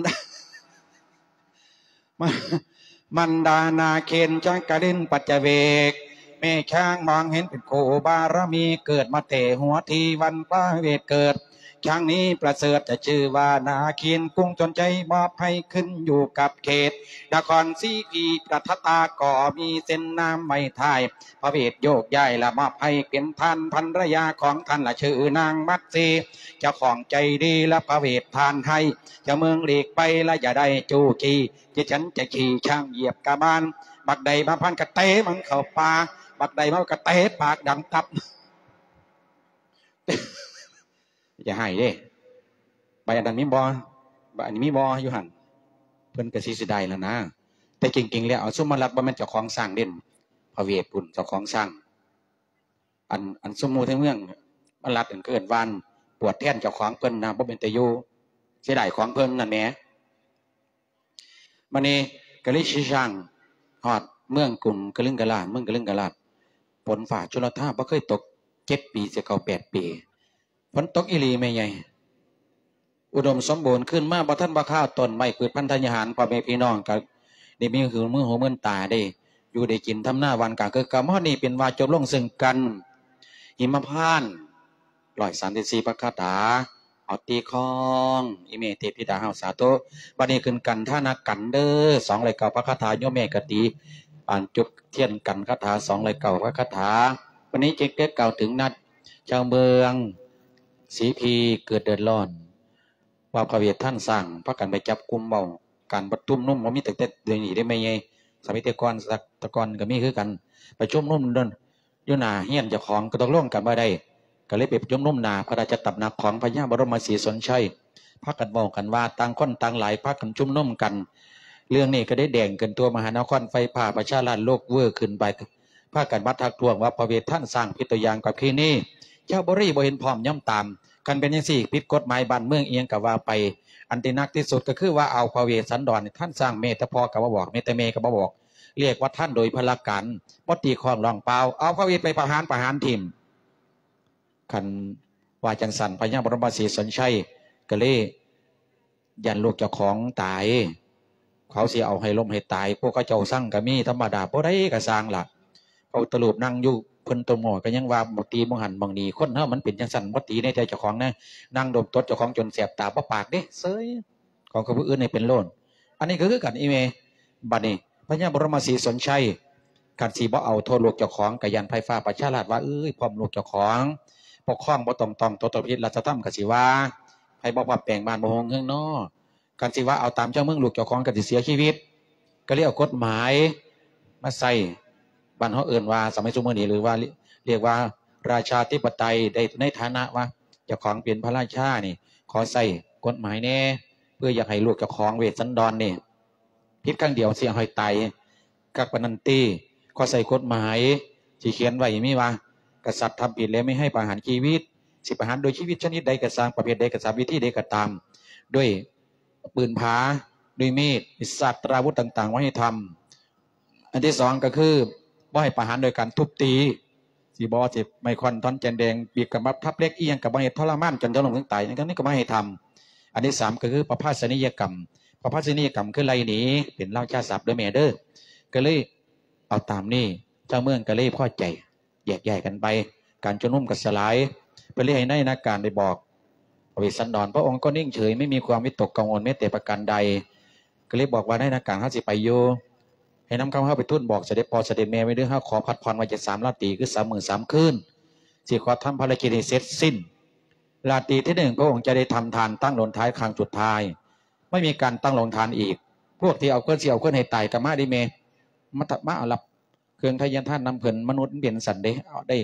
ມັນດານາເຄນຈັກກະລິນປັດຈະເວກ ແມ່ຊ້າງມອງເຫັນເປັນຄູ່ບາລະມີ ເກີດມາແຕ່ຫົວທີວັນພະເວດເກີດ ຊ້າງນີ້ປະເສີດຈະຊື່ວ່ານາເຄນ ກຸງຊົນໄຊມອບໃຫ້ຂຶ້ນຢູ່ກັບເຂດນະຄອນສີຄີ ປະທັດຕາກໍມີເສັ້ນນາມໄວ້ທ້າຍ ພະເວດໂຍກຍ້າຍລະມອບໃຫ້ເປັນທ່ານພັນລະຍາຂອງທ່ານລະຊື່ນາງມັດສີ ເຈົ້າຂອງໃຈດີລະພະເວດທ່ານໃຫ້ ເຈົ້າເມືອງຫຼີກໄປລະຢ່າໄດ້ຈູ້ຈີ້ ທີ່ສັນຈະຂີ່ຊ້າງຢຽບກະບານ ບັກໃດມາພັນກະເຕະມັນເຂົ້າປ່າ ບັກໃດມາກະເຕະປາກດັງຕັບ. ຢ່າໃຫ້ເດ້ ໃບອັນນັ້ນມີບໍ່? ໃບອັນນີ້ມີບໍ່ຢູ່ຫັ້ນ? ເພິ່ນກະຊິເສຍດາຍລະນາ ແຕ່ຈິງໆແລ້ວ ເອົາ ຊຸມມາລັດບໍ່ແມ່ນເຈົ້າຂອງຊ້າງເດ້ ພະເວດພຸ້ນເຈົ້າຂອງຊ້າງ ອັນ ອັນຊຸມໝູ່ໃນເມືອງມາລັດ ເອີ້ນ ເອີ້ນວ່າ ປວດແທນເຈົ້າຂອງເພິ່ນນະ ບໍ່ເປັນຕາຢູ່ ເສຍດາຍຂອງເພິ່ນນັ້ນແໝ. ບາດນີ້ກະເລີຍຂີ່ຊ້າງຮອດເມືອງກຸງກະລຶງກະລາດ ເມືອງກະລຶງກະລາດ ຝົນຟ້າຊົນລະທາບໍ່ເຄີຍຕົກ ເຈັດປີຊິເຂົ້າແປດປີ ຝົນຕົກອີ່ຫຼີແມ່ໃຫຍ່. ໂອ ອຸດົມສົມບູນຂຶ້ນມາ ບໍ່ທັນວ່າຄາວ ຕົ້ນໄມ້ພືດພັນທະຍາຫານ ພໍ່ແມ່ພີ່ນ້ອງກໍໄດ້ມີຫູ ມືຫູ ມືນຕາ ໄດ້ຢູ່ໄດ້ກິນ ທຳນາຫວ່ານກາຄືເກົ່າ. ມາຮອດນີ້ເປັນວ່າຈົບລົງເຊິ່ງການຫິມມະພານ ຮ້ອຍສາມສິບສີ່ ພະຄາຖາ ເອົາຕີຄອງ ອີແມ່ເທບທິດາເຮົາ ສາທຸ. ບັດນີ້ຂຶ້ນກັນທານະກັນເດີ້ ສອງຮ້ອຍເກົ້າ ພະຄາຖາ ໂຍມແມ່ກະຕີ ອ່ານຈົບທຽນກັນຄາຖາ ສອງຮ້ອຍເກົ້າ ພະຄາຖາ. ບັດນີ້ຈຶ່ງໄດ້ກ່າວເຖິງນັດຊາວເມືອງສີພີເກີດເດືອດຮ້ອນ ວ່າພະເວດທ່ານສ້າງພາກັນໄປຈັບກຸ່ມເວົ້າ ການປະຊຸມນຸມບໍ່ມີຕັ້ງແຕ່ດຽວນີ້ເດ້ແມ່ໃຫຍ່ ສະໄໝແຕ່ກ່ອນ ແຕ່ກ່ອນກໍມີຄືກັນ ໄປຊຸມນຸມຢູ່ໜ້າເຮືອນເຈົ້າຂອງ ກໍຕົກລົງກັນບໍ່ໄດ້ ກໍເລີຍໄປປະຊຸມນຸມໜ້າພະລາຊະຕຳໜັກຂອງພະຍາບໍລົມມະສີສົນໄຊ ພາກັນເວົ້າກັນວ່າ ຕ່າງຄົນຕ່າງຫຼາຍ ພາກັນຊຸມນຸມກັນ ເລື່ອງນີ້ກໍໄດ້ແດງຂຶ້ນທົ່ວມະຫານະຄອນ ໄຟຟ້າປະຊາລັດ ໂລກເວີ້ຂຶ້ນໄປ ພາກັນມາທັກທ້ວງວ່າ ພະເວດທ່ານສ້າງຜິດຕົວຢ່າງກັບທີ່ນີ້ ຊາວບໍຣີບໍ່ເຫັນພ້ອມຍອມຕາມ ຄັນເປັນຈັ່ງຊີ້ ຜິດກົດໝາຍບ້ານເມືອງອີ່ຫຍັງກໍວ່າໄປ ອັນທີ່ໜັກທີ່ສຸດກໍຄືວ່າ ເອົາພະເວດສັນດອນ ທ່ານສ້າງແມ່ແຕ່ພໍ່ກໍບໍ່ບອກ ແມ່ແຕ່ແມ່ກໍບໍ່ບອກ ເອີ້ນວ່າທ່ານໂດຍພະລະການ ບໍ່ຕີຄອງຮ້ອງເປົ່າ ເອົາພະເວດໄປປະຫານ ປະຫານຖິ້ມ. ຄັນວ່າຈັ່ງຊັ້ນ ພະຍາບໍລົມມະສີສົນໄຊກໍເລີຍຢ້ານລູກເຈົ້າຂອງຕາຍ ເຂົາຊິເອົາໃຫ້ລົ້ມໃຫ້ຕາຍ ພວກເຂົາເຈົ້າຊັງກໍມີ ທຳມະດາ ຜູ້ໃດກໍຊ່າງລະ ພະພຸດທະຮູບນັ່ງຢູ່ ເພິ່ນຕົວໝໍກໍຍັງວ່າບໍ່ຕີໝ່ອງຫັ້ນໝ່ອງນີ້ ຄົນເຮົາມັນເປັນຈັ່ງຊັ້ນ ບໍ່ຕີໃນໃຈເຈົ້າຂອງນະ ນັ່ງດົມຕົດເຈົ້າຂອງຈົນແສບຕາ ບໍ່ປາກເດ້ ເສີຍ ຂອງຄົນຜູ້ອື່ນໃຫ້ເປັນໂລດ ອັນນີ້ກໍຄືກັນອີແມ່. ບັດນີ້ພະຍາບໍລົມມະສີສົນໄຊ ຄັນຊິບໍ່ເອົາໂທດລູກເຈົ້າຂອງ ກໍຢ້ານໄຟຟ້າປະຊາລັດວ່າ ເອີຍ ພ້ອມລູກເຈົ້າຂອງ ປົກຄອງບໍ່ຕ້ອງຕອງ ຕົວະຕະຜິດລັດຖະທຳ ກໍຊິວ່າ ໃຜບໍ່ປັບແປງບ້ານບໍ່ຮຸ່ງເຮືອງນໍ ຄັນຊິວ່າເອົາຕາມເຈົ້າເມືອງ ລູກເຈົ້າຂອງກໍຊິເສຍຊີວິດ ກໍເລີຍເອົາກົດໝາຍມາໃຊ້ ບ້ານເຮົາເອີ້ນວ່າ ສະໄໝຊຸມມື້ນີ້ ຫຼືວ່າ ລ- ລຽກວ່າລາຊາທິປະໄຕ ໄດ້ໃນຖານະວ່າເຈົ້າຂອງເປັນພະລາຊານີ້ ຂໍໃຊ້ກົດໝາຍແດ່ ເພື່ອຢາກໃຫ້ລູກເຈົ້າຂອງເວດສັນດອນນີ້ ຜິດຄັ້ງດຽວຊິເອົາໃຫ້ຕາຍຄັກປານນັ້ນຕິ ຂໍໃຊ້ກົດໝາຍ ຊິຂຽນໄວ້ມີວ່າ ກະສັດທຳຜິດແລ້ວມີໃຫ້ປະຫານຊີວິດ ຊິປະຫານດ້ວຍຊີວິດຊະນິດໃດກໍຊ່າງ ປະເພດໃດກໍຊ່າງ ວິທີໃດກໍຕາມ ດ້ວຍ ປືນຜາ ດ້ວຍມີດ ມີສາດຕະລາວຸດຕ່າງໆ ບໍ່ໃຫ້ທຳ. ອັນທີສອງກໍຄື ບໍ່ໃຫ້ປະຫານໂດຍການທຸບຕີ ຊິບໍ່ວ່າຊິໄມ້ຄ້ອນ ທ່ອນແກນແດງ ບີບກຳບັບ ທັບເຫຼັກ ອີ່ຫຍັງກໍບໍ່ໃຫ້ທໍລະມານຈົນເຖິງລ້ມເຖິງຕາຍ ອັນນີ້ກໍບໍ່ໃຫ້ທຳ. ອັນທີສາມກໍຄື ປະພາສະນີຍະກຳ ປະພາສະນີຍະກຳຄືໄລ່ໜີ ເປັນລາວຊາສັບເດີແມ່ເດີ ກໍເລີຍເອົາຕາມນີ້ ຊາວເມືອງກໍເລີຍພໍໃຈ ແຍກຍ້າຍກັນໄປ ການຊຸມນຸມກໍສະຫຼາຍ ເພິ່ນເລີຍໃຫ້ນາຍນາການໄດ້ບອກ ພະເວດສັນດອນ ພະອົງກໍນິ່ງເສີຍ ໄມ່ມີຄວາມວິຕົກກັງວົນແມ້ແຕ່ປະການໃດ ກໍເລີຍບອກວ່າ ນາຍນາການ ເຮົາຊິໄປຢູ່ ໃຫ້ນຳຄຳເຮົາໄປທູນບອກສະເດັດພໍ່ສະເດັດແມ່ໄວ້ເດີ ເຮົາຂໍພັກຜ່ອນໄວ້ຈັກສາມລາຕີ ຄືສາມມື້ສາມຄືນ ຊິຂໍທຳພາລະກິດໃຫ້ເສັດສິ້ນ. ລາຕີທີໜຶ່ງ ພະອົງຈະໄດ້ທຳທານຕັ້ງໂລງທານຄັ້ງສຸດທ້າຍ ໄມ່ມີການຕັ້ງໂລງທານອີກ ພວກທີ່ເອົາເງິນ ຊິເອົາເງິນໃຫ້ຕາຍກໍມາເດີແມ່ ມາ ມາເອົາຮັບ ເຄື່ອງທະຍານທານນຳເພິ່ນ ມະນຸດມັນເປັນຊັ້ນເດ້ ເອົາໄດ້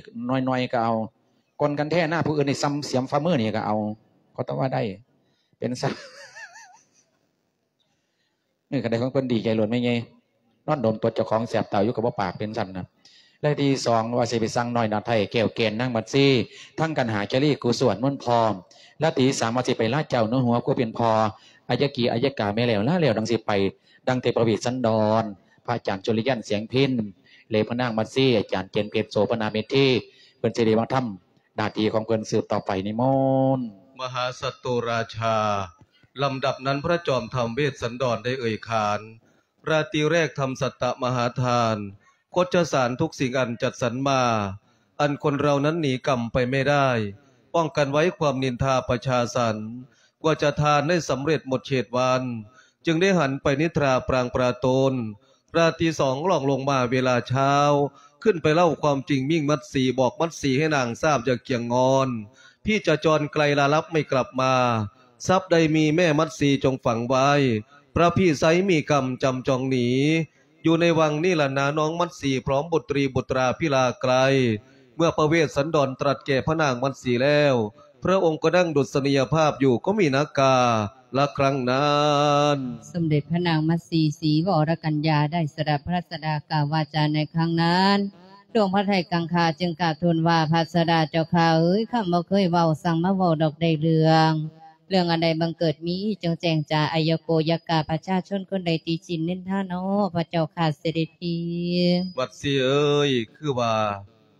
ໜ້ອຍໆກໍເອົາ ກົນກັນແທ້ນາ ຜູ້ອື່ນນີ້ສ່ຳສຽມຝ່າມືນີ້ກໍເອົາ ເຂົາຕ້ອງວ່າໄດ້ ເປັນຊັ້ນ ເອີ ຄັນໄດ້ຂອງເພິ່ນດີໃຈໂລດແມ່ໃຫຍ່ ນອນດົມຕົດເຈົ້າຂອງແສບຕາຢູ່ກໍບໍ່ປາກ ເປັນຊັ້ນນະ. ແລະທີສອງວ່າຊິໄປສັ່ງນ້ອຍໜ້າໄທ ແກ້ວແກ່ນນາງມັດຊີ ທັງກັນຫາຈາລີ ກູສວນມົນພ້ອມ ແລະທີສາມວ່າຊິໄປລາເຈົ້າໜູຫົວຜູ້ເປັນພໍ່ ອາຍະກີ ອາຍະກາ ແມ່ແລ້ວ ລາແລ້ວ ດັ່ງຊິໄປ ດັ່ງແຕ່ພະເວດສັນດອນ ພະອາຈານສຸລິຍັນ ແສງເພັນ ແລະພະນາງມັດຊີ ອາຈານເຈນເພັດ ໂສພະນາເມທີ ເພິ່ນຊິໄດ້ມາທຳໜ້າທີ່ຂອງເພິ່ນສືບຕໍ່ໄປ ນິມົນ. ມະຫາສັດໂຕລາຊາ ລຳດັບນັ້ນພະຈອມທຳເວດສັນດອນໄດ້ເອີ່ຍຂານ ລາຕີແລກທຳສັດຕະມະຫາທານ ຄົດຈະສານທຸກສິ່ງອັນຈັດສັນມາ ອັນຄົນເຮົານັ້ນໜີກຳໄປໄມ່ໄດ້ ປ້ອງກັນໄວ້ຄວາມນິນທາປະຊາສັນ ກວ່າຈະທານໄດ້ສຳເລັດໝົດເຂດວັນ ຈຶ່ງໄດ້ຫັນໄປນິດທາປາງປາໂຕນ ລາຕີສອງລ່ອງລົງມາເວລາເຊົ້າ ຂຶ້ນໄປເລົ່າຄວາມຈິງມິ່ງມັດສີ ບອກມັດສີໃຫ້ນາງຊາບຢ່າກຽງງອນ ພີ່ຈະຈອນໄກລລາລັບໄມ່ກັບມາ ຊັບໃດມີແມ່ມັດສີຈົ່ງຝັງໄວ້ ພະພີ່ໄຊມີກຳຈຳຈອງໜີ ຢູ່ໃນວັງນີ້ລະນານ້ອງມັດສີ ພ້ອມບຸດຕຣີບຸດຕາພິລາໄກລ ເມື່ອພະເວດສັນດອນຕລັດແກ່ພະນາງມັດສີແລ້ວ ພະອົງກໍນັ່ງດຸດສະນີຍະພາບຢູ່ກໍມີນາກາລະຄັ້ງນັ້ນ. ສົມເດັດພະນາງມັດສີ ສີວໍລະກັນຍາ ໄດ້ສະດັບພະລາຊະດາກ່າວວາຈາໃນຄັ້ງນັ້ນ ດວງພະໄທກັງຄາຈຶ່ງກາບທູນວ່າ ພະລາຊະດາເຈົ້າຂ້າເອີຍ ຂ້າບໍ່ເຄີຍເວົ້າ ສັ່ງມາເວົ້າດອກໄດ້ເລື່ອງ ເລື່ອງອັນໃດບັງເກີດມີ ຈົ່ງແຈ້ງຈາອາຍະໂກຍະກາ ປະຊາຊົນຄົນໃດຕິຊິນນິນທານໍ ພະເຈົ້າຂ້າເສດັດພີ. ມັດສີເອີຍ ຄືວ່າ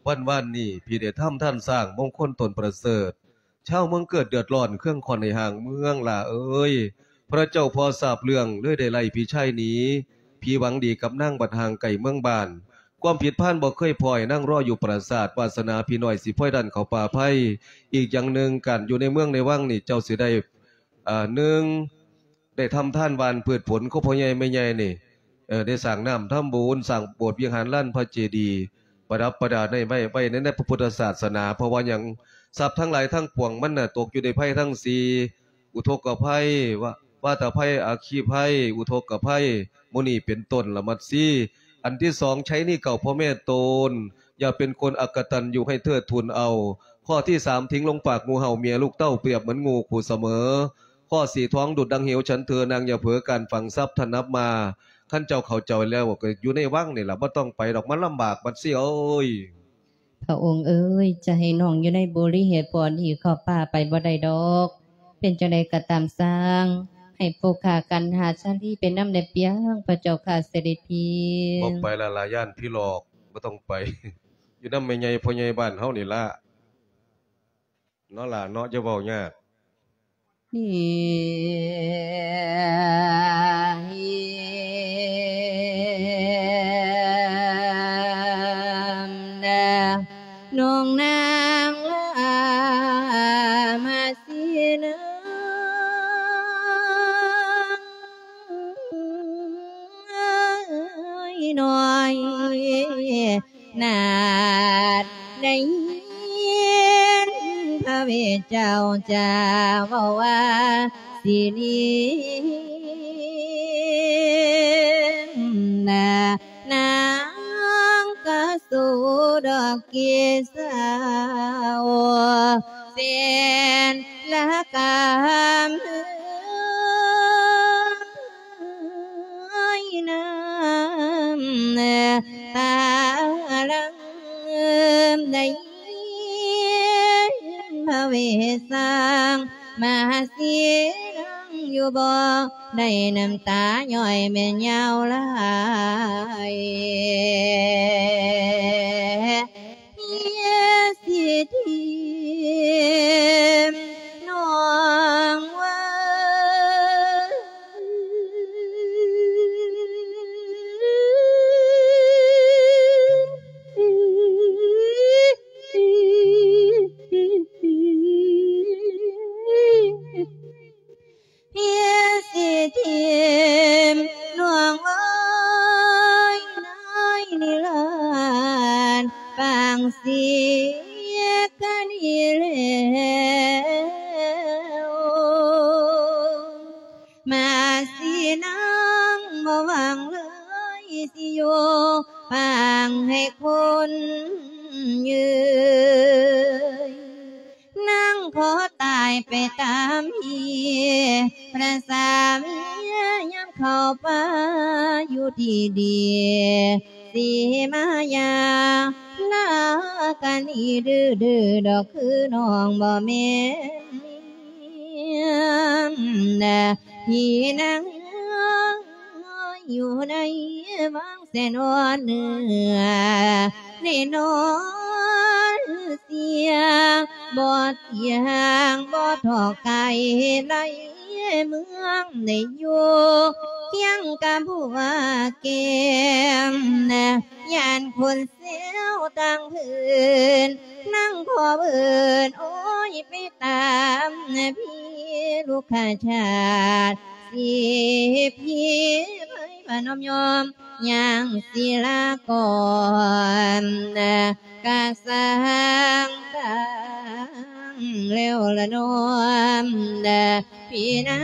ວັນວານນີ້ ພີ່ໄດ້ທຳທານສ້າງມົງຄົນຕົ້ນປະເສີດ ຊາວເມືອງເກີດເດືອດຮ້ອນ ເຄືອງຂ້ອນໃຫ້ຫ່າງເມືອງຫຼ້າເອີຍ. ພະເຈົ້າພໍຊາບເລື່ອງ ເລີຍໄດ້ໄລ່ຜີຊາຍໜີ. ຜີຫວັງດີກັບນາງ ບັດຫ່າງໄກເມືອງບ້ານ. ຄວາມຜິດພານບໍ່ເຄີຍພໍ້ໃຫ້ນາງລໍຢູ່ປາສາດ, ວາສະໜາຜີນ້ອຍຊິພອຍດັນເຂົ້າປ່າໄພ. ອີກຢ່າງໜຶ່ງ, ການຢູ່ໃນເມືອງໃນວັງນີ້ ເຈົ້າຊິໄດ້ ເອີ ໜຶ່ງ ໄດ້ທຳທານຫວ່ານພືດຜົນ ຂອງພໍ່ໃຫຍ່ແມ່ໃຫຍ່ນີ້ ເອີ ໄດ້ສ້າງນ້ຳທຳບຸນ, ສ້າງໂບດວິຫານ, ລານພະເຈດີ ປະດັບປະດາໄດ້ໄວ້ ໄວ້ໃນ ໃນພະພຸດທະສາສະໜາ. ເພາະວ່າຫຍັງ? ຊັບທັງຫຼາຍທັງປວງມັນນະ ຕົກຢູ່ໃນໄພທັງສີ່ ອຸທົກກະໄພ ວາ ວາຕະໄພ ອັກຄີໄພ ອຸທົກກະໄພ ໝູ່ນີ້ເປັນຕົ້ນລະມັດຊີ. ອັນທີສອງ ໄຊນີ້ເກົ່າພໍ່ແມ່ຕົນ ຢ່າເປັນຄົນອະກະຕັນຍູ ໃຫ້ເທີດທູນເອົາ. ຂໍ້ທີສາມ ຖິ້ງລົງປາກງູເຫົ່າ ເມຍລູກເຕົ້າ ປຽບເໝືອນງູຄູ່ສະເໝີ. ຂໍ້ສີ່ ທອງດຸດດັ່ງເຫວ ສັນເທີນາງຢ່າເຜີ ການຝັງຊັບຖະໜັບມາ. ຄັນເຈົ້າເຂົ້າໃຈແລ້ວ ກໍຢູ່ໃນວັງນີ້ລະ ບໍ່ຕ້ອງໄປດອກ ມັນລຳບາກບັດຊີເອີຍ. ພະອົງເອີຍ ຈະໃຫ້ນ້ອງຢູ່ໃນບໍລິເວນບ່ອນນີ້ ເຂົ້າປ່າໄປບໍ່ໄດ້ດອກ. ເປັນຈັ່ງໃດກໍຕາມຊ່າງ ໃຫ້ພວກຂ້າກັນຫາຊາລີໄປນຳແດ່ເປີຍງ ພະເຈົ້າຂ້າເສດັດພີ. ບໍ່ໄປລະລາ ຢ້ານຜີຫຼອກ ບໍ່ຕ້ອງໄປ ຢູ່ນຳແມ່ໃຫຍ່ພໍ່ໃຫຍ່ບ້ານເຮົານີ້ລະ ເນາະຫຼ້າເນາະ ຢ່າເວົ້າຍາກ. ນ້ອງນາງລາມາສີນາງນ້ອຍ ນາດໄດ້ຍິນພະເວດເຈົ້າຈາເວົ້າວ່າ ສິລິນາ ນາງກະໂສດອກເກສາ ເຊັ່ນລະກຳ ເອີຍ ນ້ຳຕາຫຼັ່ງໄດ້ຍິນພະເວດສ້າງມະຫາສີນາງຢູ່ບໍ່ ໄດ້ນ້ຳຕາຍ້ອຍແມ່ນຍາວຫຼາຍ. ເພຍສິທິມນ້ອງເອີຍ ເພຍສິທິມນ້ອງເອີຍ ນາຍນິລັນ ປາງເສຍກະນີ້ແລ້ວ ມາສີນາງບໍ່ຫວັງເລີຍ ຊິຢູ່ປາງໃຫ້ຄົນເຍີຍ. ນາງຂໍຕາຍໄປຕາມເຫດ ພະສາມີຍາມເຂົ້າປ່າຢູ່ທີ່ດີ ສີມາຢາລາກະໜີ ດື້ໆດອກຄືນ້ອງບໍ່ແມ່ນເມຍ ທີ່ນາງນ້ອຍຢູ່ໃນວັງ ແສນອ່ອນເໜືອ ໄດ້ນອນເສຍ ບໍ່ທ່ຽງບໍ່ຖອກໄກ ໃນເມືອງໄດ້ຢູ່ ພຽງກະບົວແກ້ມ ຢ້ານຄົນແຊວຕ່າງພື້ນ ນາງຂໍເອີ້ນ ໂອ້ຍ ໄປຕາມພີ່ລູກຄ້າຊາດ ສິພີໄພມານ້ອມຍອມ ຍ່າງສິລາກອນ ກະສ້າງຕັ້ງແລ້ວລະນ້ອມ ພີ່ນາ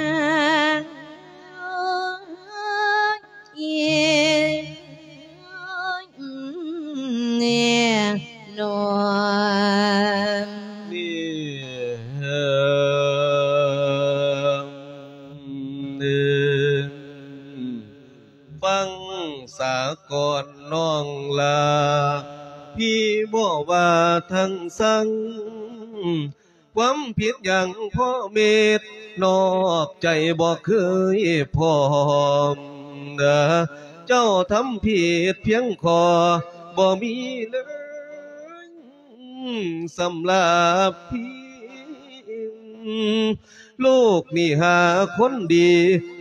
ງ ເອີຍ ນ້ອມ ນີ້ ຟັງສາກ່ອນນ້ອງຫຼ້າ ພີ່ບໍ່ວ່າທັງສັງ ຄວາມຜິດຫຍັງພໍເມັດ ນອກໃຈບໍ່ເຄີຍພ້ອມ ເຈົ້າທຳຜິດພຽງຂໍ້ ບໍ່ມີເລີຍສຳລັບພີ່. ລູກນີ້ຫາຄົນດີ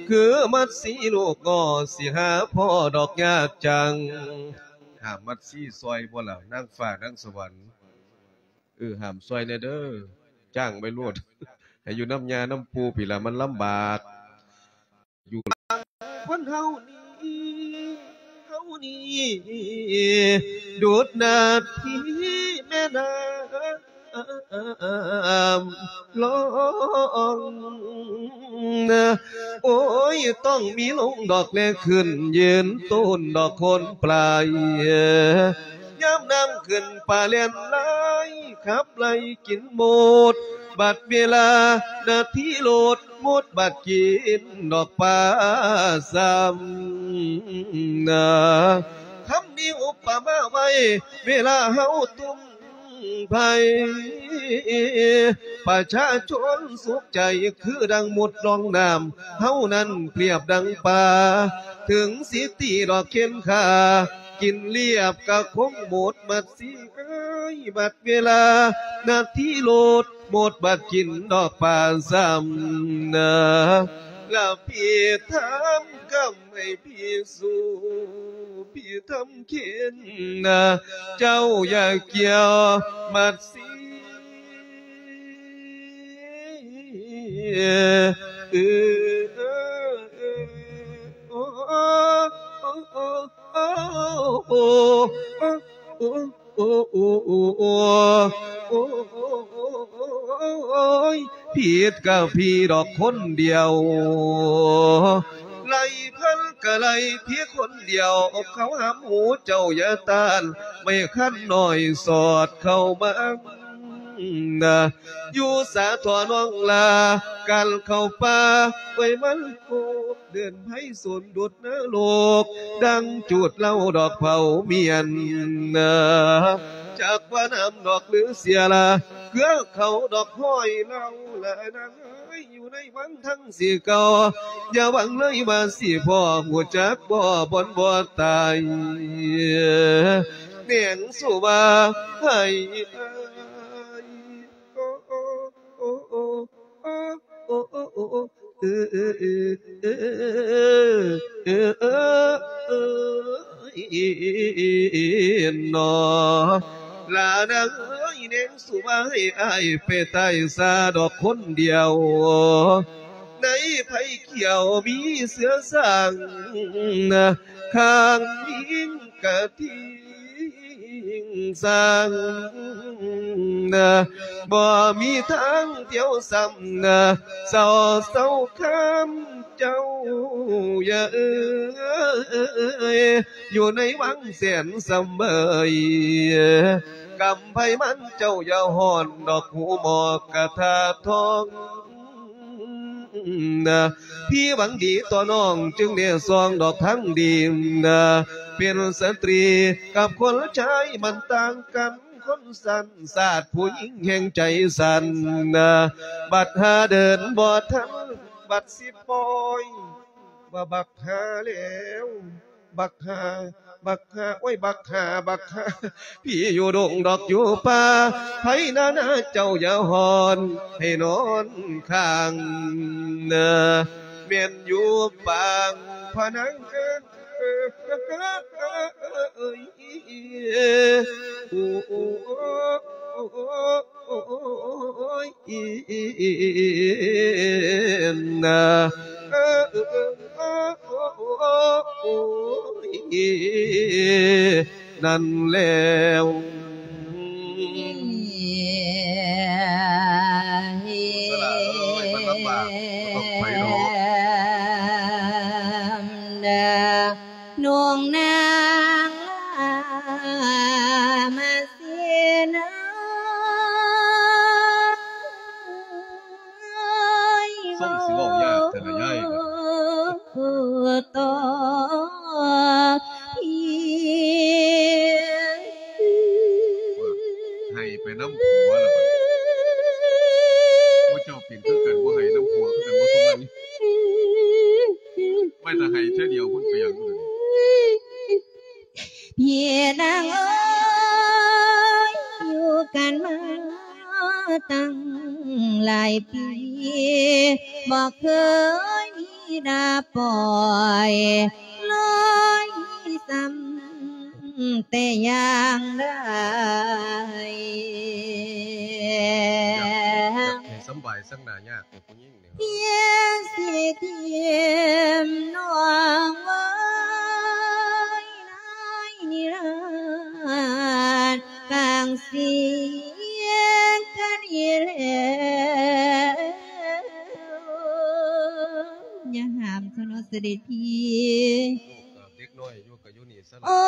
ຄືມັດຊີລູກງໍ ຊິຫາພໍ່ດອກຍາກຈັງ. ຫ້າມມັດຊີຊ່ອຍບໍ່ລະ ນາງຟ້ານາງສະຫວັນ? ເອີ ຫ້າມຊ່ອຍແດ່ເດີ ຈ້າງໄປໂລດ ໃຫ້ຢູ່ນຳຍ່ານຳປູ່ພີ້ລະ ມັນລຳບາກ. ຢູ່ ຄົນເຮົານີ້ ເຮົານີ້ ດຸດນາທີແມ່ນ້ຳຫຼອງ ໂອ້ຍ ຕ້ອງມີລົງດອກແລຂຶ້ນ ຢືນໂຕນດອກຄົນປາຍ ຍາມນ້ຳຂຶ້ນປາແລ່ນຫຼາຍ ຂັບໄລ່ກິນໝົດ ບັດເວລານາທີໂລດ ໝົດບັດກິນດອກປາຊ້ຳນາ. ຄຳນີ້ອຸປະມາໄວ້ ເວລາເຮົາຕຸ່ມໄພ ປະຊາຊົນສຸກໃຈ ຄືດັ່ງໝົດລ່ອງນ້ຳ ເຮົານັ້ນປຽບດັ່ງປາ ເຖິງຊິຕີດອກເຂັນຂາ ກິນລຽບກະຄົງໝົດໝົດຊິເອີຍ ບັດເວລານາທີໂລດ ໝົດບັດກິນດອກປາຊ້ຳນາ. ລະພີ່ຖາມຄຳໃຫ້ພີ່ສູ້ ພີ່ທຳເຂັນນາ ເຈົ້າຢ່າກ່ຽວມັດຊີ ເອີ ໂອ້ ໂອ້ ໂອ້ ໂອ້ ໂອ້ ໂອ້ ໂອ້ ໂອ້ຍ ຜິດກະພີ່ດອກຄົນດຽວ ໄລ່ພັນກະໄລ່ພີ່ຄົນດຽວ ເຂົາຫາໝູ່ເຈົ້າຢ່າຕ້ານ ໄມ້ຄັນນ້ອຍສອດເຂົ້າມານະ ຢູ່ສາທໍ່ນ້ອງລາ ການເຂົ້າປ່າໄວ້ມັນໂກ ເດີນໄພສົນດຸດນະລົກ ດັ່ງຈູດເຫຼົ້າດອກເຜົາມຽນນະ ຈັກວ່ານ້ຳດອກຫຼືເສຍລະ ເກືອເຂົາດອກຫ້ອຍເລົ່າລະນາງເອີຍ ຢູ່ໃນວັງທັງສີ່ເກົ່າ ຢ່າຫວັງເລີຍວ່າຊິພໍ້ ຮູ້ຈັກບໍ່ບ່ອນບໍ່ຕາຍ ແນງສຸມາໃຫ້ອາຍ ໂອ້ ໂອ້ ໂອ້ ໂອ້ ໂອ້ ໂອ້ ເອີ ເອີ ເອີ ເອີ ເອີ ເອີ ເນາະ ຫຼານາງເອີຍ ແນງສຸມາໃຫ້ອາຍໄປຕາຍຊາດອກຄົນດຽວ ໃນໄພຂຽວມີເສືອຊ້າງ ຂ້າງຍິງກະທິງ ສ້າງນະ ບໍ່ມີທາງທ່ຽວຊ້ຳນະ ເສົ້າ ເສົ້າຄຳເຈົ້າຢ່າເອີຍ ຢູ່ໃນວັງແສນສຳເບີຍ ກຳໄພມັນເຈົ້າຢ່າຮ້ອນ ດອກຫູໝອກກະທາທອງ ນະ ພີ່ຫວັງດີຕໍ່ນ້ອງ ຈຶ່ງແນຊອງດອກທາງດີນະ ເປັນສະຕຣີກັບຄົນຊາຍມັນຕ່າງກັນ ຄົນສັ້ນຊາດຜູ້ຍິງແຫ່ງໃຈສັ່ນນະ ບັດຫາເດີນບໍ່ທັນ ບັດຊິປ່ອຍ ວ່າບັກຫາແລ້ວ ບັກຫາ ບັກຫາ ໂອ້ຍ ບັກຫາ ບັກຫາ ພີ່ຢູ່ດົງດອກຢູ່ປ່າ ໃຜນານາເຈົ້າຢ່າຮ້ອນ ໃຫ້ນອນຂ້າງນາ ແມ່ນຢູ່ປາງພະນັງເອີຍ ໂອ້ ໂອ້ ໂອ້ ໂອ້ ໂອ້ຍ ນະ ເອີ ໂອ້ຍ ນັ້ນແລ້ວ ສະຫຼະເອີຍ ມັນລຳບາກ ບໍ່ຕ້ອງໄປດອກ ນ້ອງນາງມາເສນາ ສົ່ງຊິເວົ້າຍາກແທ້ລະຍາຍ ຕໍ່ ໄຫ້ໄປນຳຜົວລະບັດນີ້ ໝູ່ເຈົ້າເປັນຄືກັນ ບໍ່ໄຫ້ນຳຜົວຄືກັນບໍ່ສົມນຳ ໄວ້ຖ້າໄຫ້ເທື່ອດຽວພຸ້ນໄປຫຍັງພຸ້ນ ພີ່ນາງເອີຍ ຢູ່ກັນມາ ຕັ້ງຫຼາຍປີ ບໍ່ເຄີຍມີດາປ່ອຍ ລອຍຊ້ຳແຕ່ຢ່າງໃດ. ຢາກ ຢາກໃຫ້ສຳບາຍສັກໜ້າຍາກແຕ່ຜູ້ຍິງນີ້ ພຽງຊິຖິ້ມນ້ອງໄວ້ໃນນິລານ ຟັງສຽງກັນອີກແລ້ວ ຢ່າຫ້າມຊະເນາະເສດັດພີ. ເດັກນ້ອຍຢູ່ກໍຢູ່ນີ້ຊະລະ. ໂອ້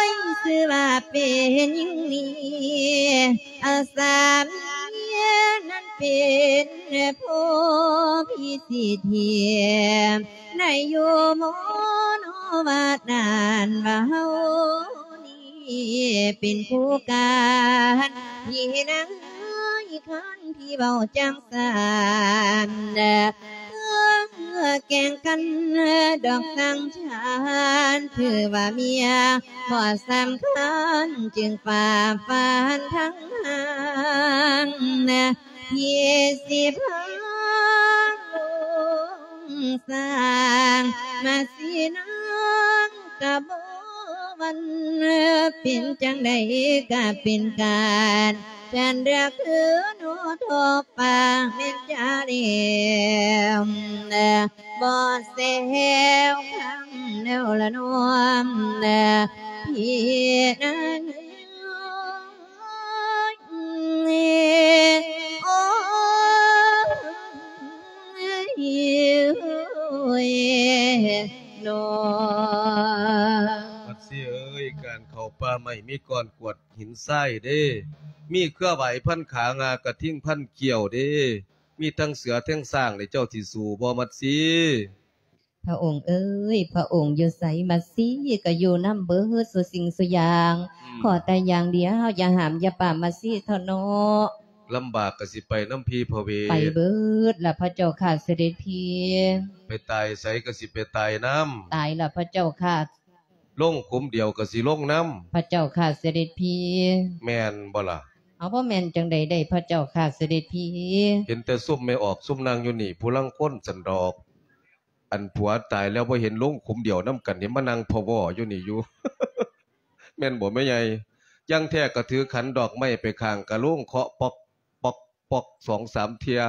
ຍ ຊື່ວ່າເປັນຫຍັງນີ້ ອາສາເມຍນັ້ນເປັນຜູ້ພິສິດເທບ ໄດ້ຢູ່ໝໍນອວ່ານັ້ນວ່າເຮົານີ້ເປັນຄູ່ກັນ ພີ່ນາງເອີຍ ຄັນ ທີ່ເວົ້າຈັ່ງຊັ້ນ ເອີ ແກ່ງກັນດອກສັງສານ ຖືວ່າເມຍບໍ່ສຳຄັນ ຈຶ່ງຝ່າຝັນທັງຫ້າງ ທີ່ຊິພາສ້າງມາສີນາງກະບໍ່ຫວັ່ນ ເປັນຈັ່ງໃດກະເປັນການ ແຟນເລືອກຄືໜູທອບປາກແມ່ນຈາແລ້ວ ບໍ່ແຊວຄຳແລ້ວລະນ້ອງ ພີ່ນາງເອີຍ ໂອ້ຍ ໂອ້ຍ ນ້ອງ. ມັດສີເອີຍ ການເຂົ້າປ່າໄມ້ມີກ້ອນກວດ ຫີນຊາຍເດ້ ມີເຄືອຫວາຍພັນຂາ ງາກະທິງພັນກ້ຽວເດ້ ມີທັງເສືອທັງຊ້າງເດ້ ເຈົ້າຊິສູ້ບໍ່ ມັດສີ? ພະອົງເອີຍ ພະອົງຢູ່ໃສ ມັດສີກໍຢູ່ນຳເບິດສູ່ສິ່ງສູ່ຢ່າງ ອືມ ຂໍແຕ່ຢ່າງດຽວ ຢ່າຫ້າມຢ່າປາມ ມັດສີເຖາະເນາະ. ລຳບາກກໍຊິໄປນຳພີພະເວດ ໄປເບິດລະພະເຈົ້າຂ້າເສດັດພີ. ໄປຕາຍໃສກໍຊິໄປຕາຍນຳ ຕາຍລະພະເຈົ້າຂ້າ. ລົງຂຸມດຽວກໍຊິລົງນຳ ພະເຈົ້າຂ້າເສດັດພີ. ແມ່ນບໍ່ລະ? ເອົາ ບໍ່ແມ່ນຈັ່ງໃດໄດ້ພະເຈົ້າຂ້າເສດັດພີ? ເຫັນແຕ່ຊຸມແມ່ອອກ ຊຸມນາງຢູ່ນີ້ ຜູ້ລາງຄົນຊັ້ນດອກ ອັນຜົວຕາຍແລ້ວບໍ່ເຫັນລົງຂຸມດຽວນຳກັນ ເຫັນມານັ່ງພະວໍຢູ່ນີ້ຢູ່ ແມ່ນບໍ່ແມ່ໃຫຍ່? ຢ່າງແທ້ກໍຖືຂັນດອກໄມ້ໄປຂ້າງກະໂລງ ເຄາະປອກ ປອກ ປອກ ສອງສາມເທື່ອ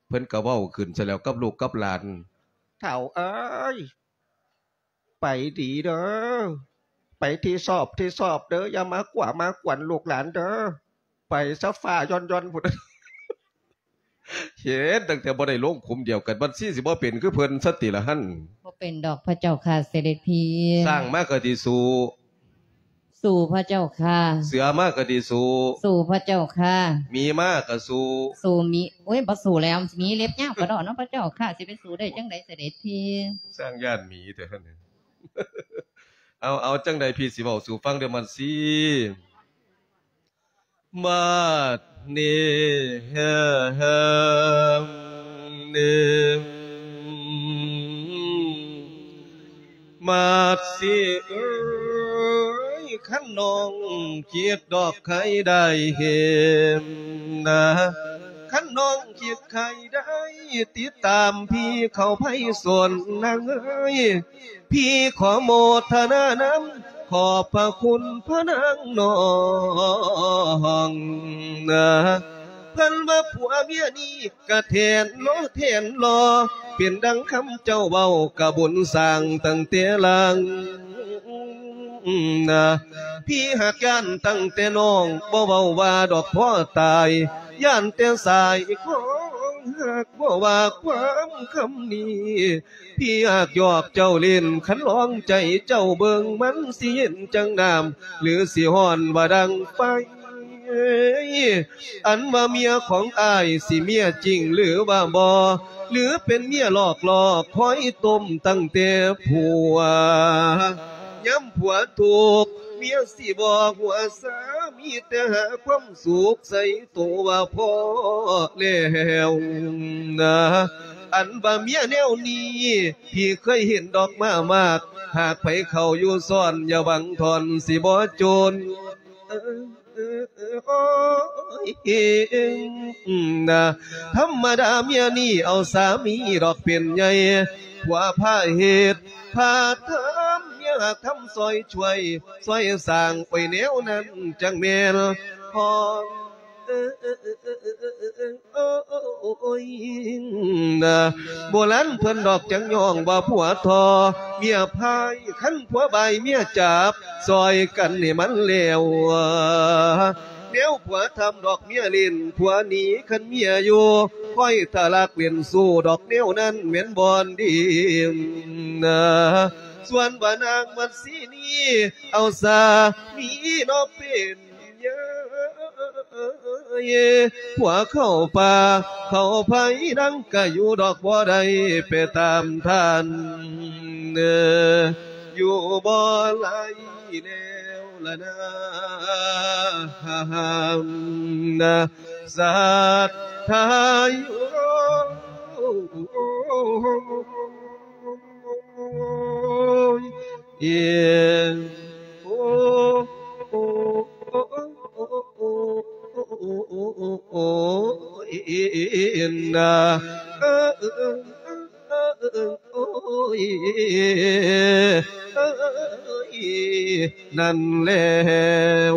ເພິ່ນກໍເວົ້າຂຶ້ນຊະແລ້ວກັບລູກກັບຫຼານ ເຖົ້າເອີຍ ໄປດີເດີ ໄປທີ່ຊອບທີ່ຊອບເດີ ຢ່າມາກົວມາກວນລູກຫຼານເດີ ໄປຊະຟ້າຢ່ອນໆພຸ້ນ. ເຫັນຕັ້ງແຕ່ບໍ່ໄດ້ລົງຂຸມດຽວກັນ ມັດສີຊິບໍ່ເປັນຄືເພິ່ນຊະຕິລະຫັ້ນ? ບໍ່ເປັນດອກພະເຈົ້າຂ້າເສດັດພີ. ຊ້າງມາກໍຊິສູ້ ສູ້ພະເຈົ້າຂ້າ. ເສືອມາກໍຊິສູ້ ສູ້ພະເຈົ້າຂ້າ. ໝີມາກໍສູ້ ສູ້ໝີ. ໂອ້ຍ ບໍ່ສູ້ແລ້ວ ໝີເລັບຍາວກະດອກເນາະ ພະເຈົ້າຂ້າ ຊິໄປສູ້ໄດ້ຈັ່ງໃດເສດັດພີ? ຊ້າງຢ້ານໝີແທ້ຫັ້ນ. ເອົາ ເອົາ ຈັ່ງໃດພີ່ຊິເວົ້າສູ່ຟັງເດີ ມັດສີ. ມາດເນ ມາດສີເອີຍ ຄັນນ້ອງຄິດດອກໃຄໄດ້ເຫັນນະ ຄັນນ້ອງຄິດໃຄໄດ້ຕິດຕາມພີ່ເຂົ້າໄພສົນນາງເອີຍ ພີ່ຂໍໂມທະນານຳ ຂອບພະຄຸນພະນາງນ້ອງນະ ເພິ່ນວ່າຜົວເມຍນີ້ກະແທນລໍແທນລໍ ເປັນດັ່ງຄຳເຈົ້າເວົ້າ ກະບຸນສ້າງຕັ້ງແຕ່ຫຼັງນະ ພີ່ຫາກຢ້ານຕັ້ງແຕ່ນ້ອງ ບໍ່ເວົ້າວ່າດອກພໍຕາຍ ຢ້ານແຕ່ສາຍຂອງຮັກ ບໍ່ວ່າຄວາມຄຳນີ້ ພີ່ຫາກຢອກເຈົ້າຫຼິ້ນ ຄັນລອງໃຈເຈົ້າເບິ່ງ ມັນຊິເຢັນຈັ່ງນ້ຳ ຫຼືຊິຮ້ອນວ່າດັ່ງໄຟ? ອັນວ່າເມຍຂອງອ້າຍ ຊິເມຍຈິງຫຼືວ່າບໍ່ ຫຼືເປັນເມຍຫຼອກຫຼອກ ຄອຍຕົ້ມຕັ້ງແຕ່ຜົວ ຍາມຜົວທຸກ ເມຍຊິບໍ່ຫົວຊາ ມີແຕ່ຫາຄວາມສຸກໃສ່ໂຕວ່າພໍແລ້ວນະ ອັນວ່າເມຍແນວນີ້ ທີ່ເຄີຍເຫັນດອກມາມາກ ຫາກໃຜເຂົ້າຢູ່ຊ້ອນ ຢ່າຫວັງທ່ອນຊິບໍ່ຈົນ ທຳມະດາເມຍນີ້ເອົາສາມີດອກເປັນໃຫຍ່ ຜົວພາເຮັດ ພາທຳ ເມຍຮັກທຳຊ່ອຍຊ່ວຍ ຊ່ອຍສ້າງໄວ້ແນວນັ້ນຈັ່ງແມ່ນ ໂອ້ຍ ໂບລານເພິ່ນດອກຈັ່ງຍ້ອງວ່າຜົວທໍ້ ເມຍພາຍ ຄັນຜົວບາຍເມຍຈັບ ຊ່ອຍກັນໃຫ້ມັນແລ້ວ ແນວຜົວທຳດອກເມຍຫຼິ້ນ ຜົວໜີຄັນເມຍຢູ່ ຄອຍທະລັກເວັ້ນຊູ້ດອກແນວນັ້ນແມ່ນບ່ອນດີ ສ່ວນວ່ານາງມັດສີນີ້ ເອົາສາມີນອກເປັນ ຍາຍ ຜົວເຂົ້າປ່າເຂົ້າໄພ ນາງກະຢູ່ດອກ ບໍ່ໄດ້ໄປຕາມທ່ານ ຢູ່ບໍ່ໄດ້ແລ້ວລະນາ ສັດທາ ນັ້ນແລ້ວ.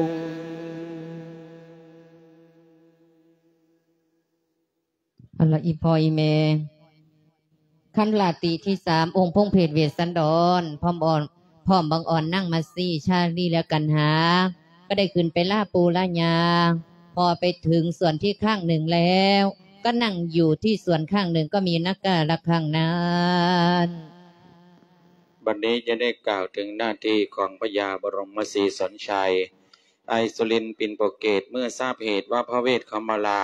ອັນລະອີ່ພໍ່ອີ່ແມ່ ຄັນລາຕີທີສາມ ອົງພົງເພດເວດສັນດອນ ພ້ອມອ່ອນ ພ້ອມບັງອ່ອນນາງມາຊີ ຊາລີ ແລະ ກັນຫາ ກໍໄດ້ຂຶ້ນໄປລາປູລາຍາ ພໍໄປເຖິງສ່ວນທີ່ຂ້າງໜຶ່ງແລ້ວ ກໍນັ່ງຢູ່ທີ່ສ່ວນຂ້າງໜຶ່ງ ກໍມີນັກກາລະຄັງນັ້ນ. ບັດນີ້ຈະໄດ້ກ່າວເຖິງໜ້າທີ່ຂອງພະຍາບໍລົມມະສີສອນໄຊ ໄອສຸລິນ ປິນໂປເກດ ເມື່ອຊາບເຫດວ່າພະເວດເຂົ້າມາລາ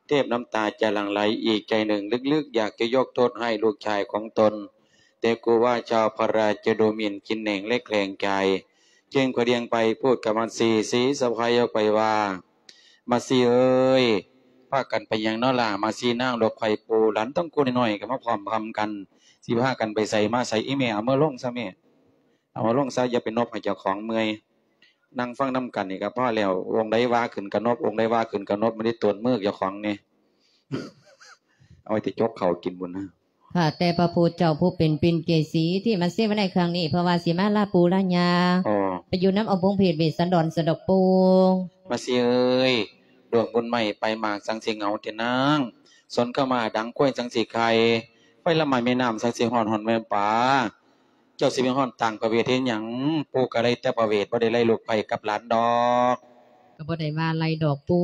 ເທບນ້ຳຕາຈະຫຼັ່ງໄຫຼ ອີກໃຈໜຶ່ງລຶກໆ ຢາກຈະຍົກໂທດໃຫ້ລູກຊາຍຂອງຕົນ ແຕ່ກູວ່າຊາວພະລາຈະດູໝິ່ນກິນແໜງ ແລະ ແຂງໃຈ ຈຶ່ງພະດຽງໄປພູດກັບມາຊີ ສີສະໄພອອກໄປວ່າ ມາຊີເອີຍ ພາກັນໄປຫຍັງນໍລະ? ມາຊີນາງລູກຂ້ອຍປູ່ ຫຼານຕ້ອງກູນ້ອຍໆ ກໍມາພ້ອມພຳກັນ ຊິພາກັນໄປໃສມາໃສ? ອີ່ແມ່ ເອົາມືລົງຊະແມ່ ເອົາລົງຊະ ຢ່າໄປນົບໃຫ້ເຈົ້າຂອງເມື່ອຍ. ນັ່ງຟັງນຳກັນນີ້ກໍພໍແລ້ວ. ອົງໃດວ່າຂຶ້ນກະນົບ, ອົງໃດວ່າຂຶ້ນກະນົບ, ມັນໄດ້ຕົນມືເຈົ້າຂອງນີ້. ເອົາໄວ້ແຕ່ຈົກເຂົ້າກິນພຸ້ນນະ. ຂ້າແຕ່ພະພຸດທະເຈົ້າຜູ້ເປັນປິນເກສີ ທີ່ມາເສວະໃນຄັ້ງນີ້ ເພາະວ່າຊິມາລາປູລາຍາ ອໍ ໄປຢູ່ນຳອົງພົງເພດເວດສັນດອນສະດອກປູ. ມາຊີເອີຍ ດວງບຸນໃໝ່ປາຍໝາກ ສັງຊິເຫງົາແທ້ນາງ. ສົນເຂົ້າມາດັງຄວາຍ ສັງຊິໄຂ່. ໄຟລະໄໝ້ແມ່ນ້ຳ ສັງຊິຮ້ອນ ຮ້ອນແມ່ປາ. ເຈົ້າຊິໄປຮ້ອນຕ່າງພະເວດເຮັດຫຍັງ? ປູກໍໄລ່ແຕ່ພະເວດ ບໍ່ໄດ້ໄລ່ລູກໃພ້ກັບຫຼານດອກ. ກໍບໍ່ໄດ້ວ່າໄລ່ດອກປູ,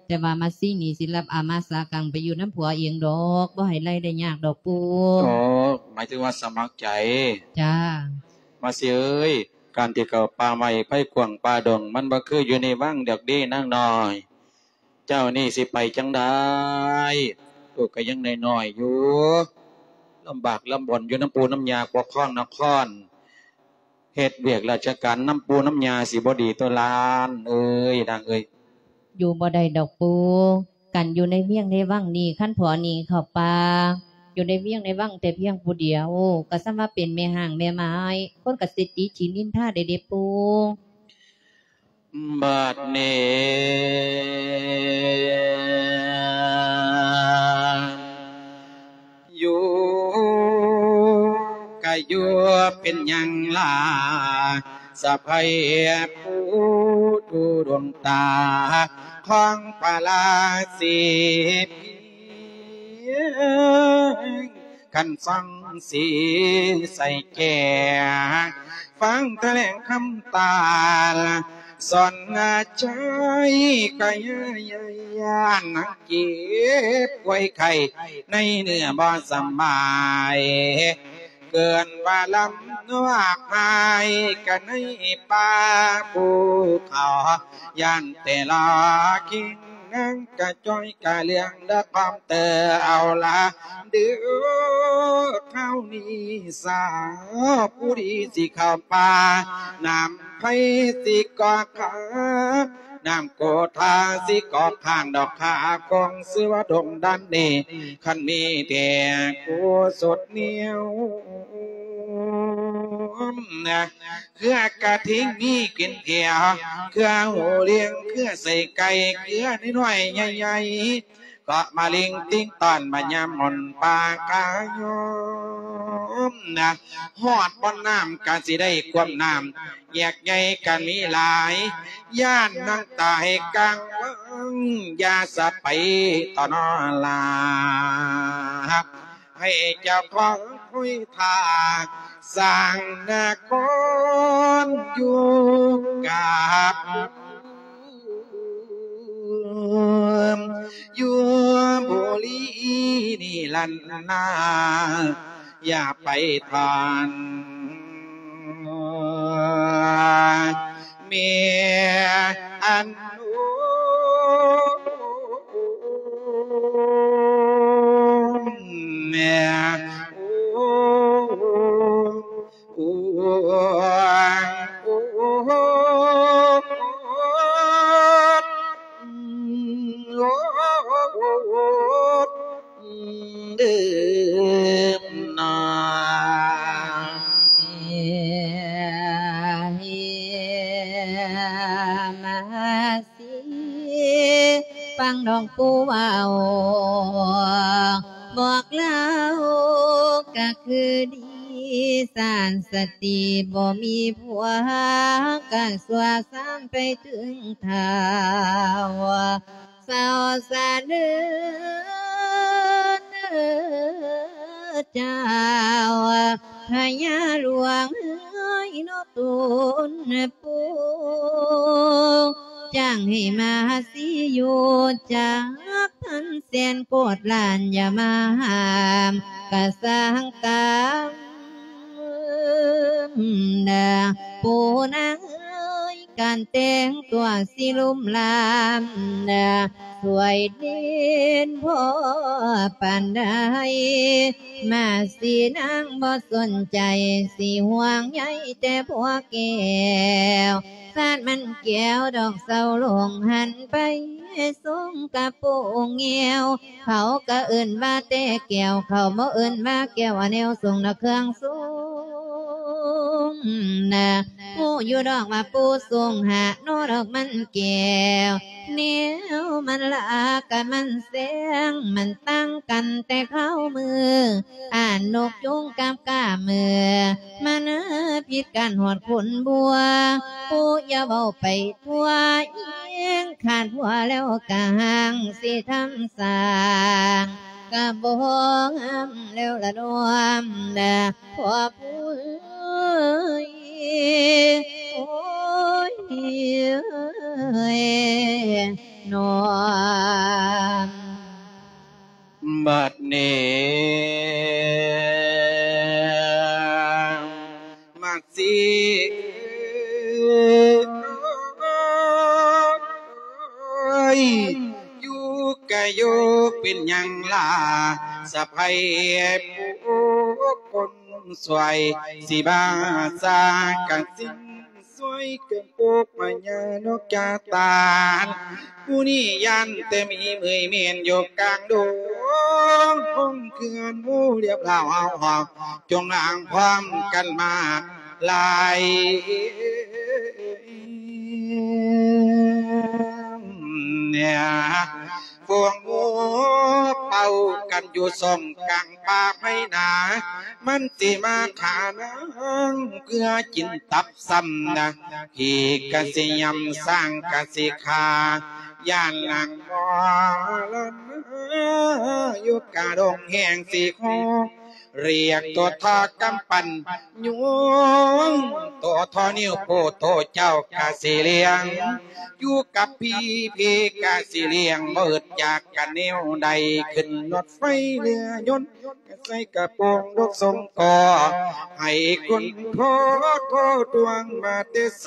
ແຕ່ວ່າມາຊີນີ້ຊິຮັບອາມາສາກັງໄປຢູ່ນຳຜົວເອງດອກ, ບໍ່ໃຫ້ໄລ່ໄດ້ຍາກດອກປູ. ອໍ ໝາຍເຖິງວ່າສະໝັກໃຈ. ຈ້າ. ມາຊີເອີຍ, ການທີ່ເຂົ້າປ່າໄມ້ໄພກວ້າງປ່າດົງ ມັນບໍ່ຄືຢູ່ໃນວັງດອກເດ້ນາງນ້ອຍ. ເຈົ້ານີ້ຊິໄປຈັ່ງໃດ? ລູກກໍຍັງນ້ອຍໆຢູ່, ລຳບາກລຳບົນຢູ່ນຳປູ່ນຳຍ່າປົກຄອງນະຄອນ, ເຮັດວຽກລາຊະການນຳປູ່ນຳຍ່າຊິບໍ່ດີຕົວະຫຼານເອີຍ ນາງເອີຍ? ຢູ່ບໍ່ໄດ້ດອກປູ່, ການຢູ່ໃນວຽງໃນວັງນີ້ ຄັນພໍ່ໜີເຂົ້າປ່າ, ຢູ່ໃນວຽງໃນວັງແຕ່ພຽງຜູ້ດຽວ ກໍສ່ຳວ່າເປັນແມ່ຮ້າງແມ່ໝ້າຍ, ຄົນກໍຊິຕິຊິນິນທາໄດ້ເດ້ປູ່. ບັດນີ້ ຢູ່ກະຢູ່ເປັນຫຍັງລະ ສະໃພ້ຜູ້ດູດວງຕາຂອງພະລາສີພີ ຄັນຟັງສີໃສ່ແກ້ ຟັງຖະແຫຼງຄຳຕານ ສອນນາໄຈກະຢ້ານ ນາງເກັບໄຂ້ໄຂ້ໃນເນື້ອບໍ່ສະບາຍ ເກີນວ່າລຳນວກຫາຍກັນໃນປ່າພູເຂົາ ຢ້ານແຕ່ລະຄິງນາງກະຈ່ອຍກະເລື່ອງເດີຄວາມເຕີເອົາລະ ເດີຄາວນີ້ສາວຜູ້ດີຊິເຂົ້າປ່າ ນ້ຳໄພຊິກໍຂາ ນ້ຳໂກທາຊິກໍຂ້າງດອກຂາ ຄອງຊື່ວ່າດົງດັນນີ້ ຄັນມີແທ້ກູສົດໜຽວ ເຄືອກະທິງມີກິນແຖວ ເຄືອຫູຫຼຽງ ເຄືອໄສ້ໄກ່ ເຄືອນ້ອຍໆໃຫຍ່ໆ ເກາະມາລິງຕິງຕອນ ມາຍາມໝົນປາກາຍອມນະ ຮອດບ່ອນນ້ຳກະຊິໄດ້ກວມນ້ຳ ແຍກໃຫຍ່ກະມີຫຼາຍ ຢ້ານນາງຕາຍກາງວັງ ຢ່າສະໄປຕໍ່ນອລາ ໃຫ້ເຈົ້າຂອງຄຸຍທ່າ ສ້າງນະຄອນຢູ່ກັບ ຢູ່ບຸລີນິລັນນາ ຢ່າໄປທ່ານ ແມ່ອັນໂອ ແມ່ໂອ ໂອ ໂອ ໂອ ເດີມນາ ມາຊິຟັງນ້ອງຜູ້ເວົ້າ ບອກລາວກະຄືດີ ສານສະຕີບໍ່ມີຜົວ ກະຊົ່ວຊາມໄປເຖິງທ້າວ ສາວສະເໜີເຈົ້າ ພະຍາຫຼວງເອີຍເນາະຕົນປູ່ ຈ້າງໃຫ້ມາຊິຢູ່ ຈັກພັນແສນໂກດລ້ານ ຢ່າມາຫ້າມກະສ້າງກຳ ນາ ຜູ້ນາງເອີຍ ການແຕ່ງຕົວຊິລຸມລາມນາ ສວຍເດັ່ນພໍປານໃດ ມາສີນາງບໍ່ສົນໃຈ ຊິຫ່ວງໃຍແຕ່ຜົວແກ້ວ ຊາດມັນແກ້ວດອກເຊົາລົງ ຫັນໄປຊົງກະໂປງແງວ ເຂົາກະເອີ້ນວ່າແຕ່ແກ້ວ ເຂົາບໍ່ເອີ້ນວ່າແກ້ວ ອາແນວຊົງນະເຄື່ອງຊົງນະ ຮູ້ຢູ່ດອກວ່າປູຊົງຫາໂນດອກມັນແກ້ວ ແນວມັນລາກະມັນແສງ ມັນຕ່າງກັນແຕ່ຄາວມື້ ອານົກຍຸງກັບກາມື ມັນຜິດກັນຮອດຂົນບົວ ຜູ້ຢ່າເວົ້າໄປ ທົ່ວອີງ ຂາດຜົວແລ້ວກະຫ່າງ ຊິທຳສ້າງກະບໍ່ງາມແລ້ວລະນ້ອມນະ ຜົວຜູ້ເອີຍ ໂອ້ຍ ນ້ອມ. ບັດນີ້ ມັດຊິຢູ່ກະຢູ່ ເປັນຫຍັງລະສະໃພ້ຜູ້ຄົນຊ່ວຍ ຊິບາຊາກະຊິ ຊ່ວຍກັນປູກພະຍານົກຈາຕານ ຜູ້ນີ້ຢ້ານແຕ່ມີເມື່ອຍແມ່ນຢູ່ກາງດົງ ຫ້ອງເຂື່ອນໝູ່ລຽບລາວເຮົາ ຈົ່ງອ້າງພ້ອມກັນມາຫຼາຍ ເນຍ ພວກໝູ່ເປົ່າກັນຢູ່ຊ່ອງກາງປ່າໄພນາ ມັນຊິມາຂ້ານາງເພື່ອກິນຕັບຊ້ຳນະ ຂີ້ກະຊິຫຍ້ຳ ຊ້າງກະຊິຂ້າ ຢ້ານນາງມໍລະນາ ຢູ່ກະດົງແຮງຊິໂຄ ລຽກໂຕທໍ່ກຳປັ່ນ ຍຸງໂຕທໍ່ນິ້ວໂປ້ ໂຕເຈົ້າກະຊິລ້ຽງ ຢູ່ກັບພີ່ ພີ່ກະຊິລ້ຽງ ບໍ່ອຶດຢາກກະແນວໃດ ຂຶ້ນລົດໄຟເຮືອຍົນ ກະໃສ່ກະໂປງດົກຊົງກໍ ໃຫ້ຄຸນພໍ່ໂທດວງມາແຕ່ໃສ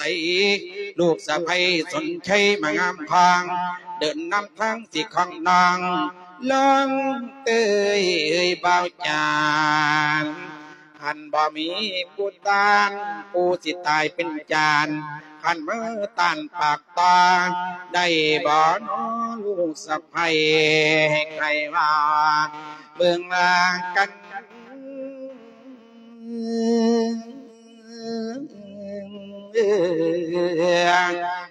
ລູກສະໃພ້ສົນໄຊມາງາມທາງ ເດີນນຳທາງຊິຂອງນ້ອງ ລອງເຕີຍເອີຍບ່າວຈານ ຄັນບໍ່ມີຜູ້ຕ້ານ ຜູ້ຊິຕາຍເປັນຈານ ຄັນມາຕ້ານປາກຕໍ່ ໄດ້ບໍ່ນໍລູກສະໃພ້ ໃຫ້ໃຄວ່າເບິ່ງລາກັນ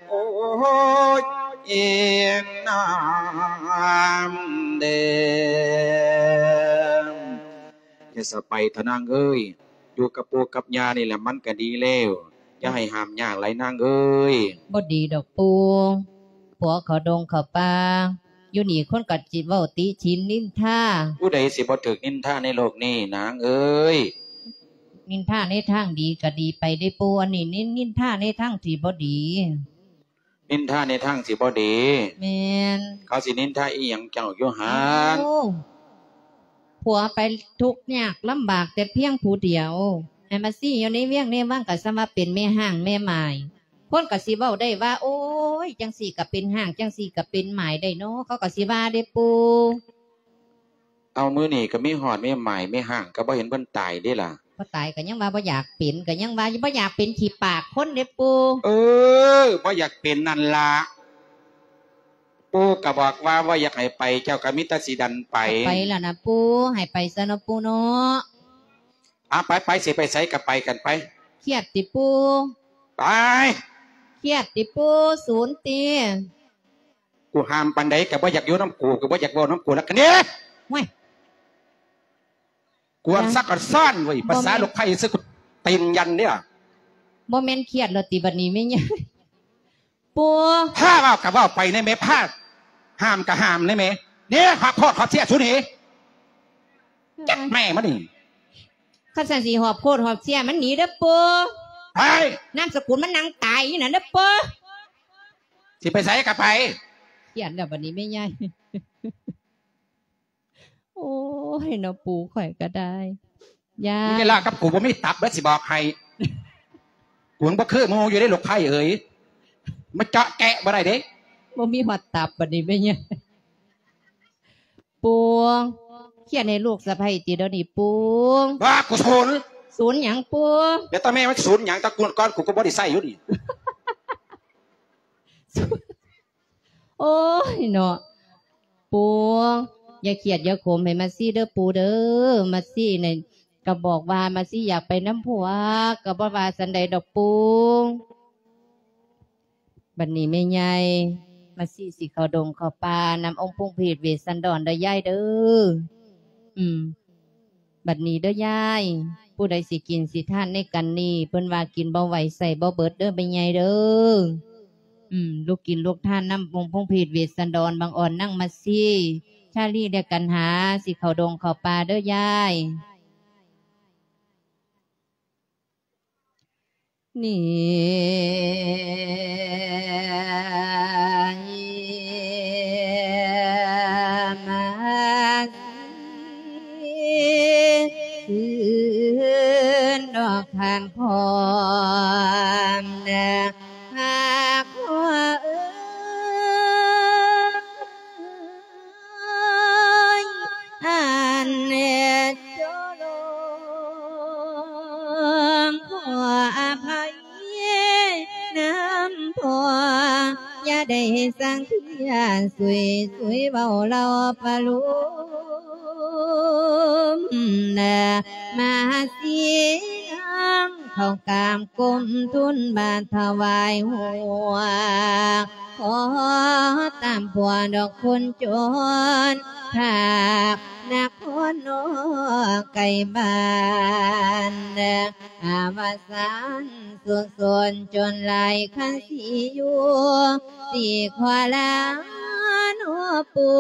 ໂອ້ຍ ອີນາມເດ ຢ່າສະໄປເຖາະນາງເອີຍ, ຢູ່ກັບປູ່ກັບຍ່ານີ້ແຫຼະມັນກະດີແລ້ວ, ຢ່າໃຫ້ຫ້າມຍາກຫຼາຍນາງເອີຍ. ບໍ່ດີດອກປູ່, ຜົວເຂົ້າດົງເຂົ້າປ່າ ຢູ່ນີ້ຄົນກໍຊິເວົ້າຕິฉิນນິນທາ. ຜູ້ໃດຊິບໍ່ຖືກນິນທາໃນໂລກນີ້ນາງເອີຍ? ນິນທາໃນທາງດີກໍດີໄປເດ້ປູ່, ອັນນີ້ນິນ ນິນທາໃນທາງທີ່ບໍ່ດີ. ນິນທາໃນທາງທີ່ບໍ່ດີ? ແມ່ນ. ເຂົາຊິນິນທາອີ່ຫຍັງເຈົ້າຢູ່ຫັ້ນ? ໂອ້ ຜົວໄປທຸກຍາກລຳບາກແຕ່ພຽງຜູ້ດຽວ, ໃຫ້ມາຊີ້ຢູ່ໃນວຽງໃນວັງກໍສ່ຳວ່າເປັນແມ່ຮ້າງແມ່ໝ້າຍ. ຄົນກໍຊິເວົ້າໄດ້ວ່າ ໂອ້ຍ ຈັ່ງຊີ້ກໍເປັນຮ້າງ ຈັ່ງຊີ້ກໍເປັນໝ້າຍໄດ້ເນາະ, ເຂົາກໍຊິວ່າເດ້ປູ່. ເອົາ ມື້ນີ້ກໍມີຮອດແມ່ໝ້າຍແມ່ຮ້າງ ກໍບໍ່ເຫັນເພິ່ນຕາຍເດ້ລະ. ບໍ່ຕາຍກໍຍັງວ່າບໍ່ຢາກເປັນ, ກໍຍັງວ່າບໍ່ຢາກເປັນຂີ້ປາກຄົນເດ້ປູ່. ເອີ ບໍ່ຢາກເປັນນັ້ນລະ, ປູ່ກໍບອກວ່າບໍ່ຢາກໃຫ້ໄປ, ເຈົ້າກໍມີແຕ່ຊິດັນໄປ. ໄປລະນະປູ່, ໃຫ້ໄປຊະເນາະປູ່ເນາະ. ອາ ໄປໆ ຊິໄປໃສກໍໄປກັນໄປ. ຄຽດຕິປູ່? ໄປ. ຄຽດຕິປູ່? ສູນຕິ? ກູຫ້າມປານໃດກໍບໍ່ຢາກຢູ່ນຳກູ, ກໍບໍ່ຢາກເວົ້ານຳກູ, ແລ້ວກໍໜີ. ໂອ້ຍ ກວນ ຍາ ຊັກກັນຊ້ອນເວີຍ, ບໍ່ແມ່ນ ພາສາລູກໄຜ່ຊື່ກູຕີນຢັນເດ້. ບໍ່ແມ່ນຄຽດແລ້ວຕິບັດນີ້ແມ່ໃຫຍ່? ປູ່ ພາເວົ້າກໍເວົ້າໄປແດ່ແມ່, ພາຫ້າມກໍຫ້າມແດ່ແມ່. ເດ້ ຮອບໂພດຮອບເຊຍສູນີ້. ຈັກແມ່ມັນນີ້. ຄັນຊັ້ນຊິຮອບໂພດຮອບເຊຍມັນໜີເດີ້ປູ່. ໄປ. ນາມສະກຸນມັນນັ່ງຕາຍຢູ່ນັ້ນເດີ້ປູ່. ຊິໄປໃສກໍໄປ. ຄຽດແລ້ວບັດນີ້ແມ່ໃຫຍ່. ໂອ້ຍ ເນາະ ປູ່ຂ້ອຍກໍໄດ້. ຢ່າ ມຶງຢ່າລາກັບກູ, ບໍ່ມີຕັບເດີ້ ຊິບອກໃຫ້. ກູຍັງບໍ່ຄືໝູ່ຢູ່ເດ້ ລູກໄຜ່ເອີຍ, ມາເຈາະແຈະບໍ່ໄດ້ເດ້. ບໍ່ມີຮອດຕັບບັດນີ້ແມ່ໃຫຍ່. ປູ່ ຄຽດໃຫ້ລູກສະໃພ້ຕິດຽວນີ້ປູ່. ວ່າກູສູນ. ສູນຫຍັງປູ່? ແລ້ວແຕ່ແມ່ມັນສູນຫຍັງ, ແຕ່ກູກ່ອນກູກໍບໍ່ໄດ້ໃຊ້ຢູ່ນີ້. ໂອ້ຍເນາະ ປູ່ ຢ່າຄຽດຢ່າຂົມໃຫ້ມາຊີເດີ້ປູ່ເດີ້. ມາຊີນີ້ກໍບອກວ່າມາຊີຢາກໄປນຳຜົວ ກໍບໍ່ວ່າຊັ້ນໃດດອກປູ່. ບັດນີ້ແມ່ໃຫຍ່ ມາຊີຊິເຂົ້າດົງເຂົ້າປ່ານຳອົງພົງເພດເວດສັນດອນເດີ້ຍາຍເດີ້. ອືມ ບັດນີ້ເດີ້ຍາຍ ຜູ້ໃດຊິກິນຊິທານໃນກັນນີ້ ເພິ່ນວ່າກິນບໍ່ໄຫວໃຊ້ບໍ່ເບິດເດີ້ແມ່ໃຫຍ່ເດີ້. ອືມ ລູກກິນລູກທານນຳອົງພົງເພດເວດສັນດອນ ບັງອອນນາງມາຊີ ຊາລີ ແລະ ກັນຫາ ຊິເຂົ້າດົງເຂົ້າປ່າເດີ້ຍາຍ. ນີ້ ມາຊິຄືນດອກທານຄອມນະ ຫາກພໍ່ເອີຍ ອັນເນດໂຈໂລ ຂໍອະໄພນຳພໍ່ ຢ່າໄດ້ສັງເກດ ສຸຍໆ ເວົ້າເລົ່າປະໂລມນະ ມາສີນາງ ເຂົ້າກາບກົ້ມທູນບາດຖວາຍຫົວ ຂໍຕາມຜົວດອກຄົນຈົນ ພາກນະຄອນນອກໄກບ້ານ ອາວະສານສຸກສົນຈົນຫຼາຍຄັນຊິຢູ່ ຊິຂໍລາເນາະປູ່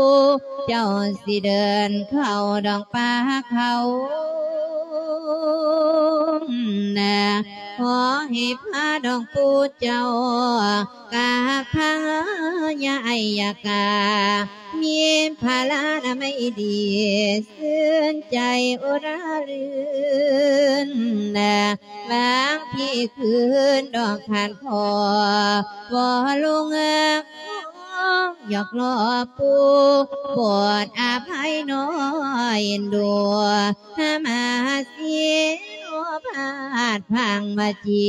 ເຈົ້າຊິເດີນເຂົ້າດອກປ່າເຂົານະ ຂໍໃຫ້ພາດອກປູ່ເຈົ້າ ກັບພະຍາໄອຍະກາ ມີພະລານາໄມດີ ຊື່ນໃຈອຸຣາລື່ນນະ ບາງທີຄືນດອກທານພໍ່ ບໍ່ລົງເອີກ ຢາກລໍປູ່ ໂປດອະໄພນ້ອຍເອັນດູ ຫາມາເສຍໂນພາດພັງວາຈີ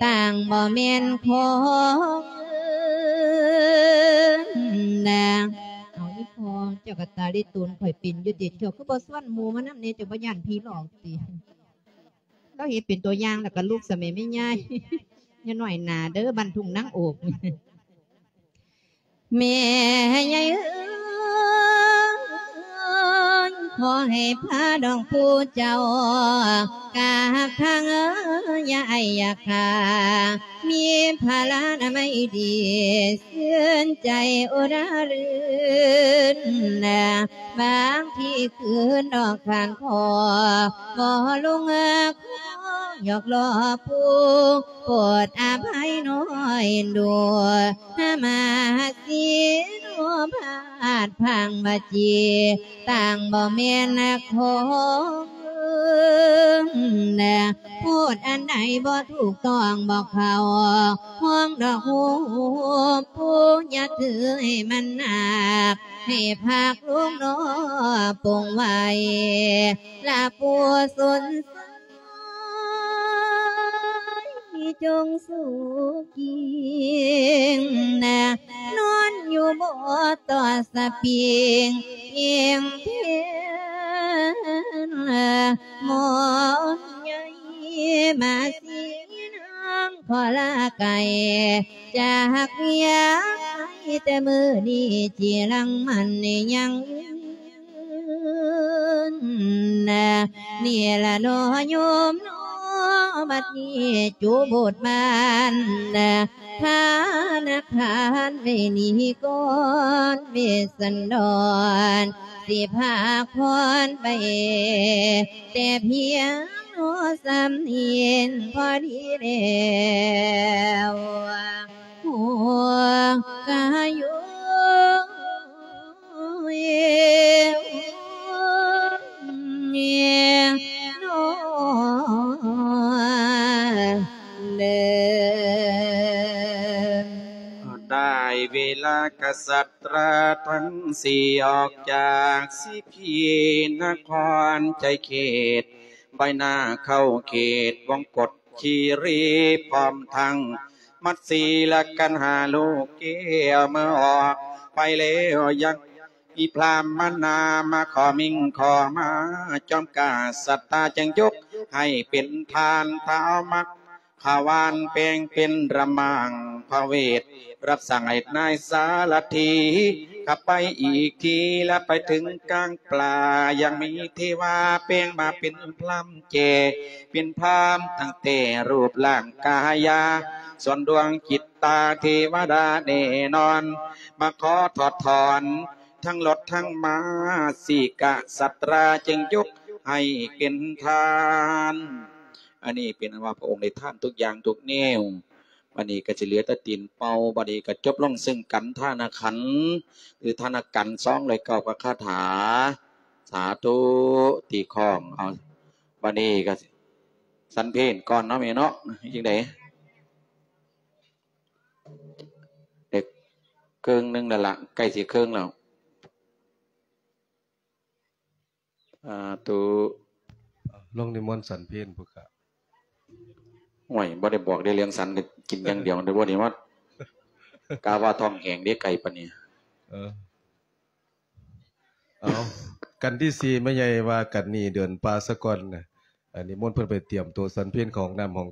ຕ່າງບໍ່ແມ່ນຂອງເອີນາງ. ເອົາ ອີພໍ່ ເຈົ້າກໍຕາລິໂຕນຂ້ອຍເປັນຢູ່ຕິ ເຈົ້າຄືບໍ່ຊວນໝູ່ມານຳແດ່ ເຈົ້າບໍ່ຢ້ານຜີຫຼອກຕິ? ລາວເຮັດເປັນຕົວຢ່າງ ແລ້ວກໍລູກສະແໝແມ່ຍາຍ ຢ່ານ້ອຍໜ້າເດີ ບ້ານທົ່ງນາງໂອກ. ແມ່ໃຫຍ່ເອີຍ ຂໍໃຫ້ພານ້ອງຜູ້ເຈົ້າ ກາບທາງເອີຍ ຢ່າໄອຢ່າຂ້າ ມີພະລານາໄມດີ ຊື່ນໃຈອຸຣາລື່ນ. ບາງທີຄືນນອກຂ້ານຄໍ ບໍ່ລົງເອີຍ ຂໍຢອກລໍຜູ້ ໂປດອະໄພນ້ອຍເອັນດູ ນະມະສິໂນພາດພັງວະຈີ ຕ່າງບໍ່ແມ່ນຂອງເອີນ ນະ ພູດອັນໃດບໍ່ຖືກຕ້ອງບໍ່ເຂົ້າຫ້ອງດອກຮູບ ຜູ້ຢ່າຖືໃຫ້ມັນໜັກ ໃຫ້ພັກລົງນອປົງໄວ້ ລະຜູ້ສົນໃຈ ຈົ່ງສຸກກິງນະ ນອນຢູ່ບໍ່ຕໍ່ສະປິງ ເພງເພນ ໝໍໃຫຍ່ມາສີນາງ ຂໍລາໄກຈາກວຽງໄກ ແຕ່ມື້ນີ້ຈີລັງມັນຍັງຍືນ ນີ້ລະເນາະໂຍມເນາະ ບັດນີ້ຈຸບຸດບານ ທະນາຄານໄດ້ໜີກ່ອນ ເວດສັນດອນ ຊິພາກຜ່ອນໄປ ແຕ່ພຽງເນາະສ່ຳນີ້ພໍດີແລ້ວ ຫົວກະຢູ່ ເນາະ ເດີ ໄດ້ເວລາກະສັດຕາທັງສີ່ ອອກຈາກສີພີນະຄອນໄຊເຂດ ໄບໜ້າເຂົ້າເຂດວົງກົດຄີຣີ ພ້ອມທັງມັດສີລະກັນຫາລູກແກ້ວ ເມື່ອອອກໄປແລ້ວ ຍັງມີພຣາມມານາມາຂໍມິ່ງຂໍມາ ຈອມກະສັດຕາຈຶ່ງຍົກໃຫ້ເປັນທ່ານທ້າວມັກ ຂະວານແປງເປັນລະມັງພະເວດ ຮັບສັ່ງໃຫ້ນາຍສາລະຖີ ຂັບໄປອີກທີລະໄປເຖິງກາງປ່າ ຍັງມີເທວາແປງມາເປັນພຣາມແຈ ເປັນພຣາມຕັ້ງແຕ່ຮູບຮ່າງກາຍາ ສ່ວນດວງຈິດຕາເທວະດາແນ່ນອນ ມາຂໍຖອດຖອນທັງລົດທັງມາ ສີກະສັດຕາຈຶ່ງຍົກໃຫ້ເປັນທ່ານ. ອັນນີ້ເປັນອັນວ່າພະອົງໄດ້ທານທຸກຢ່າງທຸກແນວ ບັດນີ້ກໍຊິເຫຼືອແຕ່ຕີນເປົ່າ ບັດນີ້ກໍຈົບລົງເຊິ່ງກັນທານະຂັນ ຫຼືທານະກັນ ສອງຮ້ອຍເກົ້າ ກັບຄາຖາ ສາທຸ ຕີຄ້ອງ ເອົາ ບັດນີ້ກໍສັນເພນກ່ອນເນາະແມ່ເນາະ ຈັ່ງໃດ ໄດ້ເຄິ່ງໜຶ່ງແລ້ວລະ ໃກ້ຊິເຄິ່ງແລ້ວ. ສາທຸ ລົງນິມົນສັນເພນພຸ້ນກະ ໂອ້ຍ ບໍ່ໄດ້ບອກໄດ້ເລື່ອງສັນ ກໍກິນຢ່າງດຽວ ໄດ້ບໍ່ໄດ້ມາ ກະວ່າທ້ອງແຫ້ງເດ້ ໄກ່ປານນີ້ ເອີ ເອົາ ກັນທີສີ່ ແມ່ໃຫຍ່ວ່າກັນນີ້ ເດີນປ່າສາກ່ອນນະ ອັນນີ້ມົນເພິ່ນໄປຕຽມໂຕສັນເພນ ເຂົ້າຫ້ອງນ້ຳຫ້ອງ